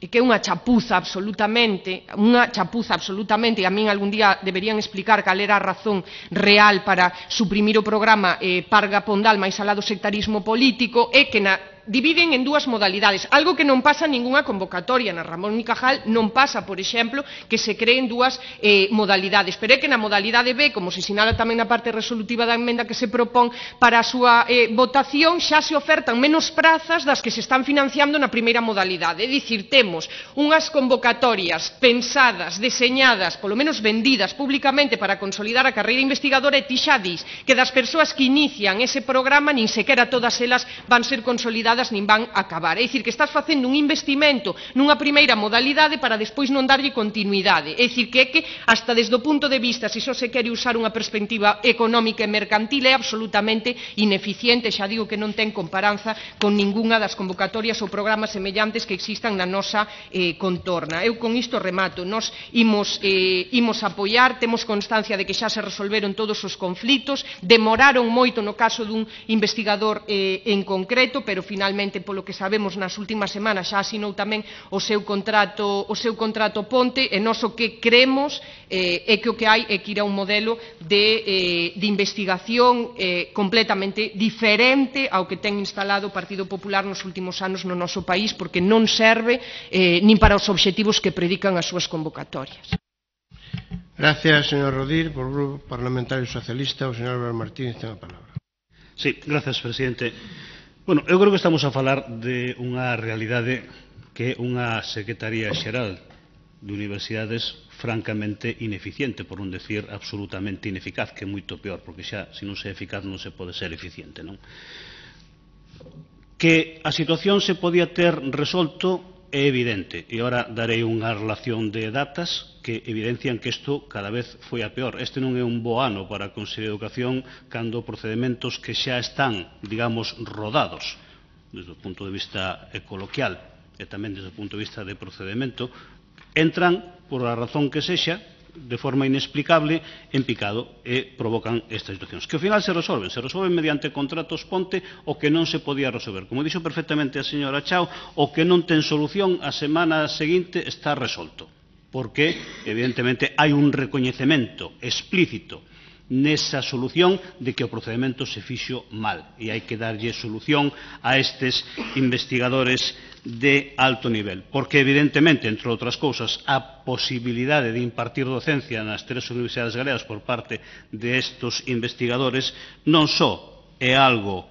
e que é unha chapuza absolutamente, unha chapuza absolutamente, e a min algún día deberían explicar cal era a razón real para suprimir o programa eh, Parga Pondal máis alá do sectarismo político, é que na dividen en dúas modalidades, algo que non pasa en ningunha convocatoria. Na Ramón y Cajal non pasa, por exemplo, que se creen dúas eh, modalidades, pero é que na modalidade B, como se sinala tamén na parte resolutiva da emenda que se propón para a súa eh, votación, xa se ofertan menos prazas das que se están financiando na primeira modalidade. É dicir, temos unhas convocatorias pensadas, deseñadas, polo menos vendidas públicamente para consolidar a carreira investigadora, e ti xa dis que das persoas que inician ese programa nin sequera todas elas van ser consolidadas nin van a acabar. É dicir, que estás facendo un investimento nunha primeira modalidade para despois non darlle continuidade. É dicir, que é que hasta desde o punto de vista, se só se quere usar unha perspectiva económica e mercantil, é absolutamente ineficiente. Xa digo que non ten comparanza con ningunha das convocatorias ou programas semellantes que existan na nosa eh, contorna. Eu con isto remato. Nos imos, eh, imos apoiar, temos constancia de que xa se resolveron todos os conflitos, demoraron moito no caso dun investigador eh, en concreto, pero finalmente Finalmente, polo que sabemos, nas últimas semanas xa asinou tamén o seu contrato, o seu contrato ponte, e nós o que creemos eh, é que o que hai é que ir a un modelo de, eh, de investigación eh, completamente diferente ao que ten instalado o Partido Popular nos últimos anos no noso país, porque non serve eh, nin para os obxectivos que predican as súas convocatorias. Gracias, señor Rodil. Por o Grupo Parlamentario Socialista, o señor Álvaro Martínez ten a palabra. Sí, gracias, presidente. Bueno, eu creo que estamos a falar de unha realidade que é unha Secretaría Xeral de Universidades francamente ineficiente, por non decir absolutamente ineficaz, que é moito peor, porque xa, se non se é eficaz, non se pode ser eficiente, non? Que a situación se podía ter resolto é evidente, e agora darei unha relación de datas que evidencian que isto cada vez foi a peor. Este non é un bo ano para a Consellería de Educación cando procedementos que xa están, digamos, rodados desde o punto de vista coloquial e tamén desde o punto de vista de procedimento, entran, por a razón que sexa, de forma inexplicable, en picado e provocan estas situacións. Que ao final se resolven, se resolven mediante contratos ponte o que non se podía resolver. Como dixo perfectamente a señora Chao, o que non ten solución a semana seguinte está resolto, porque evidentemente hai un recoñecemento explícito nesa solución de que o procedimento se fixo mal e hai que darlle solución a estes investigadores de alto nivel, porque evidentemente, entre outras cousas, a posibilidade de impartir docencia nas tres universidades galegas por parte de estos investigadores non só é algo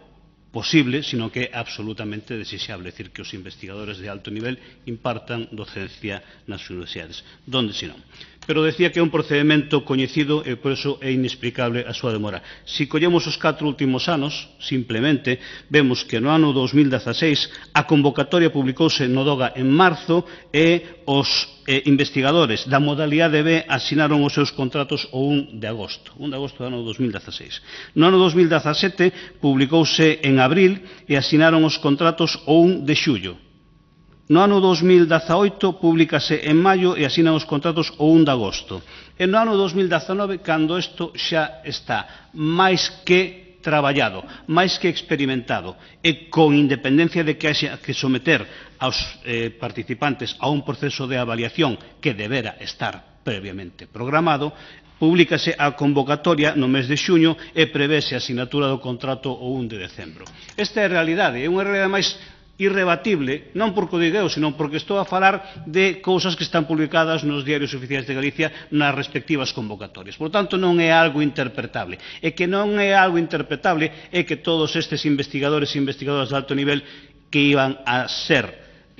posible, sino que é absolutamente desexable, é dicir, que os investigadores de alto nivel impartan docencia nas universidades. Donde senón? Pero decía que é un procedimento coñecido e por iso é inexplicable a súa demora. Se collemos os catro últimos anos, simplemente, vemos que no ano dos mil dezaseis a convocatoria publicouse no DOGA en marzo e os eh, investigadores da modalidade B asinaron os seus contratos o un de agosto, un de agosto do ano dos mil dezaseis. No ano dos mil dezasete publicouse en abril e asinaron os contratos o un de xullo. No ano dos mil dezaoito públicase en maio e asinan os contratos o un de agosto. E no ano dos mil dezenove, cando isto xa está máis que traballado, máis que experimentado, e con independencia de que haxa que someter aos eh, participantes a un proceso de avaliación que debera estar previamente programado, públicase a convocatoria no mes de xuño e prevese a asinatura do contrato o un de decembro. Esta é a realidade, é unha realidade máis irrebatible, non porque o diga eu, senón porque estou a falar de cousas que están publicadas nos diarios oficiais de Galicia nas respectivas convocatorias. Por tanto, non é algo interpretable. E que non é algo interpretable é que todos estes investigadores e investigadoras de alto nivel que iban a ser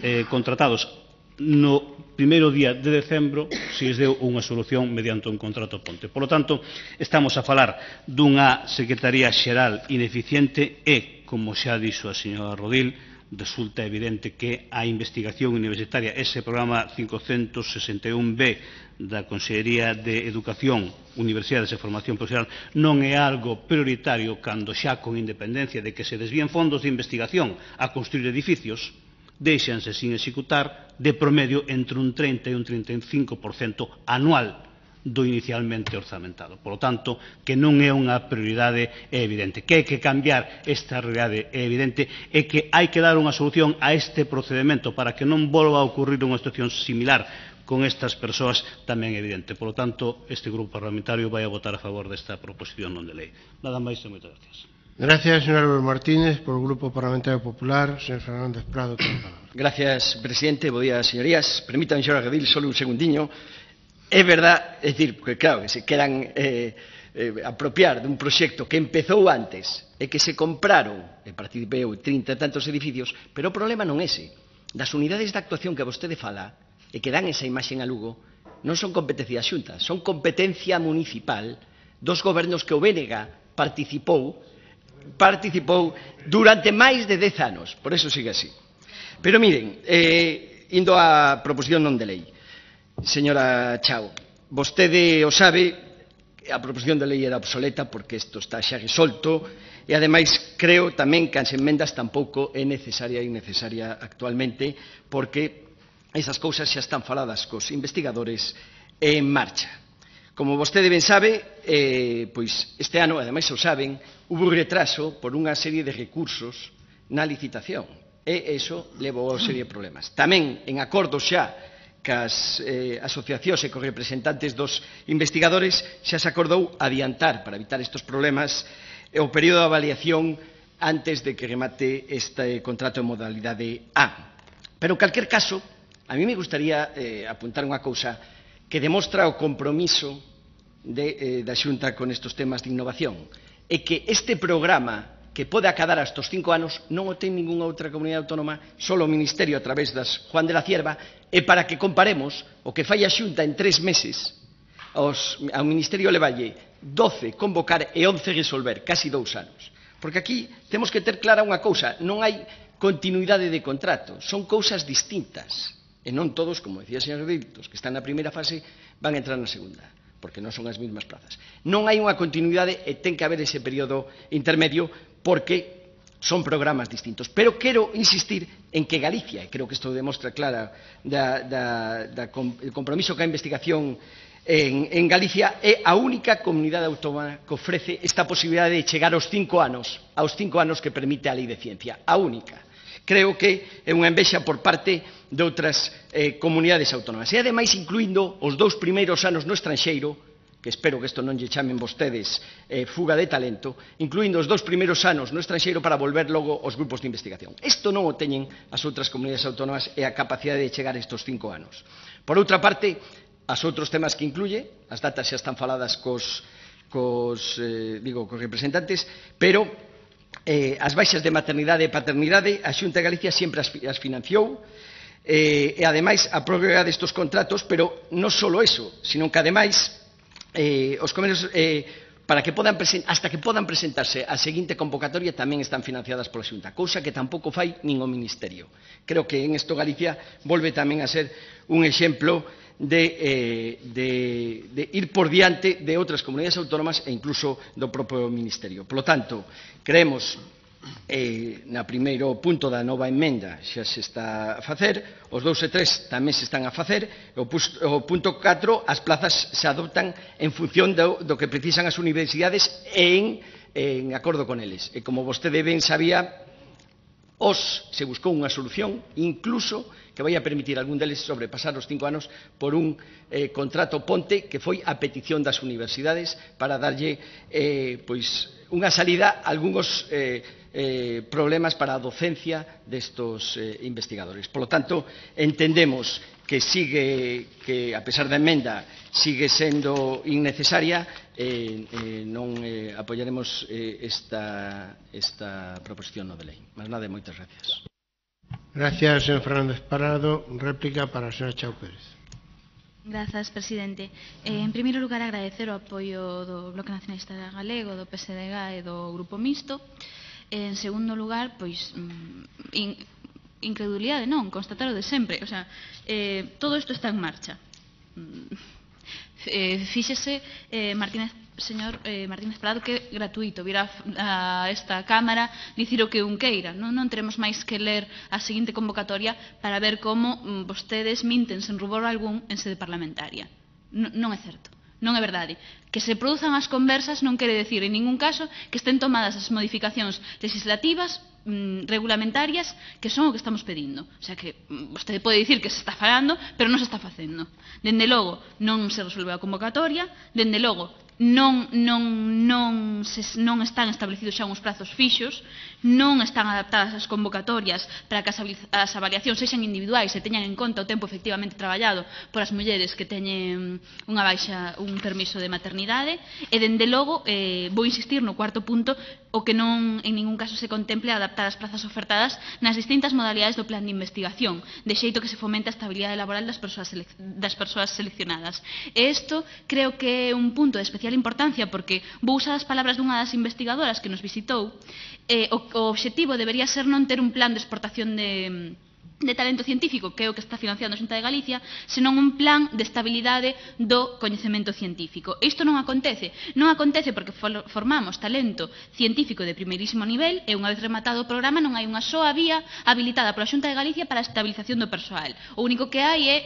eh, contratados no primeiro día de decembro se lles deu unha solución mediante un contrato ponte. Por lo tanto, estamos a falar dunha Secretaría Xeral ineficiente e, como xa dixo a señora Rodil, resulta evidente que a investigación universitaria, ese programa cincocentos sesenta e un B da Consellería de Educación, Universidades e Formación Profesional, non é algo prioritario cando xa con independencia de que se desvíen fondos de investigación a construir edificios, deixanse sin executar de promedio entre un trinta e un trinta e cinco por cento anual do inicialmente orzamentado. Por lo tanto, que non é unha prioridade é evidente. Que hai que cambiar esta realidade é evidente e que hai que dar unha solución a este procedimento para que non volva a ocurrir unha situación similar con estas persoas tamén é evidente. Por lo tanto, este grupo parlamentario vai a votar a favor desta proposición non de lei. Nada máis e moitas gracias. Gracias, señor Álvaro Martínez. Por el Grupo Parlamentario Popular, señor Fernández Prado, ten a palabra. Gracias, presidente. Bo día, señorías. Permítanme, señora Redil, solo un segundiño. É verdad, é dicir, que claro, que se queran eh, eh, apropiar dun proxecto que empezou antes e que se compraron, e participei eu, trinta e tantos edificios, pero o problema non é ese. Das unidades de actuación que vostede fala e que dan esa imaxen a Lugo non son competencia da Xunta, son competencia municipal dos gobernos que o B N G participou participou durante máis de dez anos, por eso sigue así. Pero miren, eh, indo á proposición non de lei, señora Chao, vostede o sabe, a proposición de lei era obsoleta porque isto está xa resolto e ademais creo tamén que as enmendas tampouco é necesaria e innecesaria actualmente porque esas cousas xa están faladas cos investigadores en marcha. Como vostede ben sabe, eh, pois este ano, ademais o saben, hubo retraso por unha serie de recursos na licitación e iso levou a serie de problemas. Tamén en acordo xa cas eh, asociacións e cos representantes dos investigadores xa se acordou adiantar para evitar estes problemas o período de avaliación antes de que remate este contrato en modalidade A. Pero en calquer caso, a mí me gustaría eh, apuntar unha cousa que demostra o compromiso de, eh, da Xunta con estes temas de innovación e que este programa que pode acadar a estes cinco anos non o ten ningunha outra comunidade autónoma, só o Ministerio a través das Juan de la Cierva, e para que comparemos o que fai a Xunta en tres meses, aos, ao Ministerio le valle doce convocar e once resolver, casi dous anos. Porque aquí temos que ter clara unha cousa, non hai continuidade de contrato, son cousas distintas. E non todos, como decía o señor Rodil, os que están na primeira fase van a entrar na segunda, porque non son as mesmas plazas. Non hai unha continuidade e ten que haber ese período intermedio porque son programas distintos. Pero quero insistir en que Galicia, e creo que isto demostra clara da, da, da, el compromiso que a investigación en, en Galicia, é a única comunidade autónoma que ofrece esta posibilidade de chegar aos cinco anos, aos cinco anos que permite a lei de ciencia, a única. Creo que é unha envexa por parte de outras eh, comunidades autónomas. E, ademais, incluindo os dous primeiros anos no estranxeiro, que espero que isto non lle chamen vostedes eh, fuga de talento, incluindo os dous primeiros anos no estranxeiro para volver logo aos grupos de investigación. Isto non o teñen as outras comunidades autónomas e a capacidade de chegar a estes cinco anos. Por outra parte, as outros temas que incluye, as datas xa están faladas cos, cos, eh, digo, cos representantes, pero Eh, as baixas de maternidade e paternidade a Xunta de Galicia sempre as, as financiou eh, e ademais a prórroga destes contratos, pero non só eso, sino que ademais eh, os convenios eh, para que podan hasta que podan presentarse a seguinte convocatoria tamén están financiadas pola Xunta, cousa que tampouco fai nin o Ministerio. Creo que en isto Galicia volve tamén a ser un exemplo de, eh, de, de ir por diante de outras comunidades autónomas e incluso do propio Ministerio. Por lo tanto, creemos eh, na primeiro punto da nova emenda xa se está a facer, os dous e tres tamén se están a facer, o, o punto catro, as plazas se adoptan en función do, do que precisan as universidades e en, en acordo con eles. E como vostede ben sabía, os se buscou unha solución, incluso que vai a permitir a algún deles sobrepasar os cinco anos por un eh, contrato ponte que foi a petición das universidades para darlle eh, pois, unha salida a algúns eh, eh, problemas para a docencia destos eh, investigadores. Por lo tanto, entendemos que sigue, que a pesar da emenda, sigue sendo innecesaria, eh, eh, non eh, apoiaremos eh, esta, esta proposición non de lei. Mas nada, moitas gracias. Gracias, señor Fernández Parado. Réplica para a señora Chao Pérez. Grazas, presidente. Eh, en primeiro lugar, agradecer o apoio do Bloque Nacionalista Galego, do P S D G e do Grupo Mixto. Eh, en segundo lugar, pois, in, incredulidade non, constatar o de sempre. O sea, eh, todo isto está en marcha. Eh, fíxese, eh, Martínez, señor eh, Martínez Prado, que é gratuito vir a, a esta Cámara dicir o que un queira. Non, non teremos máis que ler a seguinte convocatoria para ver como mm, vostedes minten sen rubor algún en sede parlamentaria. Non, non é certo. Non é verdade. Que se produzan as conversas non quere decir en ningún caso que estén tomadas as modificacións legislativas mm, regulamentarias que son o que estamos pedindo. O sea que mm, vostede pode dicir que se está falando, pero non se está facendo. Dende logo, non se resolveu a convocatoria, dende logo, non, non, non, se, non están establecidos xa uns prazos fixos, non están adaptadas as convocatorias para que as, as avaliacións sexan individuais e teñan en conta o tempo efectivamente traballado por as mulleres que teñen unha baixa, un permiso de maternidade, e dende logo, eh, vou insistir no cuarto punto, o que non en ningún caso se contemple adaptar as plazas ofertadas nas distintas modalidades do plan de investigación, de xeito que se fomente a estabilidade laboral das persoas, das persoas seleccionadas. E isto creo que é un punto de especial importancia, porque vou usar as palabras dunha das investigadoras que nos visitou. Eh, o, o obxectivo debería ser non ter un plan de exportación de de talento científico, que é o que está financiando a Xunta de Galicia, senón un plan de estabilidade do coñecemento científico. Isto non acontece. Non acontece porque formamos talento científico de primeirísimo nivel e unha vez rematado o programa non hai unha soa vía habilitada pola Xunta de Galicia para a estabilización do persoal. O único que hai é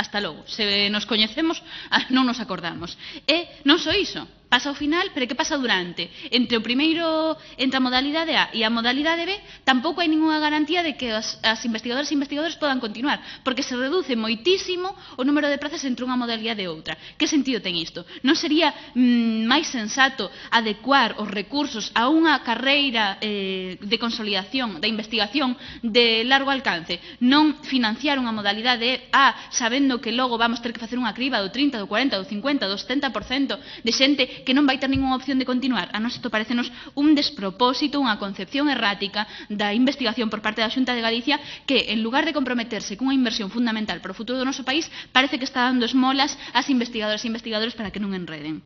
hasta logo. Se nos coñecemos, non nos acordamos. E non só iso. Pasa ao final, pero que pasa durante? Entre o primeiro, entre a modalidade A e a modalidade B, tampouco hai ninguna garantía de que as, as investigadoras e investigadores podan continuar, porque se reduce moitísimo o número de plazas entre unha modalidade e outra. Que sentido ten isto? Non sería mm, máis sensato adecuar os recursos a unha carreira eh, de consolidación, da investigación de largo alcance, non financiar unha modalidade A sabendo que logo vamos ter que facer unha criba do trinta, do cuarenta, do cincuenta, do setenta por cento de xente que non vai ter ninguna opción de continuar? A nós isto parecenos un despropósito, unha concepción errática da investigación por parte da Xunta de Galicia, que en lugar de comprometerse cunha inversión fundamental para o futuro do noso país, parece que está dando esmolas ás investigadoras e investigadores para que non enreden.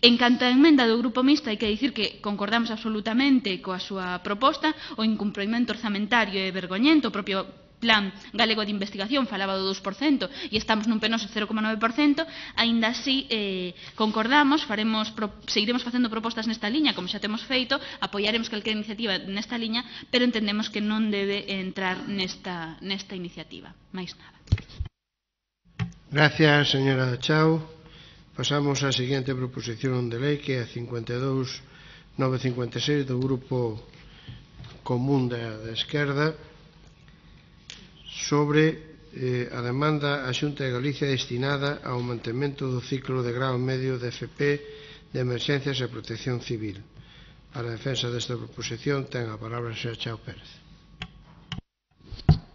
En canto á emenda do Grupo Mixto, hai que dicir que concordamos absolutamente coa súa proposta. O incumprimento orzamentario é vergoñento. O propio Plan Galego de Investigación falaba do dous por cento e estamos nun penoso cero coma nove por cento. Aínda así, eh, concordamos, faremos, pro, seguiremos facendo propostas nesta liña, como xa temos feito, apoiaremos calquera iniciativa nesta liña, pero entendemos que non debe entrar nesta, nesta iniciativa. Mais nada. Gracias, señora Chao. Pasamos á seguinte proposición de lei, que é a cincuenta e dous mil novecentos e cincuenta e seis do Grupo Común da, da Esquerda, sobre eh, a demanda á Xunta de Galicia destinada ao mantemento do ciclo de grao medio de F P de Emerxencias e Protección Civil. Para a defensa desta proposición ten a palabra a señora Chao Pérez.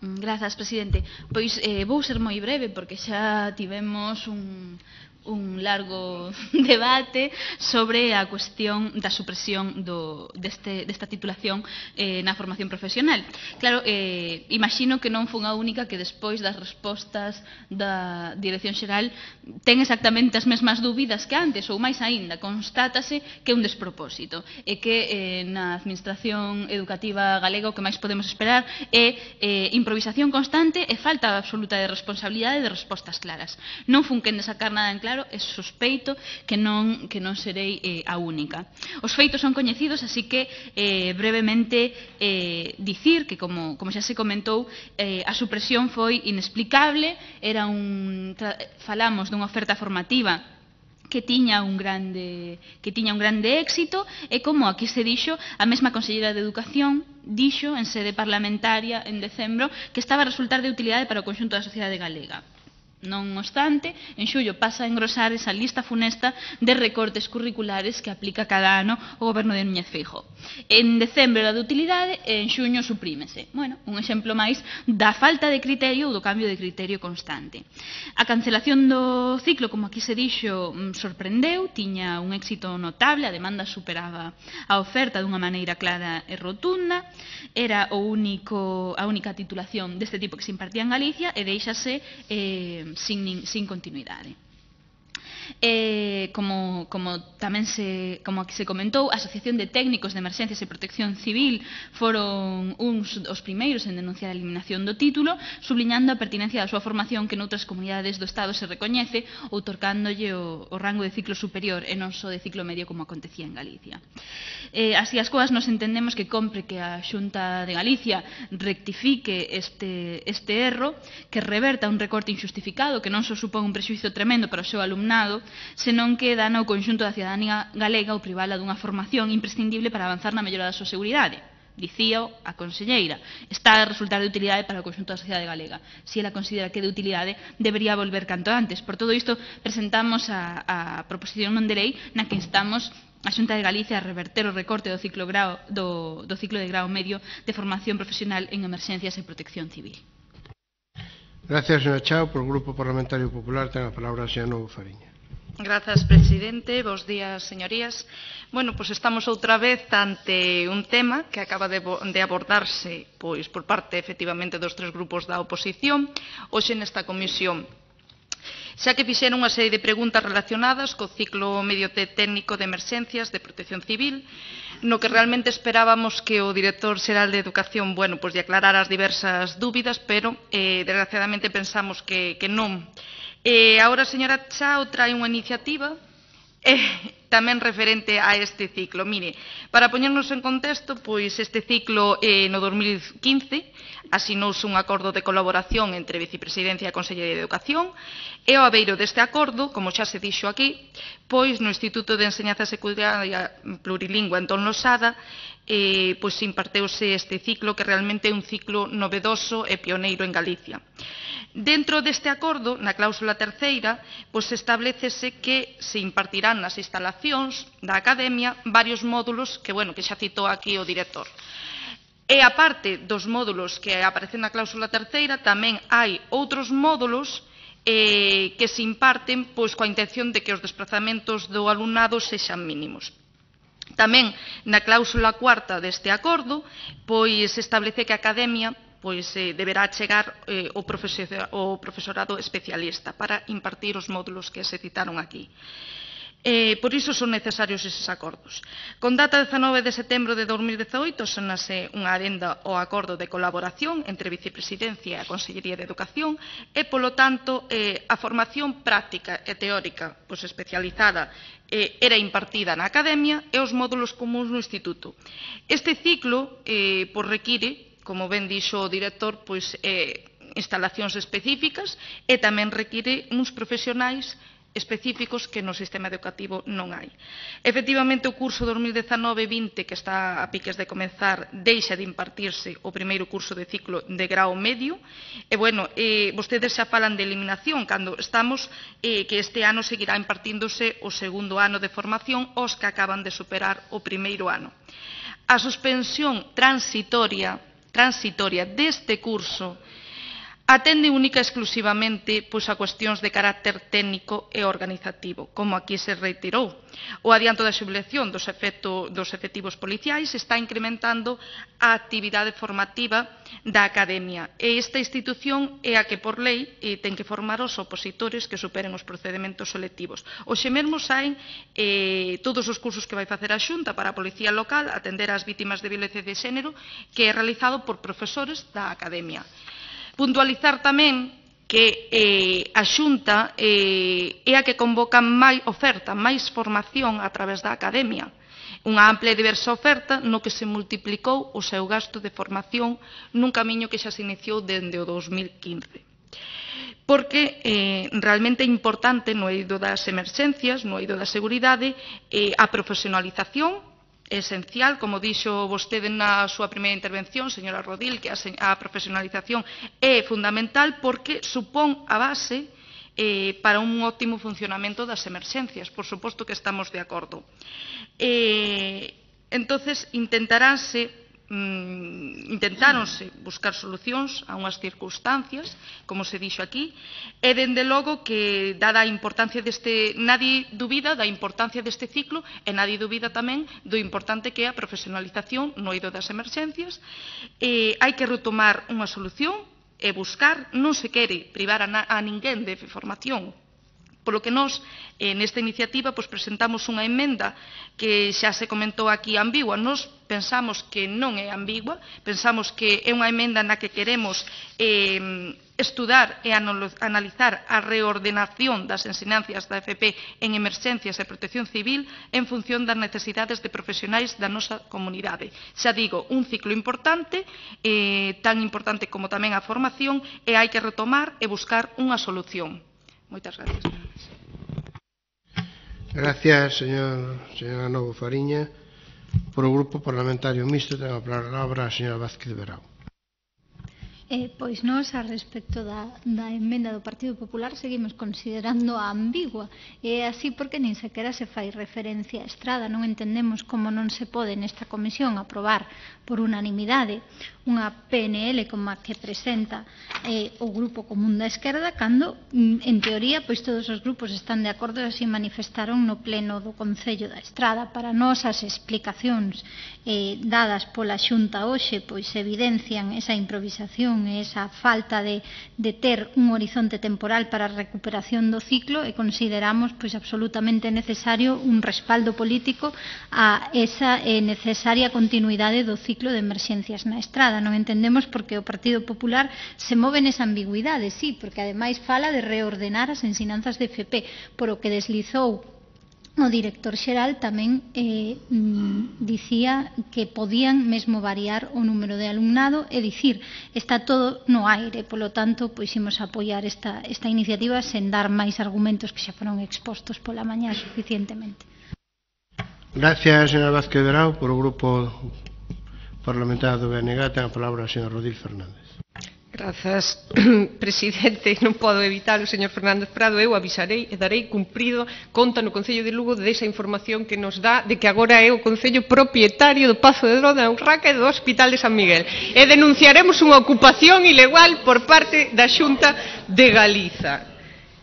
Grazas, presidente. Pois eh, vou ser moi breve porque xa tivemos un, un largo debate sobre a cuestión da supresión do, deste, desta titulación eh, na formación profesional. Claro, eh, imagino que non fun a única que despois das respostas da Dirección Xeral ten exactamente as mesmas dúbidas que antes, ou máis aínda, constátase que é un despropósito e que eh, na Administración Educativa Galega o que máis podemos esperar é eh, improvisación constante e falta absoluta de responsabilidade e de respostas claras. Non fun quen de sacar nada en claro, e sospeito que non, que non serei eh, a única. Os feitos son coñecidos, así que eh, brevemente eh, dicir que, como, como xa se comentou, eh, a supresión foi inexplicable. Era un, falamos dunha oferta formativa que tiña un grande que tiña un grande éxito, e como aquí se dixo, a mesma Conselleira de Educación dixo en sede parlamentaria en decembro que estaba a resultar de utilidade para o conxunto da sociedade galega. Non obstante, en xullo pasa a engrosar esa lista funesta de recortes curriculares que aplica cada ano o goberno de Núñez Feijóo. En decembro era de utilidade e en xuño suprímese. Bueno, un exemplo máis da falta de criterio ou do cambio de criterio constante. A cancelación do ciclo, como aquí se dixo, sorprendeu, tiña un éxito notable, a demanda superaba a oferta dunha maneira clara e rotunda, era o único, a única titulación deste tipo que se impartía en Galicia e deixase eh, sin, sin continuidade. Eh, como, como tamén se, como aquí se comentou, a Asociación de Técnicos de Emerxencias e Protección Civil foron uns os primeiros en denunciar a eliminación do título, subliñando a pertinencia da súa formación que noutras comunidades do Estado se recoñece, outorgándolle o, o rango de ciclo superior e non só de ciclo medio como acontecía en Galicia. Eh, así as coas, nos entendemos que compre que a Xunta de Galicia rectifique este, este erro, que reverta un recorte injustificado que non só supón un prexuizo tremendo para o seu alumnado, senón que dá ao conxunto da cidadanía galega o privala dunha formación imprescindible para avanzar na mellora da súa seguridade. Dicíao a conselleira, está a resultar de utilidade para o conxunto da sociedade galega. Se ela considera que é de utilidade, debería volver canto antes. Por todo isto, presentamos a, a proposición non de lei na que instamos a Xunta de Galicia a reverter o recorte do ciclo, grao, do, do ciclo de grao medio de formación profesional en emerxencias e protección civil. Gracias, señora Chao. Por o Grupo Parlamentario Popular ten a palabra a señora Novo Fariña. Grazas, presidente. Bos días, señorías. Bueno, pois estamos outra vez ante un tema que acaba de, de abordarse pois por parte, efectivamente, dos tres grupos da oposición hoxe nesta comisión. Xa que fixeron unha serie de preguntas relacionadas co ciclo medio técnico de emerxencias de protección civil, no que realmente esperábamos que o director xeral de Educación, bueno, pois lle aclarara as diversas dúbidas, pero eh, desgraciadamente pensamos que, que non. E agora a señora Chao trae unha iniciativa eh, tamén referente a este ciclo. Mire, para poñernos en contexto, pois este ciclo eh, no dos mil quince asinouse un acordo de colaboración entre Vicepresidencia e a Consellería de Educación e ao abeiro deste acordo, como xa se dixo aquí, pois no Instituto de Enseñanza Secundaria Plurilingüe Antón Losada eh, pois imparteuse este ciclo que realmente é un ciclo novedoso e pioneiro en Galicia. Dentro deste acordo, na cláusula terceira, pois establecese que se impartirán nas instalacións da Academia varios módulos que, bueno, que xa citou aquí o director. E a parte dos módulos que aparecen na cláusula terceira, tamén hai outros módulos eh, que se imparten pois coa intención de que os desplazamentos do alumnado sexan mínimos. Tamén na cláusula cuarta deste acordo, pois establece que a Academia pois eh, deberá chegar eh, o, profesor, o profesorado especialista para impartir os módulos que se citaron aquí. Eh, por iso son necesarios eses acordos. Con data dezanove de setembro de dos mil dezaoito sonase unha adenda ao acordo de colaboración entre a Vicepresidencia e a Consellería de Educación e, polo tanto, eh, a formación práctica e teórica pois, especializada eh, era impartida na Academia e os módulos comuns no Instituto. Este ciclo eh, pois, require, como ben dixo o director, pois, eh, instalacións específicas e tamén require uns profesionais específicos que no sistema educativo non hai. Efectivamente, o curso dos mil dezanove vinte, que está a piques de comenzar, deixa de impartirse o primeiro curso de ciclo de grao medio, e, bueno, eh, vostedes xa falan de eliminación, cando estamos eh, que este ano seguirá impartíndose o segundo ano de formación os que acaban de superar o primeiro ano. A suspensión transitoria transitoria deste curso atende única e exclusivamente pois, a cuestións de carácter técnico e organizativo, como aquí se reiterou. O adianto da xubilación dos, efecto, dos efectivos policiais está incrementando a actividade formativa da Academia e esta institución é a que por lei eh, ten que formar os opositores que superen os procedementos selectivos. Hoxe mesmo saen eh, todos os cursos que vai facer a Xunta para a Policía Local atender ás vítimas de violencia de xénero, que é realizado por profesores da Academia. Puntualizar tamén que eh, a Xunta eh, é a que convoca máis oferta, máis formación a través da Academia. Unha ampla e diversa oferta no que se multiplicou o seu gasto de formación nun camiño que xa se iniciou dende o dos mil quince. Porque eh, realmente é importante no eido das emerxencias, no eido da seguridade, eh, a profesionalización esencial, como dixo vostede na súa primeira intervención, señora Rodil, que a profesionalización é fundamental porque supón a base eh, para un óptimo funcionamento das emerxencias. Por suposto que estamos de acordo. Eh, entonces, intentaránse intentáronse buscar solucións a unhas circunstancias, como se dixo aquí, e dende logo que, dada a importancia deste, nadie dubida da importancia deste ciclo e nadie dubida tamén do importante que é a profesionalización no eido das emerxencias. Eh, hai que retomar unha solución e buscar, non se quere privar a, na, a ninguén de formación. Polo que nós, eh, nesta iniciativa, pues, presentamos unha emenda que xa se comentou aquí ambigua. Nós pensamos que non é ambigua, pensamos que é unha emenda na que queremos eh, estudar e analizar a reordenación das ensinanzas da F P en emerxencias e protección civil en función das necesidades de profesionais da nosa comunidade. Xa digo, un ciclo importante, eh, tan importante como tamén a formación, e hai que retomar e buscar unha solución. Moitas gracias. Gracias, señor, señora Novo Fariña. Por o Grupo Parlamentario Mixto ten a palabra a señora Vázquez Verao. Eh, pois nós, a respecto da, da emenda do Partido Popular, seguimos considerando a ambigua. E así porque nin sequera se fai referencia a Estrada. Non entendemos como non se pode nesta comisión aprobar por unanimidade unha P N L como a que presenta eh, o Grupo Común da Esquerda, cando, en teoría, pois todos os grupos están de acordo e así manifestaron no pleno do Concello da Estrada. Para nós, as explicacións eh, dadas pola Xunta hoxe pois evidencian esa improvisación e esa falta de, de ter un horizonte temporal para a recuperación do ciclo, e consideramos pois absolutamente necesario un respaldo político a esa eh, necesaria continuidade do ciclo de emerxencias na Estrada. Non entendemos por que o Partido Popular se move nesa ambigüidade, sí, porque ademais fala de reordenar as ensinanzas de F P, por o que deslizou o director xeral tamén eh, mm, dicía que podían mesmo variar o número de alumnado, é dicir, está todo no aire. Polo tanto, pois imos apoiar esta, esta iniciativa sen dar máis argumentos que xa foron expostos pola mañá suficientemente. Gracias, señora Vázquez Verao. Por o Grupo Parlamentario do B N G ten a palabra a señora Rodil Fernández. Grazas, presidente. Non podo evitar o señor Fernández Prado. Eu avisarei e darei cumprido conta no Concello de Lugo desa información que nos dá de que agora é o Concello propietario do Pazo de Dro, da Urraca e do Hospital de San Miguel. E denunciaremos unha ocupación ilegal por parte da Xunta de Galiza.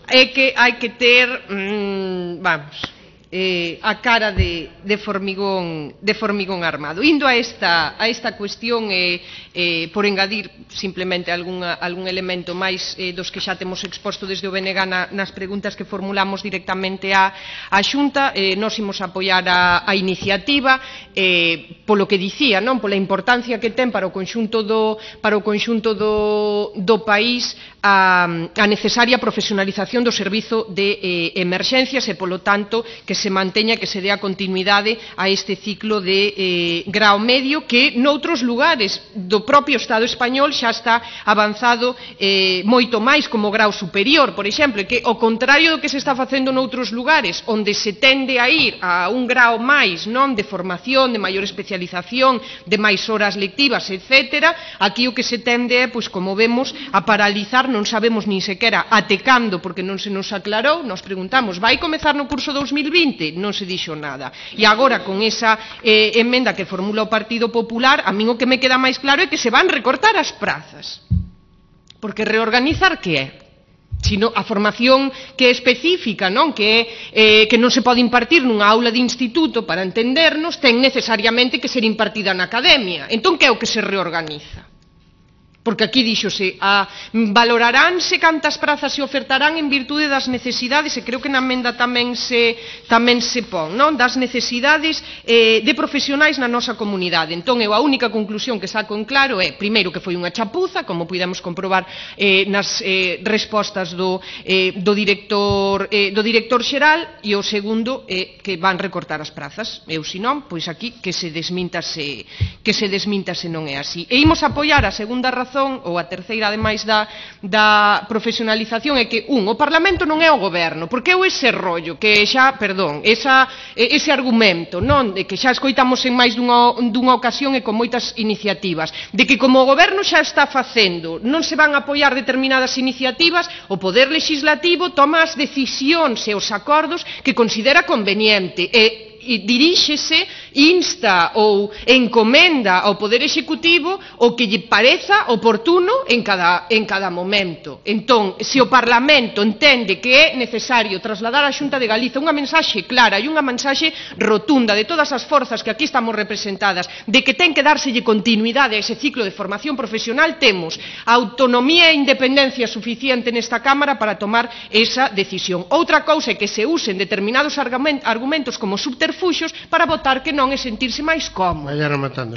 É que hai que ter, mmm, vamos... Eh, a cara de, de, formigón, de formigón armado. Indo a esta, a esta cuestión, eh, eh, por engadir simplemente alguna, algún elemento máis eh, dos que xa temos exposto desde o B N G na, nas preguntas que formulamos directamente á, á Xunta, eh, nos imos apoiar a, a iniciativa eh, polo que dicía, non, pola importancia que ten para o conxunto do, para o conxunto do, do país a, a necesaria profesionalización do servizo de eh, emerxencias e, polo tanto, que se manteña, que se dé a continuidade a este ciclo de eh, grao medio que noutros lugares do propio Estado español xa está avanzado eh, moito máis como grao superior, por exemplo, que ao contrario do que se está facendo noutros lugares onde se tende a ir a un grao máis, non, de formación, de maior especialización, de máis horas lectivas, etcétera, aquí o que se tende é, pois, como vemos, a paralizar, non sabemos nin sequera até cando, porque non se nos aclarou. Nos preguntamos, vai comezar no curso dos mil vinte? Non se dixo nada. E agora, con esa eh, emenda que formula o Partido Popular, a min o que me queda máis claro é que se van recortar as prazas. Porque reorganizar que é? Sino a formación que é específica, non? Que, é, eh, que non se pode impartir nunha aula de instituto, para entendernos, ten necesariamente que ser impartida na academia. Entón, que é o que se reorganiza? Porque aquí díxose, a, valoraránse cantas prazas se ofertarán en virtude das necesidades, e creo que na emenda tamén se, tamén se pon, non? Das necesidades eh, de profesionais na nosa comunidade. Entón, eu a única conclusión que saco en claro é, primeiro, que foi unha chapuza, como pudemos comprobar eh, nas eh, respostas do, eh, do, director, eh, do director xeral, e o segundo é que van recortar as prazas. Eu, se non, pois aquí que se desminta se, que se desminta se non é así. E imos apoiar a segunda razón razón, ou a terceira, ademais da, da profesionalización, é que, un, o Parlamento non é o Goberno, porque é ese rollo, que xa, perdón, esa, ese argumento, non, de que xa escoitamos en máis dunha, dunha ocasión e con moitas iniciativas, de que como o Goberno xa está facendo, non se van a apoiar determinadas iniciativas, o Poder Legislativo toma as decisións e os acordos que considera conveniente, e e diríxese, insta ou encomenda ao Poder Executivo o que lle pareza oportuno en cada, en cada momento. Entón, se o Parlamento entende que é necesario trasladar á Xunta de Galiza unha mensaxe clara e unha mensaxe rotunda de todas as forzas que aquí estamos representadas, de que ten que dárselle continuidade a ese ciclo de formación profesional, temos autonomía e independencia suficiente nesta Cámara para tomar esa decisión. Outra cousa é que se usen determinados argumentos como subterfugios para votar que non é sentirse máis cómodo.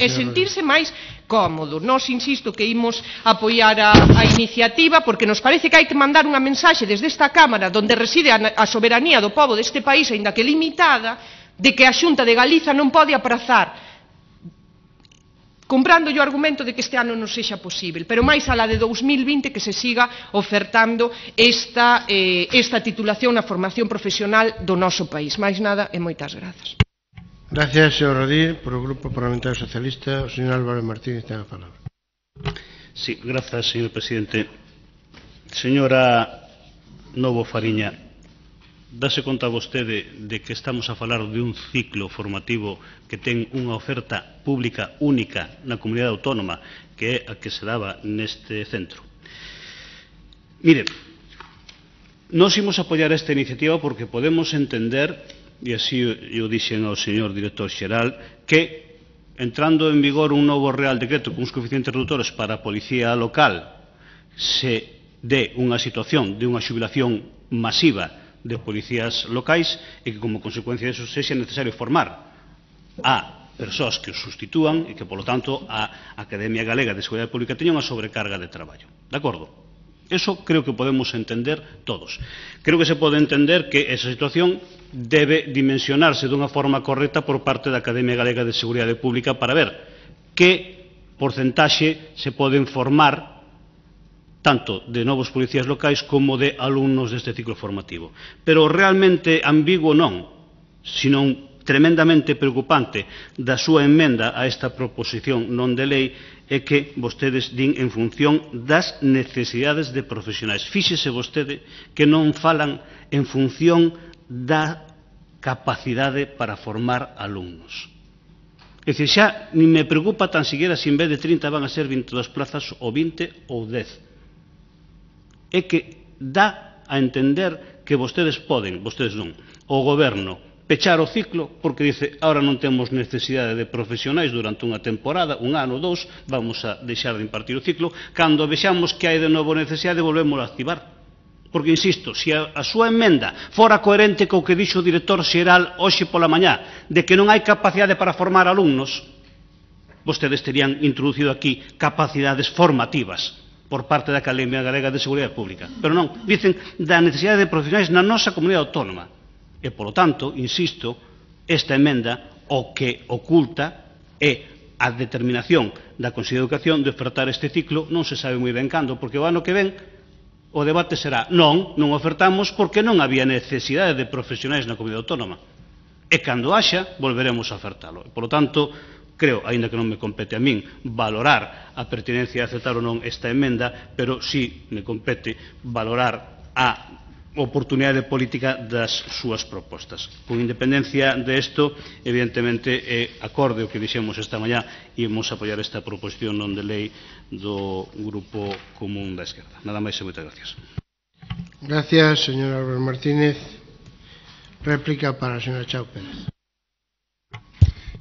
É sentirse máis cómodo. Nos, insisto, que imos apoiar a, a iniciativa porque nos parece que hai que mandar unha mensaxe desde esta Cámara onde reside a, a soberanía do pobo deste país, aínda que limitada, de que a Xunta de Galiza non pode aprazar, comprando o argumento de que este ano non sexa posible, pero máis alá de dous mil vinte que se siga ofertando esta, eh, esta titulación na formación profesional do noso país. Máis nada e moitas grazas. Gracias, señor Rodríguez. Por o Grupo Parlamentario Socialista, o señor Álvaro Martínez ten a palabra. Sí, gracias, señor presidente. Señora Novo Fariña, dase conta vostede de que estamos a falar de un ciclo formativo que ten unha oferta pública única na comunidade autónoma, que é a que se daba neste centro. Mire, nós imos apoiar esta iniciativa porque podemos entender, e así eu dixen ao señor director xeral, que entrando en vigor un novo Real Decreto con uns coeficientes reductores para a policía local se dé unha situación de unha xubilación masiva de policías locais e que como consecuencia disso sexa necesario formar a persoas que os sustitúan e que, polo tanto, a Academia Galega de Seguridade Pública teña unha sobrecarga de traballo. De acordo? Eso creo que podemos entender todos. Creo que se pode entender que esa situación debe dimensionarse dunha forma correcta por parte da Academia Galega de Seguridade Pública para ver que porcentaxe se poden formar tanto de novos policías locais como de alumnos deste ciclo formativo. Pero realmente ambiguo non, sino tremendamente preocupante da súa emenda a esta proposición non de lei é que vostedes din en función das necesidades de profesionais. Fíxese vostede que non falan en función da capacidade para formar alumnos. É dicir, xa ni me preocupa tan siquiera se en vez de trinta van a ser veintidós plazas ou vinte ou dez. É que dá a entender que vostedes poden, vostedes non, o goberno, pechar o ciclo porque dice, ahora non temos necesidade de profesionais durante unha temporada, un ano, dous, vamos a deixar de impartir o ciclo, cando vexamos que hai de novo necesidade volvemos a activar. Porque, insisto, se a, a súa emenda fora coherente co que dixo o director xeral hoxe pola mañá, de que non hai capacidade para formar alumnos, vostedes terían introducido aquí capacidades formativas por parte da Academia Galega de Seguridade Pública. Pero non, dicen da necesidade de profesionais na nosa comunidade autónoma. E, polo tanto, insisto, esta emenda o que oculta é a determinación da Consellería de Educación de ofertar este ciclo, non se sabe moi ben cando, porque o ano que ven o debate será non, non ofertamos porque non había necesidade de profesionais na comunidade autónoma. E cando haxa, volveremos a ofertalo. E, polo tanto, creo, aínda que non me compete a min, valorar a pertinencia de aceptar ou non esta emenda, pero sí me compete valorar a oportunidade política das súas propostas. Con independencia de isto, evidentemente, é acorde o que dixemos esta mañá, imos apoiar esta proposición non de lei do Grupo Común da Esquerda. Nada máis e moitas gracias. Gracias, señor Álvaro Martínez. Réplica para a señora Chao Pérez.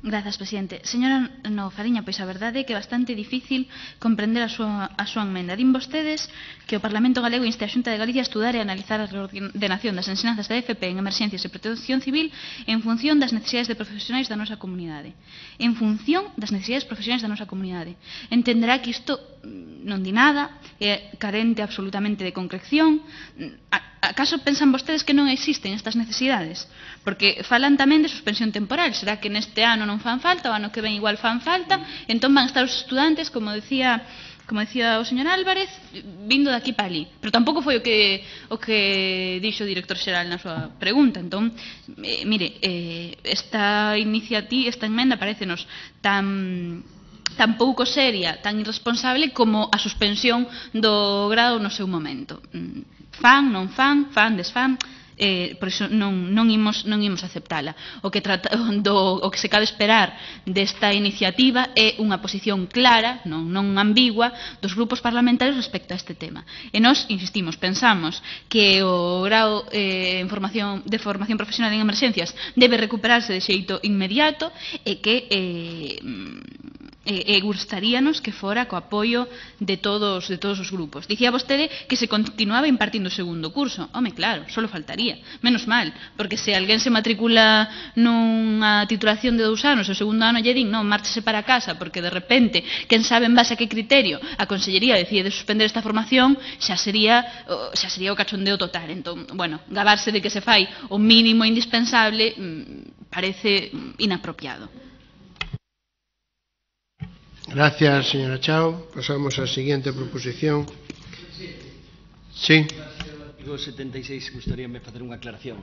Grazas, presidente. Señora Novo Fariña, pois a verdade é que é bastante difícil comprender a súa, a súa emenda. Din vostedes que o Parlamento Galego inste a Xunta de Galicia a estudar e analizar a reordenación das ensinanzas da F P en emerxencias e protección civil en función das necesidades de profesionais da nosa comunidade. En función das necesidades profesionais da nosa comunidade. Entenderá que isto non di nada, é carente absolutamente de concreción. Acaso pensan vostedes que non existen estas necesidades? Porque falan tamén de suspensión temporal. Será que neste ano non fan falta, o ano que ven igual fan falta, entón van estar os estudantes, como decía como decía o señor Álvarez, vindo daqui para ali. Pero tampouco foi o que o que dixo o director xeral na súa pregunta. Entón, eh, mire, eh, esta iniciativa, esta emenda parecenos tan tan pouco seria, tan irresponsable como a suspensión do grado no seu momento. Fan, non fan, fan, desfan, eh, por iso non, non, imos, non imos aceptala. O que, trata, do, o que se cabe esperar desta iniciativa é unha posición clara, non, non ambigua, dos grupos parlamentarios respecto a este tema. E nós, insistimos, pensamos que o grado eh, en formación, de formación profesional en emerxencias debe recuperarse de xeito inmediato e que eh, e, e gustaríanos que fora co apoio de todos, de todos os grupos. Dicía vostede que se continuaba impartindo o segundo curso. Home, claro, só faltaría. Menos mal, porque se alguén se matricula nunha titulación de dous anos e o segundo ano lle din, non, márchese para casa, porque de repente, quen sabe en base a que criterio a Consellería decide suspender esta formación, xa sería, xa sería o cachondeo total. Entón, bueno, gabarse de que se fai o mínimo indispensable parece inapropiado. Gracias, señora Chao. Pasamos á seguinte proposición. Sí. No artigo setenta e seis gustaríame facer unha aclaración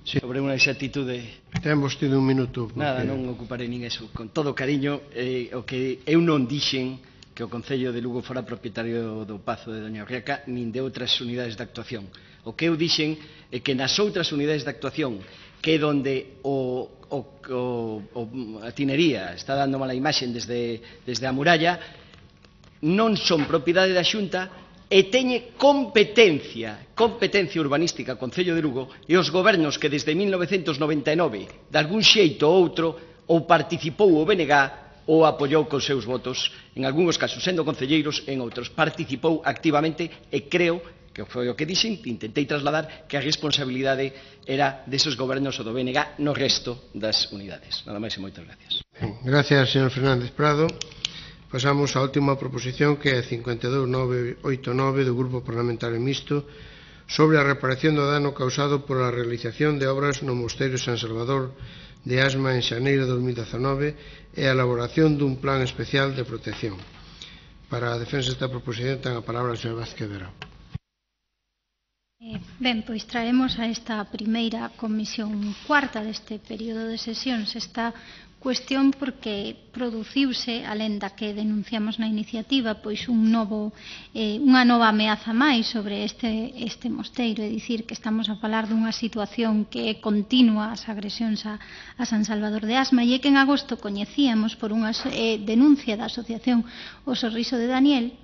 sí. sobre unha exactitude. Ten vostede un minuto. Porque... Nada, non ocuparei nin eso. Con todo cariño, eh, o que eu non dixen que o Concello de Lugo fora propietario do Pazo de Doña Orriaca nin de outras unidades de actuación. O que eu dixen é que nas outras unidades de actuación que é donde o, o, o, o, a tinería está dando mala imaxen desde, desde a muralla, non son propiedade da Xunta e teñe competencia, competencia urbanística o Concello de Lugo e os gobernos que desde mil novecentos noventa e nove, de algún xeito ou outro, ou participou o B N G ou apoiou con seus votos, en algúns casos sendo concelleiros, en outros participou activamente e creo que foi o que dixen, intentei trasladar que a responsabilidade era desos gobernos ou do B N G no resto das unidades. Nada máis e moitas gracias. Gracias, señor Fernández Prado. Pasamos á última proposición, que é cincuenta e dous mil novecentos oitenta e nove do Grupo Parlamentario Mixto sobre a reparación do dano causado por a realización de obras no Mosteiro San Salvador de Asma en xaneiro de dos mil dezanove e a elaboración dun plan especial de protección. Para a defensa desta proposición ten a palabra o señor Vázquez Verao. Eh, ben, pois traemos a esta primeira comisión cuarta deste período de sesións esta cuestión porque produciuse, alén da que denunciamos na iniciativa, pois un novo, eh, unha nova ameaza máis sobre este, este mosteiro, é dicir, que estamos a falar dunha situación que é continua as agresións a, a San Salvador de Asma, e é que en agosto coñecíamos por unha eh, denuncia da asociación O Sorriso de Daniel,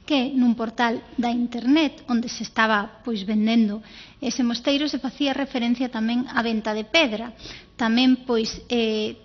que nun portal da internet onde se estaba pois vendendo ese mosteiro se facía referencia tamén á venta de pedra. Tamén pois eh,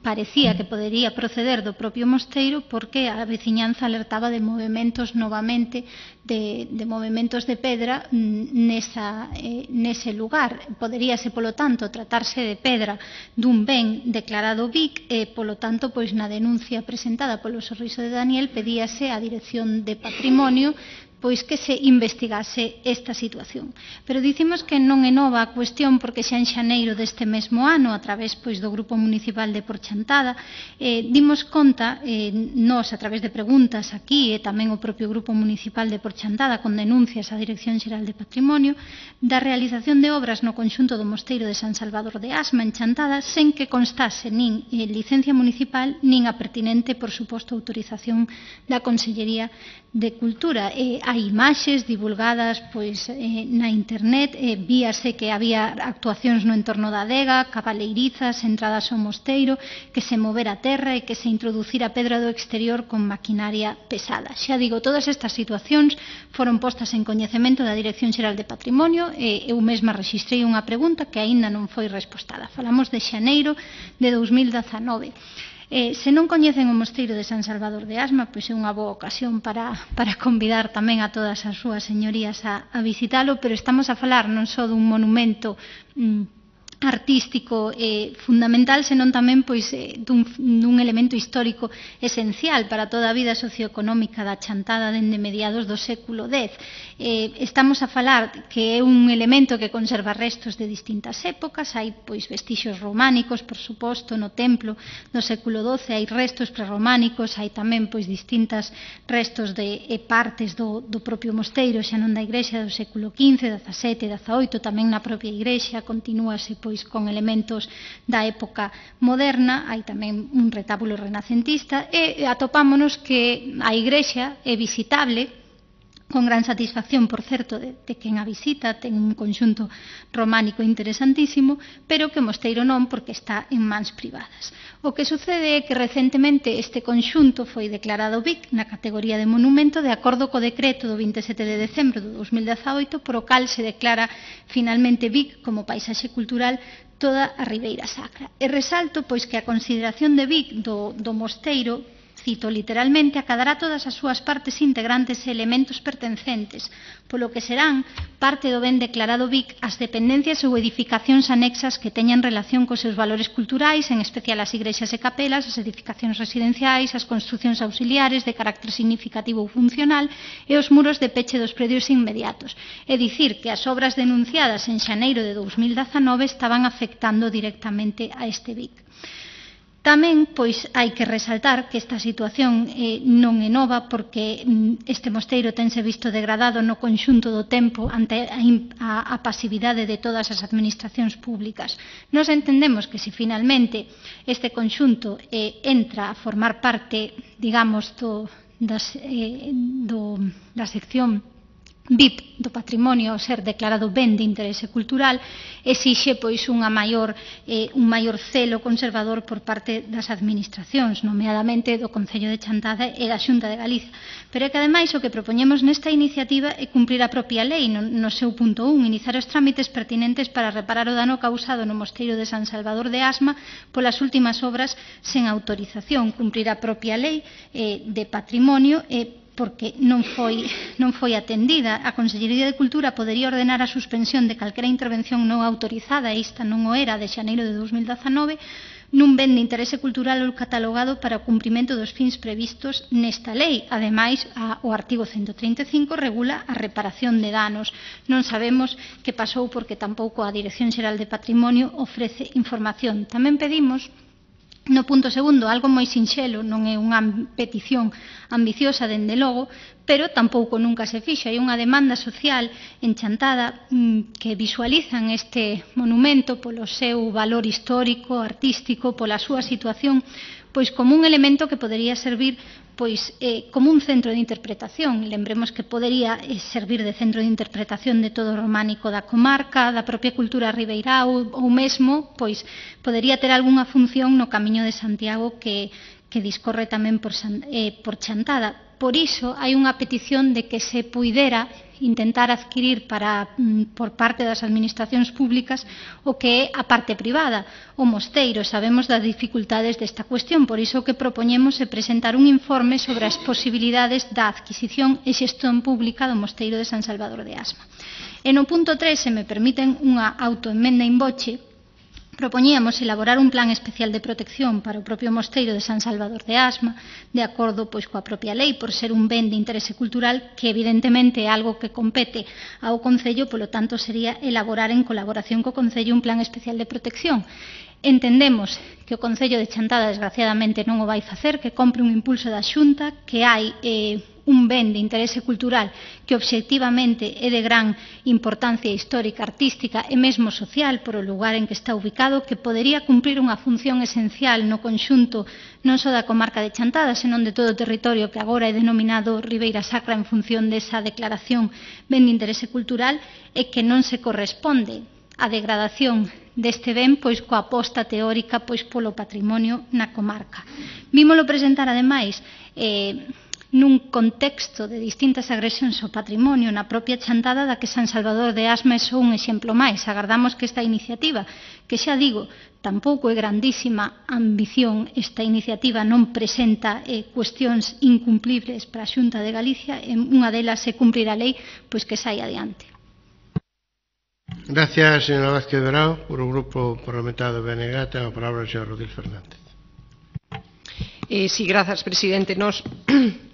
parecía que podería proceder do propio mosteiro porque a veciñanza alertaba de movimentos novamente de, de movimentos de pedra nesa, eh, nese lugar. Poderíase, polo tanto, tratarse de pedra dun ben declarado B I C e, polo tanto, pois na denuncia presentada polo Sorriso de Daniel pedíase á Dirección de Patrimonio pois que se investigase esta situación. Pero dicimos que non é nova a cuestión porque xa en xaneiro deste mesmo ano, a través pois do Grupo Municipal de Porchantada, eh, dimos conta, eh, nós a través de preguntas aquí e tamén o propio Grupo Municipal de Porchantada con denuncias á Dirección Xeral de Patrimonio, da realización de obras no conxunto do Mosteiro de San Salvador de Asma en Chantada sen que constase nin eh, licencia municipal nin a pertinente, por suposto, autorización da Consellería de Cultura. Eh, hai imaxes divulgadas pois eh, na internet, eh, víase que había actuacións no entorno da adega, cabaleirizas, entradas ao mosteiro, que se movera a terra e que se introducira pedra do exterior con maquinaria pesada. Xa digo, todas estas situacións foron postas en coñecemento da Dirección Xeral de Patrimonio e eu mesma rexistrei unha pregunta que aínda non foi respostada. Falamos de xaneiro de dos mil dezanove. Eh, se non coñecen o mosteiro de San Salvador de Asma, pois é unha boa ocasión para, para convidar tamén a todas as súas señorías a, a visitalo, pero estamos a falar non só dun monumento mm, artístico eh, fundamental, senón tamén pois, eh, dun, dun elemento histórico esencial para toda a vida socioeconómica da Chantada dende mediados do século dez. Eh, estamos a falar que é un elemento que conserva restos de distintas épocas, hai pois vestixios románicos, por suposto, no templo do século doce, hai restos prerrománicos, hai tamén pois distintas restos de eh, partes do, do propio mosteiro, xa non da igrexa do século quince, dezasete, dezaoito, tamén na propia igrexa, continúase pois con elementos da época moderna, hai tamén un retábulo renacentista e atopámonos que a igrexa é visitable con gran satisfacción, por certo, de, de quen a visita, ten un conxunto románico interesantísimo, pero que o mosteiro non, porque está en mans privadas. O que sucede é que recentemente este conxunto foi declarado B I C na categoría de monumento de acordo co decreto do vinte e sete de decembro do dos mil dezaoito, por o cal se declara finalmente B I C como paisaxe cultural toda a Ribeira Sacra. E resalto pois que a consideración de B I C do, do mosteiro, cito literalmente, acadará todas as súas partes integrantes e elementos pertencentes, polo que serán parte do ben declarado B I C as dependencias ou edificacións anexas que teñan relación cos seus valores culturais, en especial as igrexas e capelas, as edificacións residenciais, as construcións auxiliares de carácter significativo ou funcional e os muros de peche dos predios inmediatos. É dicir, que as obras denunciadas en xaneiro de dos mil dezanove estaban afectando directamente a este B I C. Tamén, pois, hai que resaltar que esta situación eh, non é nova porque mm, este mosteiro tense visto degradado no conxunto do tempo ante a, a, a pasividade de todas as administracións públicas. Nos entendemos que se finalmente este conxunto eh, entra a formar parte, digamos, do, das, eh, do, da sección B I P do patrimonio ao ser declarado ben de interese cultural, exixe pois unha maior, eh, un maior celo conservador por parte das administracións, nomeadamente do Concello de Chantada e da Xunta de Galicia. Pero é que ademais o que propoñemos nesta iniciativa é cumprir a propia lei no, no seu punto un, iniciar os trámites pertinentes para reparar o dano causado no mosteiro de San Salvador de Asma polas últimas obras sen autorización, cumprir a propia lei eh, de patrimonio e eh, porque non foi, non foi atendida. A Consellería de Cultura podería ordenar a suspensión de calquera intervención non autorizada, e esta non o era de xaneiro de dos mil dezanove, nun ben de interese cultural ou catalogado para o cumprimento dos fins previstos nesta lei. Ademais, a, o artigo ciento trinta e cinco regula a reparación de danos. Non sabemos que pasou porque tampouco a Dirección Xeral de Patrimonio ofrece información. Tamén pedimos, no punto segundo, algo moi sinxelo, non é unha petición ambiciosa dende logo, pero tampouco nunca se fixo. Hai unha demanda social en Chantada mmm, que visualizan este monumento polo seu valor histórico, artístico, pola súa situación, pois como un elemento que podería servir pois eh, como un centro de interpretación. Lembremos que podería eh, servir de centro de interpretación de todo o románico da comarca, da propia cultura ribeirá ou, ou mesmo pois podería ter algunha función no Camiño de Santiago que, que discorre tamén por, eh, por Chantada. Por iso hai unha petición de que se puidera intentar adquirir para, por parte das administracións públicas o que é a parte privada, o mosteiro. Sabemos das dificultades desta cuestión, por iso o que propoñemos é presentar un informe sobre as posibilidades da adquisición e xestión pública do mosteiro de San Salvador de Asma. E no punto tres, se me permiten unha autoenmenda in voce, propoñíamos elaborar un plan especial de protección para o propio mosteiro de San Salvador de Asma, de acordo pois coa propia lei, por ser un ben de interese cultural que evidentemente é algo que compete ao Concello, polo tanto sería elaborar en colaboración co Concello un plan especial de protección. Entendemos que o Concello de Chantada desgraciadamente non o vai facer, que compre un impulso da Xunta, que hai eh, un ben de interese cultural que obxectivamente é de gran importancia histórica, artística e mesmo social por o lugar en que está ubicado, que podería cumprir unha función esencial no conxunto non só da comarca de Chantada, senón de todo o territorio que agora é denominado Ribeira Sacra en función desa declaración ben de interese cultural, e que non se corresponde a degradación deste ben pois coa aposta teórica pois polo patrimonio na comarca. Vímolo presentar ademais eh, nun contexto de distintas agresións ao patrimonio na propia Chantada, da que San Salvador de Asma é só un exemplo máis. Agardamos que esta iniciativa, que xa digo, tampouco é grandísima ambición, esta iniciativa non presenta eh, cuestións incumplibles para a Xunta de Galicia, e unha delas é cumprir a lei, pois que saia adiante. Gracias, señora Vázquez Verao. Por o Grupo Parlamentario do B N G, ten a palabra o señor Rodil Fernández. Eh, sí, grazas, presidente. Nos,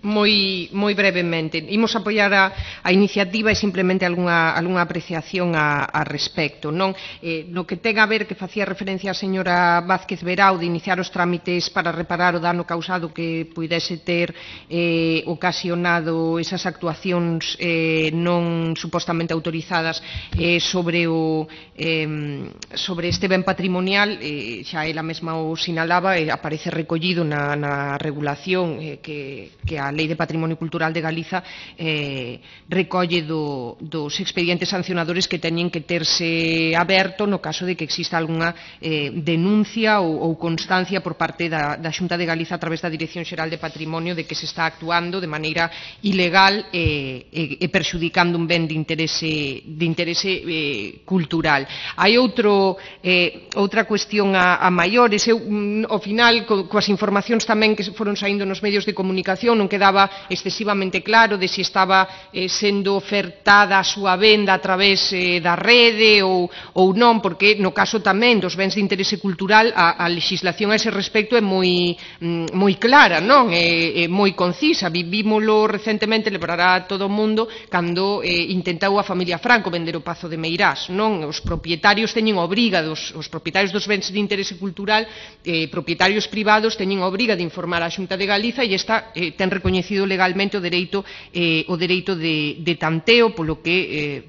moi, moi brevemente, imos apoiar a, a iniciativa e simplemente algunha, algunha apreciación a, a respecto. Non? Eh, no que ten a ver, que facía referencia a señora Vázquez Verao, de iniciar os trámites para reparar o dano causado que puidese ter eh, ocasionado esas actuacións eh, non supostamente autorizadas eh, sobre, o, eh, sobre este ben patrimonial, eh, xa ela mesma o sinalaba, e aparece recollido na, na na regulación eh, que, que a Lei de Patrimonio Cultural de Galiza eh, recolle do, dos expedientes sancionadores que teñen que terse aberto no caso de que exista algunha eh, denuncia ou, ou constancia por parte da, da Xunta de Galiza a través da Dirección Xeral de Patrimonio de que se está actuando de maneira ilegal eh, e, e perxudicando un ben de interese, de interese eh, cultural. Hai outro, eh, outra cuestión a, a maiores. Eu, ao final, co, coas informacións tamén tamén que foron saindo nos medios de comunicación non quedaba excesivamente claro de se si estaba eh, sendo ofertada a súa venda a través eh, da rede ou, ou non, porque no caso tamén dos bens de interese cultural a, a legislación a ese respecto é moi, mm, moi clara, non? É, é moi concisa. Vivímolo recentemente, lembrará a todo o mundo, cando eh, intentou a familia Franco vender o Pazo de Meirás, non? Os propietarios teñen obriga, dos, os propietarios dos bens de interese cultural, eh, propietarios privados teñen obriga de informar a Xunta de Galiza e esta eh, ten recoñecido legalmente o dereito eh, o dereito de, de tanteo, polo que eh,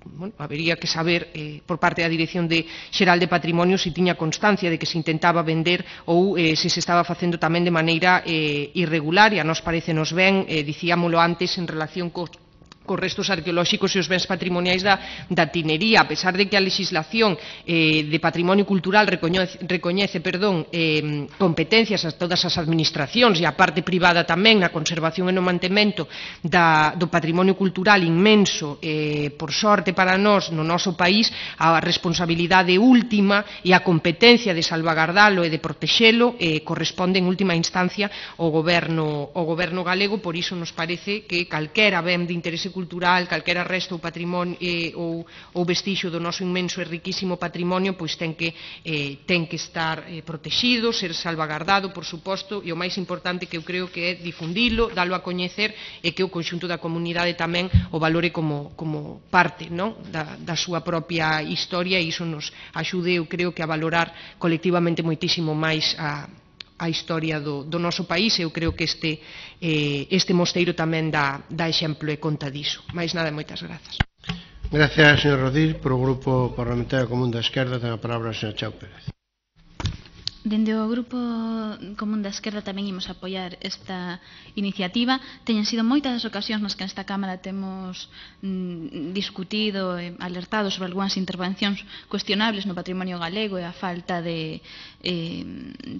bueno, habería que saber eh, por parte da Dirección de Xeral de Patrimonio se tiña constancia de que se intentaba vender ou eh, se se estaba facendo tamén de maneira eh, irregular, e a nos parecenos ben, eh, dicíamolo antes en relación co cos restos arqueolóxicos e os bens patrimoniais da, da tinería, a pesar de que a legislación eh, de patrimonio cultural recoñece, recoñece perdón, eh, competencias a todas as administracións e a parte privada tamén na conservación e no mantemento da, do patrimonio cultural inmenso, eh, por sorte para nós no noso país, a responsabilidade última e a competencia de salvagardalo e de protexelo eh, corresponde en última instancia ao goberno, ao goberno galego. Por iso nos parece que calquera ben de interese cultural, calquera resto ou patrimonio eh, ou, ou vestixo do noso inmenso e riquísimo patrimonio, pois ten que, eh, ten que estar eh, protegido, ser salvagardado, por suposto, e o máis importante que eu creo que é difundilo, dalo a coñecer e que o conxunto da comunidade tamén o valore como, como parte, non? Da, da súa propia historia, e iso nos axude, eu creo que a valorar colectivamente moitísimo máis a a historia do, do noso país. Eu creo que este, eh, este mosteiro tamén dá, dá exemplo e conta diso. Mais nada, moitas grazas. Gracias, señor Rodil. Por o Grupo Parlamentario Común da Esquerda ten a palabra o señor Chao Pérez. Dende o Grupo Común da Esquerda tamén imos apoiar esta iniciativa. Teñen sido moitas as ocasións nas que nesta Cámara temos mm, discutido e alertado sobre algunhas intervencións cuestionables no patrimonio galego e a falta de, eh,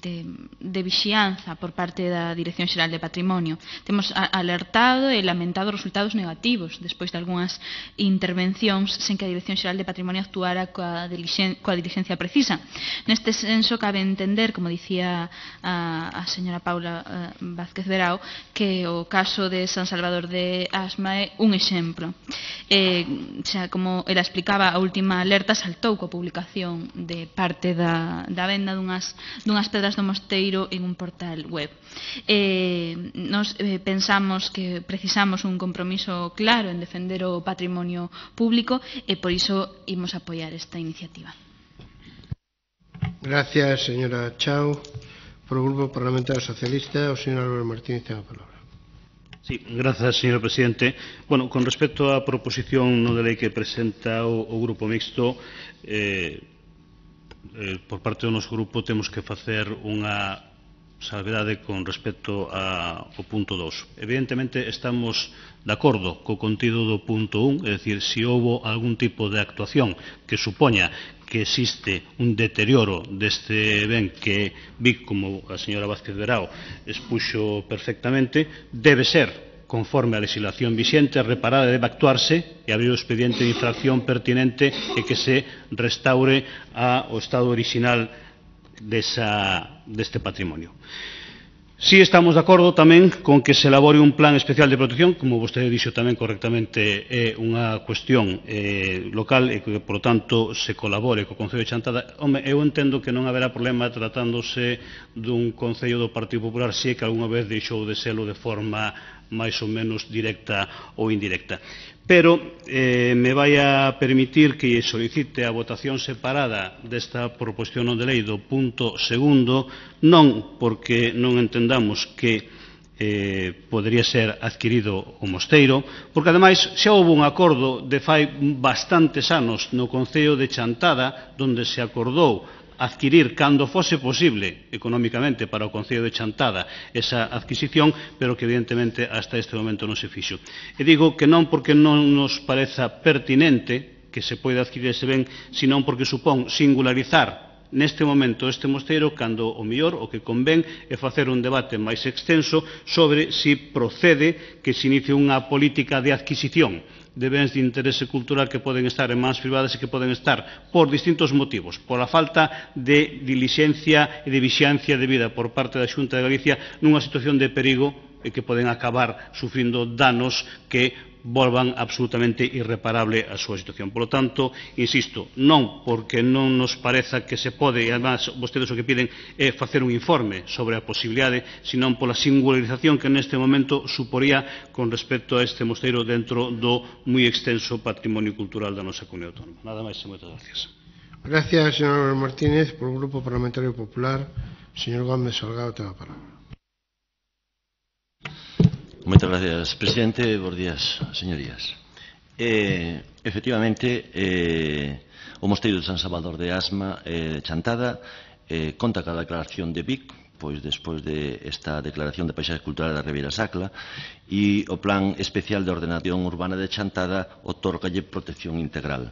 de, de vixianza por parte da Dirección Xeral de Patrimonio. Temos alertado e lamentado resultados negativos despois de algunhas intervencións sen que a Dirección Xeral de Patrimonio actuara coa, coa diligencia precisa. Neste senso, cabe entender, como dicía a, a señora Paula uh, Vázquez Verao, que o caso de San Salvador de Asma é un exemplo. Eh, xa, como ela explicaba, a última alerta saltou coa publicación de parte da, da venda dunhas, dunhas pedras do mosteiro en un portal web. Eh, nos eh, pensamos que precisamos un compromiso claro en defender o patrimonio público e por iso imos apoiar esta iniciativa. Gracias, señora Chao. Por o Grupo Parlamentario Socialista, o señor Álvaro Martínez ten a palabra. Sí, gracias, señor presidente. Bueno, con respecto á proposición non de lei que presenta o, o Grupo Mixto, eh, eh, por parte do noso grupo temos que facer unha salvedade con respecto ao punto dos. Evidentemente estamos de acordo co contido do punto un, é dicir, se houbo algún tipo de actuación que supoña que existe un deterioro deste ben que vi, como a señora Vázquez Verao expuxo perfectamente, debe ser conforme a legislación vixente, reparada, debe actuarse e abrir o expediente de infracción pertinente e que se restaure ao estado orixinal desa, deste patrimonio. Si estamos de acordo tamén con que se elabore un plan especial de protección, como vostede dixo tamén correctamente, é unha cuestión eh, local e que, por tanto, se colabore co Concello de Chantada. Home, eu entendo que non haberá problema tratándose dun Concello do Partido Popular, se que algunha vez deixou de selo de forma máis ou menos directa ou indirecta. Pero eh, me vai a permitir que solicite a votación separada desta proposición non de lei do punto segundo, non porque non entendamos que eh, podería ser adquirido o mosteiro, porque ademais xa houve un acordo de fai bastantes anos no Concello de Chantada, onde se acordou adquirir cando fose posible económicamente para o Concello de Chantada esa adquisición, pero que evidentemente hasta este momento non se fixo. E digo que non porque non nos pareza pertinente que se poida adquirir ese ben, senón porque supón singularizar neste momento este mosteiro, cando o mellor o que convén é facer un debate máis extenso sobre si procede que se inicie unha política de adquisición de bens de interese cultural que poden estar en mans privadas e que poden estar por distintos motivos, pola falta de dilixencia e de vixiancia debida por parte da Xunta de Galicia nunha situación de perigo e que poden acabar sufrindo danos que volvan absolutamente irreparable a súa situación. Por lo tanto, insisto, non porque non nos pareza que se pode, e además vostedes o que piden é facer un informe sobre a posibilidade, senón pola singularización que neste momento suporía con respecto a este mosteiro dentro do moi extenso patrimonio cultural da nosa comunidade autónoma. Nada máis e moitas gracias. Gracias, señor Martínez. Por o Grupo Parlamentario Popular, señor Gómez Salgado, ten a palabra. Moitas gracias, presidente. Bos días, señorías. Eh, efectivamente, eh, o Mosteiro de San Salvador de Asma, eh, Chantada, eh, conta ca declaración de Vic, pois despois de esta declaración de paisaxe cultural da Ribeira Sacra, e o Plan Especial de Ordenación Urbana de Chantada otórgalle protección integral.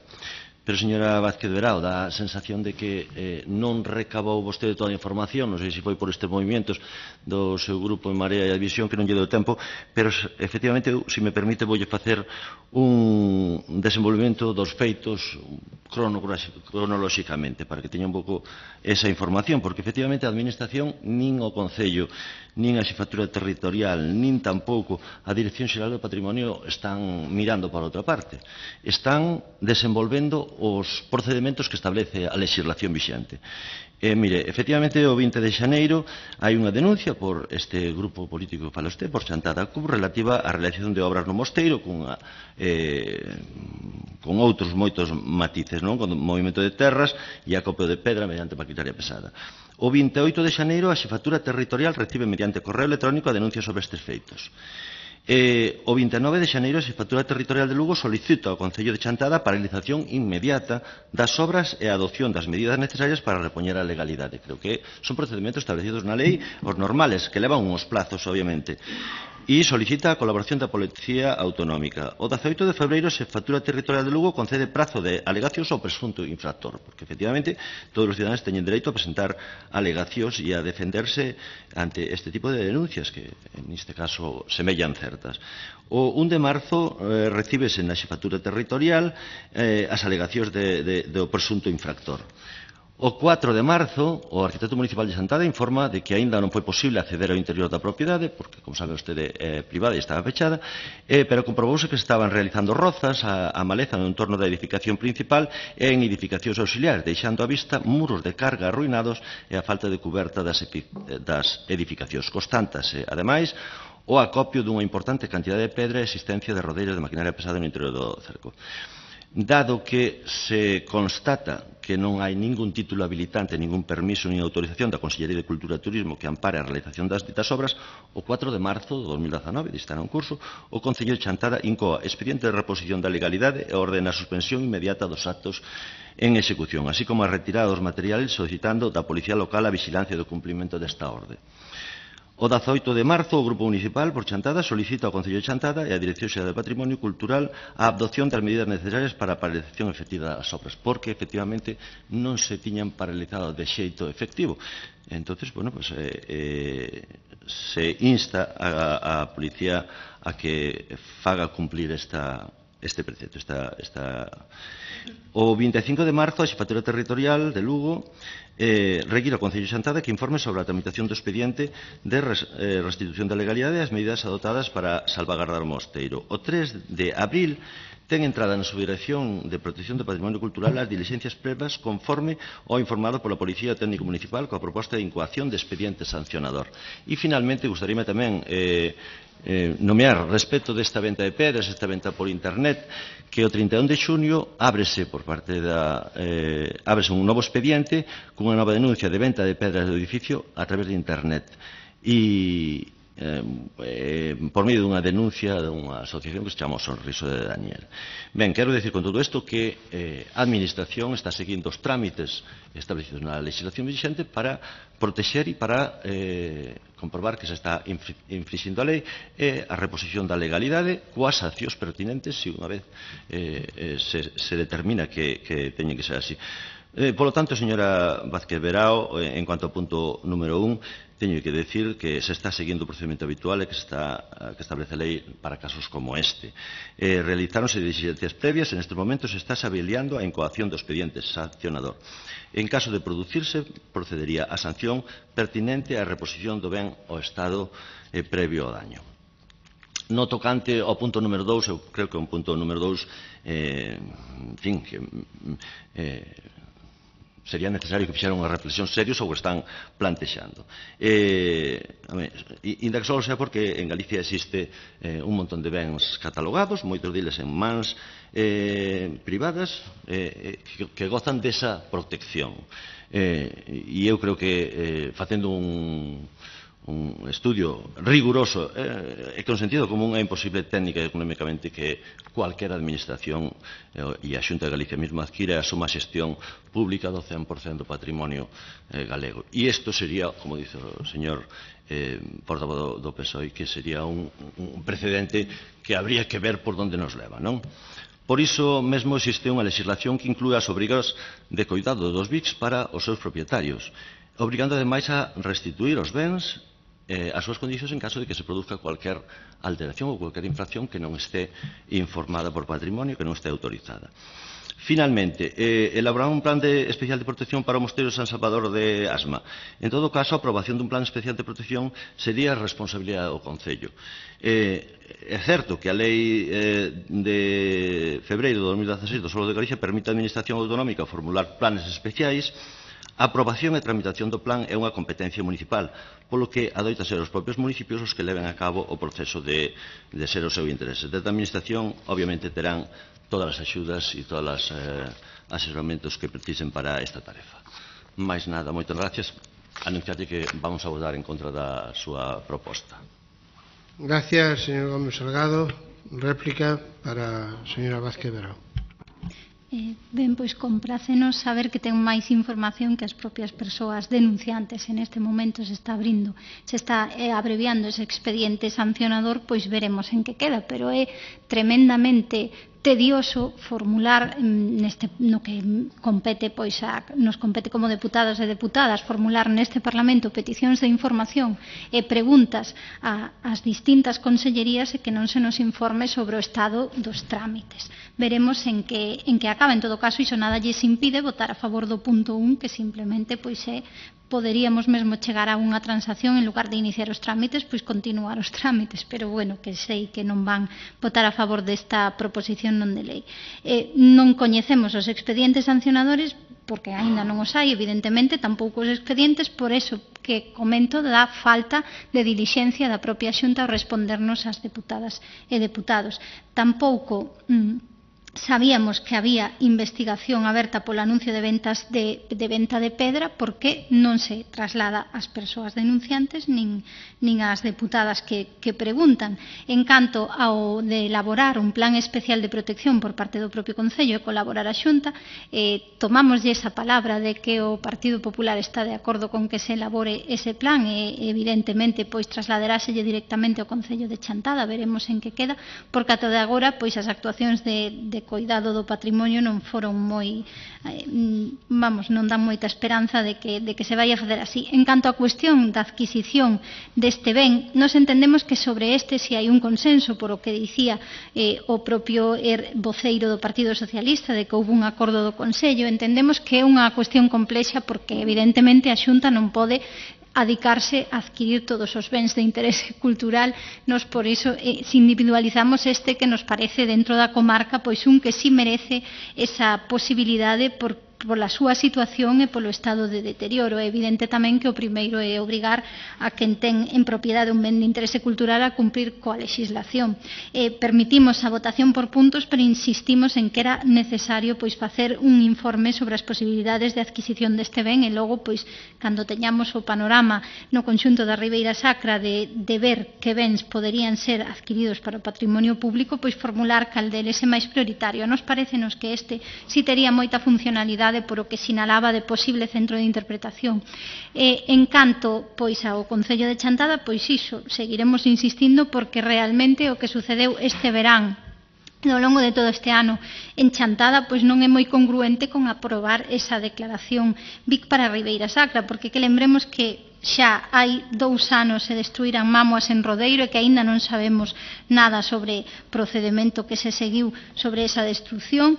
Pero, señora Vázquez Verao, dá a sensación de que eh, non recabou vostede toda a información, non sei se foi por estes movimentos do seu grupo en Marea e a Visión, que non lle deu tempo, pero, efectivamente, se me permite, voulle facer un desenvolvemento dos feitos cronolóxicamente, para que teña un pouco esa información, porque, efectivamente, a Administración, nin o Concello, nin a Xefatura Territorial, nin tampouco a Dirección Xeral do Patrimonio están mirando para outra parte. Están desenvolvendo os procedementos que establece a legislación vixente. E, mire, efectivamente, o vinte de xaneiro hai unha denuncia por este grupo político que fala usted, por Chantada C U B, relativa á realización de obras no mosteiro con, eh, con outros moitos matices, non? Con movimento de terras e acopio de pedra mediante maquinaria pesada. O vinte e oito de xaneiro a Xefatura Territorial recibe mediante correo electrónico a denuncia sobre estes feitos. Eh, o vinte e nove de xaneiro a Xefatura Territorial de Lugo solicita ao Concello de Chantada a paralización inmediata das obras e a adopción das medidas necesarias para repoñer a legalidade. Creo que son procedimentos establecidos na lei, os normales, que levan uns plazos, obviamente. E solicita a colaboración da Policía Autonómica. O dezaoito de febreiro a Xefatura Territorial de Lugo concede prazo de alegacións ao presunto infractor, porque, efectivamente, todos os ciudadanos teñen dereito a presentar alegacións e a defenderse ante este tipo de denuncias que, en este caso, semellan certas. O un de marzo eh, recíbese na Xefatura Territorial eh, as alegacións de, de, do presunto infractor. O cuatro de marzo, o arquitecto municipal de Chantada informa de que aínda non foi posible acceder ao interior da propiedade, porque, como sabe vostede, é privada e estaba fechada, eh, pero comprobouse que estaban realizando rozas a, a maleza no entorno da edificación principal e en edificacións auxiliares, deixando á vista muros de carga arruinados e a falta de cuberta das, das edificacións. Constátase, ademais, o acopio dunha importante cantidade de pedra e existencia de rodeiros de maquinaria pesada no interior do cerco. Dado que se constata que non hai ningún título habilitante, ningún permiso nin autorización da Consellería de Cultura e Turismo que ampare a realización das ditas obras, o cuatro de marzo de dos mil dezanove, dista en curso, o Concello de Chantada incoa expediente de reposición da legalidade e ordena a suspensión inmediata dos actos en execución, así como a retirada dos materiales solicitando da Policía Local a vigilancia do cumprimento desta orde. O dezaoito de marzo, o Grupo Municipal por Chantada solicita ao Concello de Chantada e á Dirección Xeral de Patrimonio Cultural a adopción das medidas necesarias para a paralización efectiva das obras, porque, efectivamente, non se tiñan paralizado de xeito efectivo. Entonces, bueno, pues, eh, eh, se insta a, a Policía a que faga cumplir esta, este precepto. Esta, esta... O vinte e cinco de marzo, a Xefatura Territorial de Lugo eh, require ao Concello de Chantada que informe sobre a tramitación do expediente de res, eh, restitución da legalidade e as medidas adoptadas para salvagardar o mosteiro. O tres de abril ten entrada na Subdirección de Protección do Patrimonio Cultural as diligencias previas conforme ao informado pola Policía Técnico Municipal coa proposta de incoación de expediente sancionador. E, finalmente, gustaríame tamén eh, eh, nomear respecto desta venta de pedras, esta venta por internet, que o trinta e un de xunio ábrese por parte da eh, ábrese un novo expediente cunha nova denuncia de venta de pedras do edificio a través de internet. E Eh, eh, por medio dunha denuncia dunha asociación que se chama o Sorriso de Daniel. Ben, quero decir con todo isto que eh, a Administración está seguindo os trámites establecidos na legislación vigente para protexer e para eh, comprobar que se está infringindo a lei e a reposición da legalidade coas accións pertinentes se unha vez eh, eh, se, se determina que, que teñen que ser así. Eh, polo tanto, señora Vázquez Verao, eh, en cuanto ao punto número un, teño que decir que se está seguindo o procedimento habitual e que, está, que establece a lei para casos como este. Eh, realizáronse diligencias previas, en estes momentos se está avaliando a incoación do expediente sancionador. En caso de producirse, procedería a sanción pertinente á reposición do ben ao estado eh, previo ao daño. No tocante ao punto número dous, eu creo que é un punto número dous, eh, en fin, que eh, sería necesario que fixeran unha reflexión serio sobre o que están plantexando. Eh, Inda que só sea porque en Galicia existe eh, un montón de bens catalogados, moitos deles en mans eh, privadas, eh, que, que gozan desa protección. Eh, e eu creo que eh, facendo un un estudio riguroso eh, e con sentido común é imposible técnica e económicamente que cualquier administración eh, e a Xunta de Galicia mesmo adquira a súa xestión pública do cen por cento do patrimonio eh, galego. E isto sería, como dice o señor eh, portavoz do, do P S O E, que sería un, un precedente que habría que ver por onde nos leva, non? Por iso mesmo existe unha legislación que inclúe as obrigas de coidado dos B I Cs para os seus propietarios, obrigando ademais a restituir os bens eh, as súas condicións en caso de que se produzca cualquier alteración ou cualquier infracción que non esté informada por patrimonio, que non esté autorizada. Finalmente, eh, elaborar un plan de especial de protección para o Mosteiro de San Salvador de Asma. En todo caso, a aprobación dun plan especial de protección sería responsabilidade do Concello. Eh, é certo que a lei eh, de febreiro de dos mil dieciséis do Solo de Galicia permite á Administración Autonómica formular planes especiais. A aprobación e tramitación do plan é unha competencia municipal, polo que adoita ser os propios municipios os que leven a cabo o proceso de, de ser o seu interese. Desde a Administración, obviamente, terán todas as axudas e todos os eh, asesoramentos que precisen para esta tarefa. Mais nada, moitas gracias. Anunciarte que vamos a votar en contra da súa proposta. Gracias, señor Gómez Salgado. Réplica para a señora Vázquez Verao. Eh, ben, pois comprácenos saber que ten máis información que as propias persoas denunciantes. En este momento se está abrindo, se está eh, abreviando ese expediente sancionador, pois veremos en que queda, pero é tremendamente tedioso formular neste no que compete pois a, nos compete como deputados e deputadas formular neste Parlamento peticións de información e preguntas a, as distintas consellerías e que non se nos informe sobre o estado dos trámites. Veremos en que en que acaba. En todo caso, iso nada lles impide votar a favor do punto un, que simplemente pois é poderíamos mesmo chegar a unha transacción en lugar de iniciar os trámites, pois continuar os trámites, pero bueno, que sei que non van votar a favor desta proposición non de lei. Eh, non coñecemos os expedientes sancionadores porque aínda non os hai, evidentemente, tampouco os expedientes, por eso que comento da falta de dilixencia da propia Xunta ao respondernos ás deputadas e deputados. Tampouco mm, sabíamos que había investigación aberta polo anuncio de ventas de, de venta de pedra, porque non se traslada ás persoas denunciantes nin, nin ás deputadas que, que preguntan. En canto ao de elaborar un plan especial de protección por parte do propio Concello e colaborar a Xunta, eh, tomámoslle esa palabra de que o Partido Popular está de acordo con que se elabore ese plan e evidentemente pois trasladaráselle directamente ao Concello de Chantada. Veremos en que queda, porque ata de agora pois as actuacións de, de de coidado do patrimonio non foron moi, eh, vamos, non dan moita esperanza de que, de que se vai a facer así. En canto á cuestión da adquisición deste ben, nos entendemos que sobre este si hai un consenso, por o que dicía eh, o propio er, voceiro do Partido Socialista, de que houve un acordo do Consello. Entendemos que é unha cuestión complexa porque evidentemente a Xunta non pode adicarse a adquirir todos os bens de interese cultural. Nos por iso eh, se individualizamos este que nos parece dentro da comarca pois un que si merece esa posibilidade por pola súa situación e polo estado de deterioro. É evidente tamén que o primeiro é obrigar a quen ten en propiedade un ben de interese cultural a cumprir coa legislación. Eh, permitimos a votación por puntos, pero insistimos en que era necesario pois facer un informe sobre as posibilidades de adquisición deste ben e logo, pois, cando teñamos o panorama no conxunto da Ribeira Sacra de, de ver que bens poderían ser adquiridos para o patrimonio público, pois formular cal deles é máis prioritario. Nos parecenos que este si tería moita funcionalidade por o que sinalaba de posible centro de interpretación. Eh, en canto pois ao Concello de Chantada, pois iso, seguiremos insistindo porque realmente o que sucedeu este verán ao longo de todo este ano en Chantada pois non é moi congruente con aprobar esa declaración B I C para a Ribeira Sacra, porque que lembremos que xa hai dous anos se destruíran mámoas en Rodeiro e que aínda non sabemos nada sobre procedemento que se seguiu sobre esa destrucción.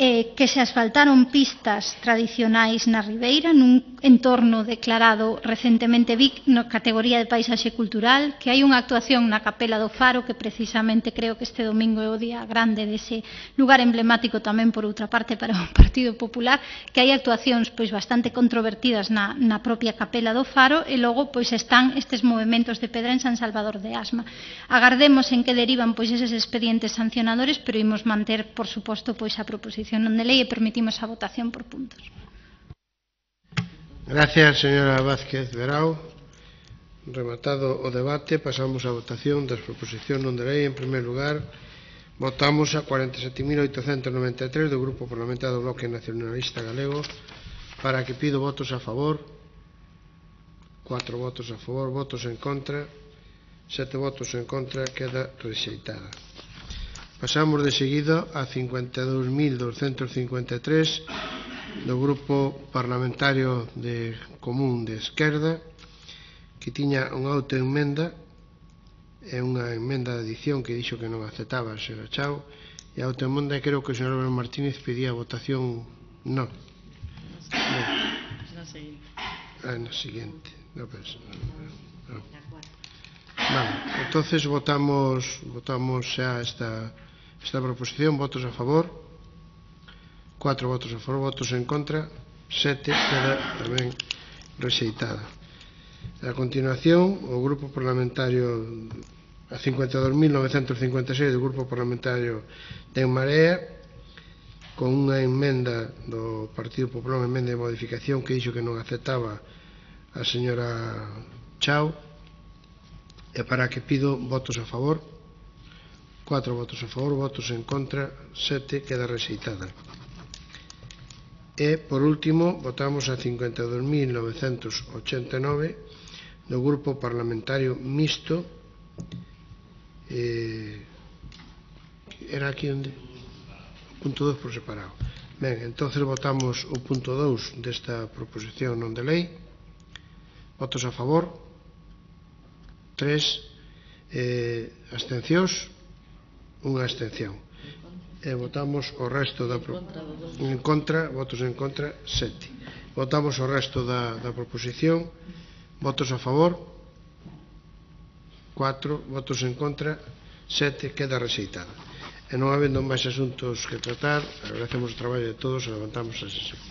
Eh, que se asfaltaron pistas tradicionais na Ribeira nun entorno declarado recentemente B I C na categoría de paisaxe cultural, que hai unha actuación na Capela do Faro que precisamente creo que este domingo é o día grande dese lugar emblemático tamén por outra parte para o Partido Popular, que hai actuacións pois bastante controvertidas na, na propia Capela do Faro e logo pois están estes movementos de pedra en San Salvador de Asma. Agardemos en que derivan pois eses expedientes sancionadores, pero imos manter por suposto pois a proposición non de lei e permitimos a votación por puntos. Gracias, señora Vázquez Verao. Rematado o debate, pasamos á votación das proposicións non de lei. En primer lugar, votamos a cuarenta e sete mil oitocentos noventa e tres do Grupo Parlamentario do Bloque Nacionalista Galego, para que pido votos a favor, cuatro votos a favor, votos en contra, sete votos en contra, queda rexeitada. Pasamos de seguido a cincuenta e dous mil douscentos cincuenta e tres do Grupo Parlamentario de Común de Esquerda, que tiña unha autoemenda, é unha emenda de adición que dixo que non aceptaba a señora Chao, e a autoemenda creo que o señor Álvaro Martínez pedía votación non. Na seguinte. Ah, na seguinte. No, pues, no. Vale, entonces votamos votamos xa esta esta proposición. Votos a favor, cuatro votos a favor, votos en contra, sete, queda tamén rexeitada. A continuación, o Grupo Parlamentario a cincuenta e dous mil novecentos cincuenta e seis do Grupo Parlamentario de En Marea, con unha emenda do Partido Popular, unha emenda de modificación que dixo que non aceptaba a señora Chao, e para que pido votos a favor, cuatro votos a favor, votos en contra, sete, queda rexeitada. E, por último, votamos a cincuenta e dous mil novecentos ochenta e nove do Grupo Parlamentario Mixto. Eh, era aquí onde? O punto dos por separado. Ben, entonces votamos o punto dous desta proposición non de lei. Votos a favor, tres, eh, abstencións, unha abstención. E votamos o resto da pro... en contra, votos en contra, sete. Votamos o resto da, da proposición. Votos a favor, cuatro, votos en contra, sete, queda rexeitada. E non habendo máis asuntos que tratar, agradecemos o traballo de todos e levantamos a sesión.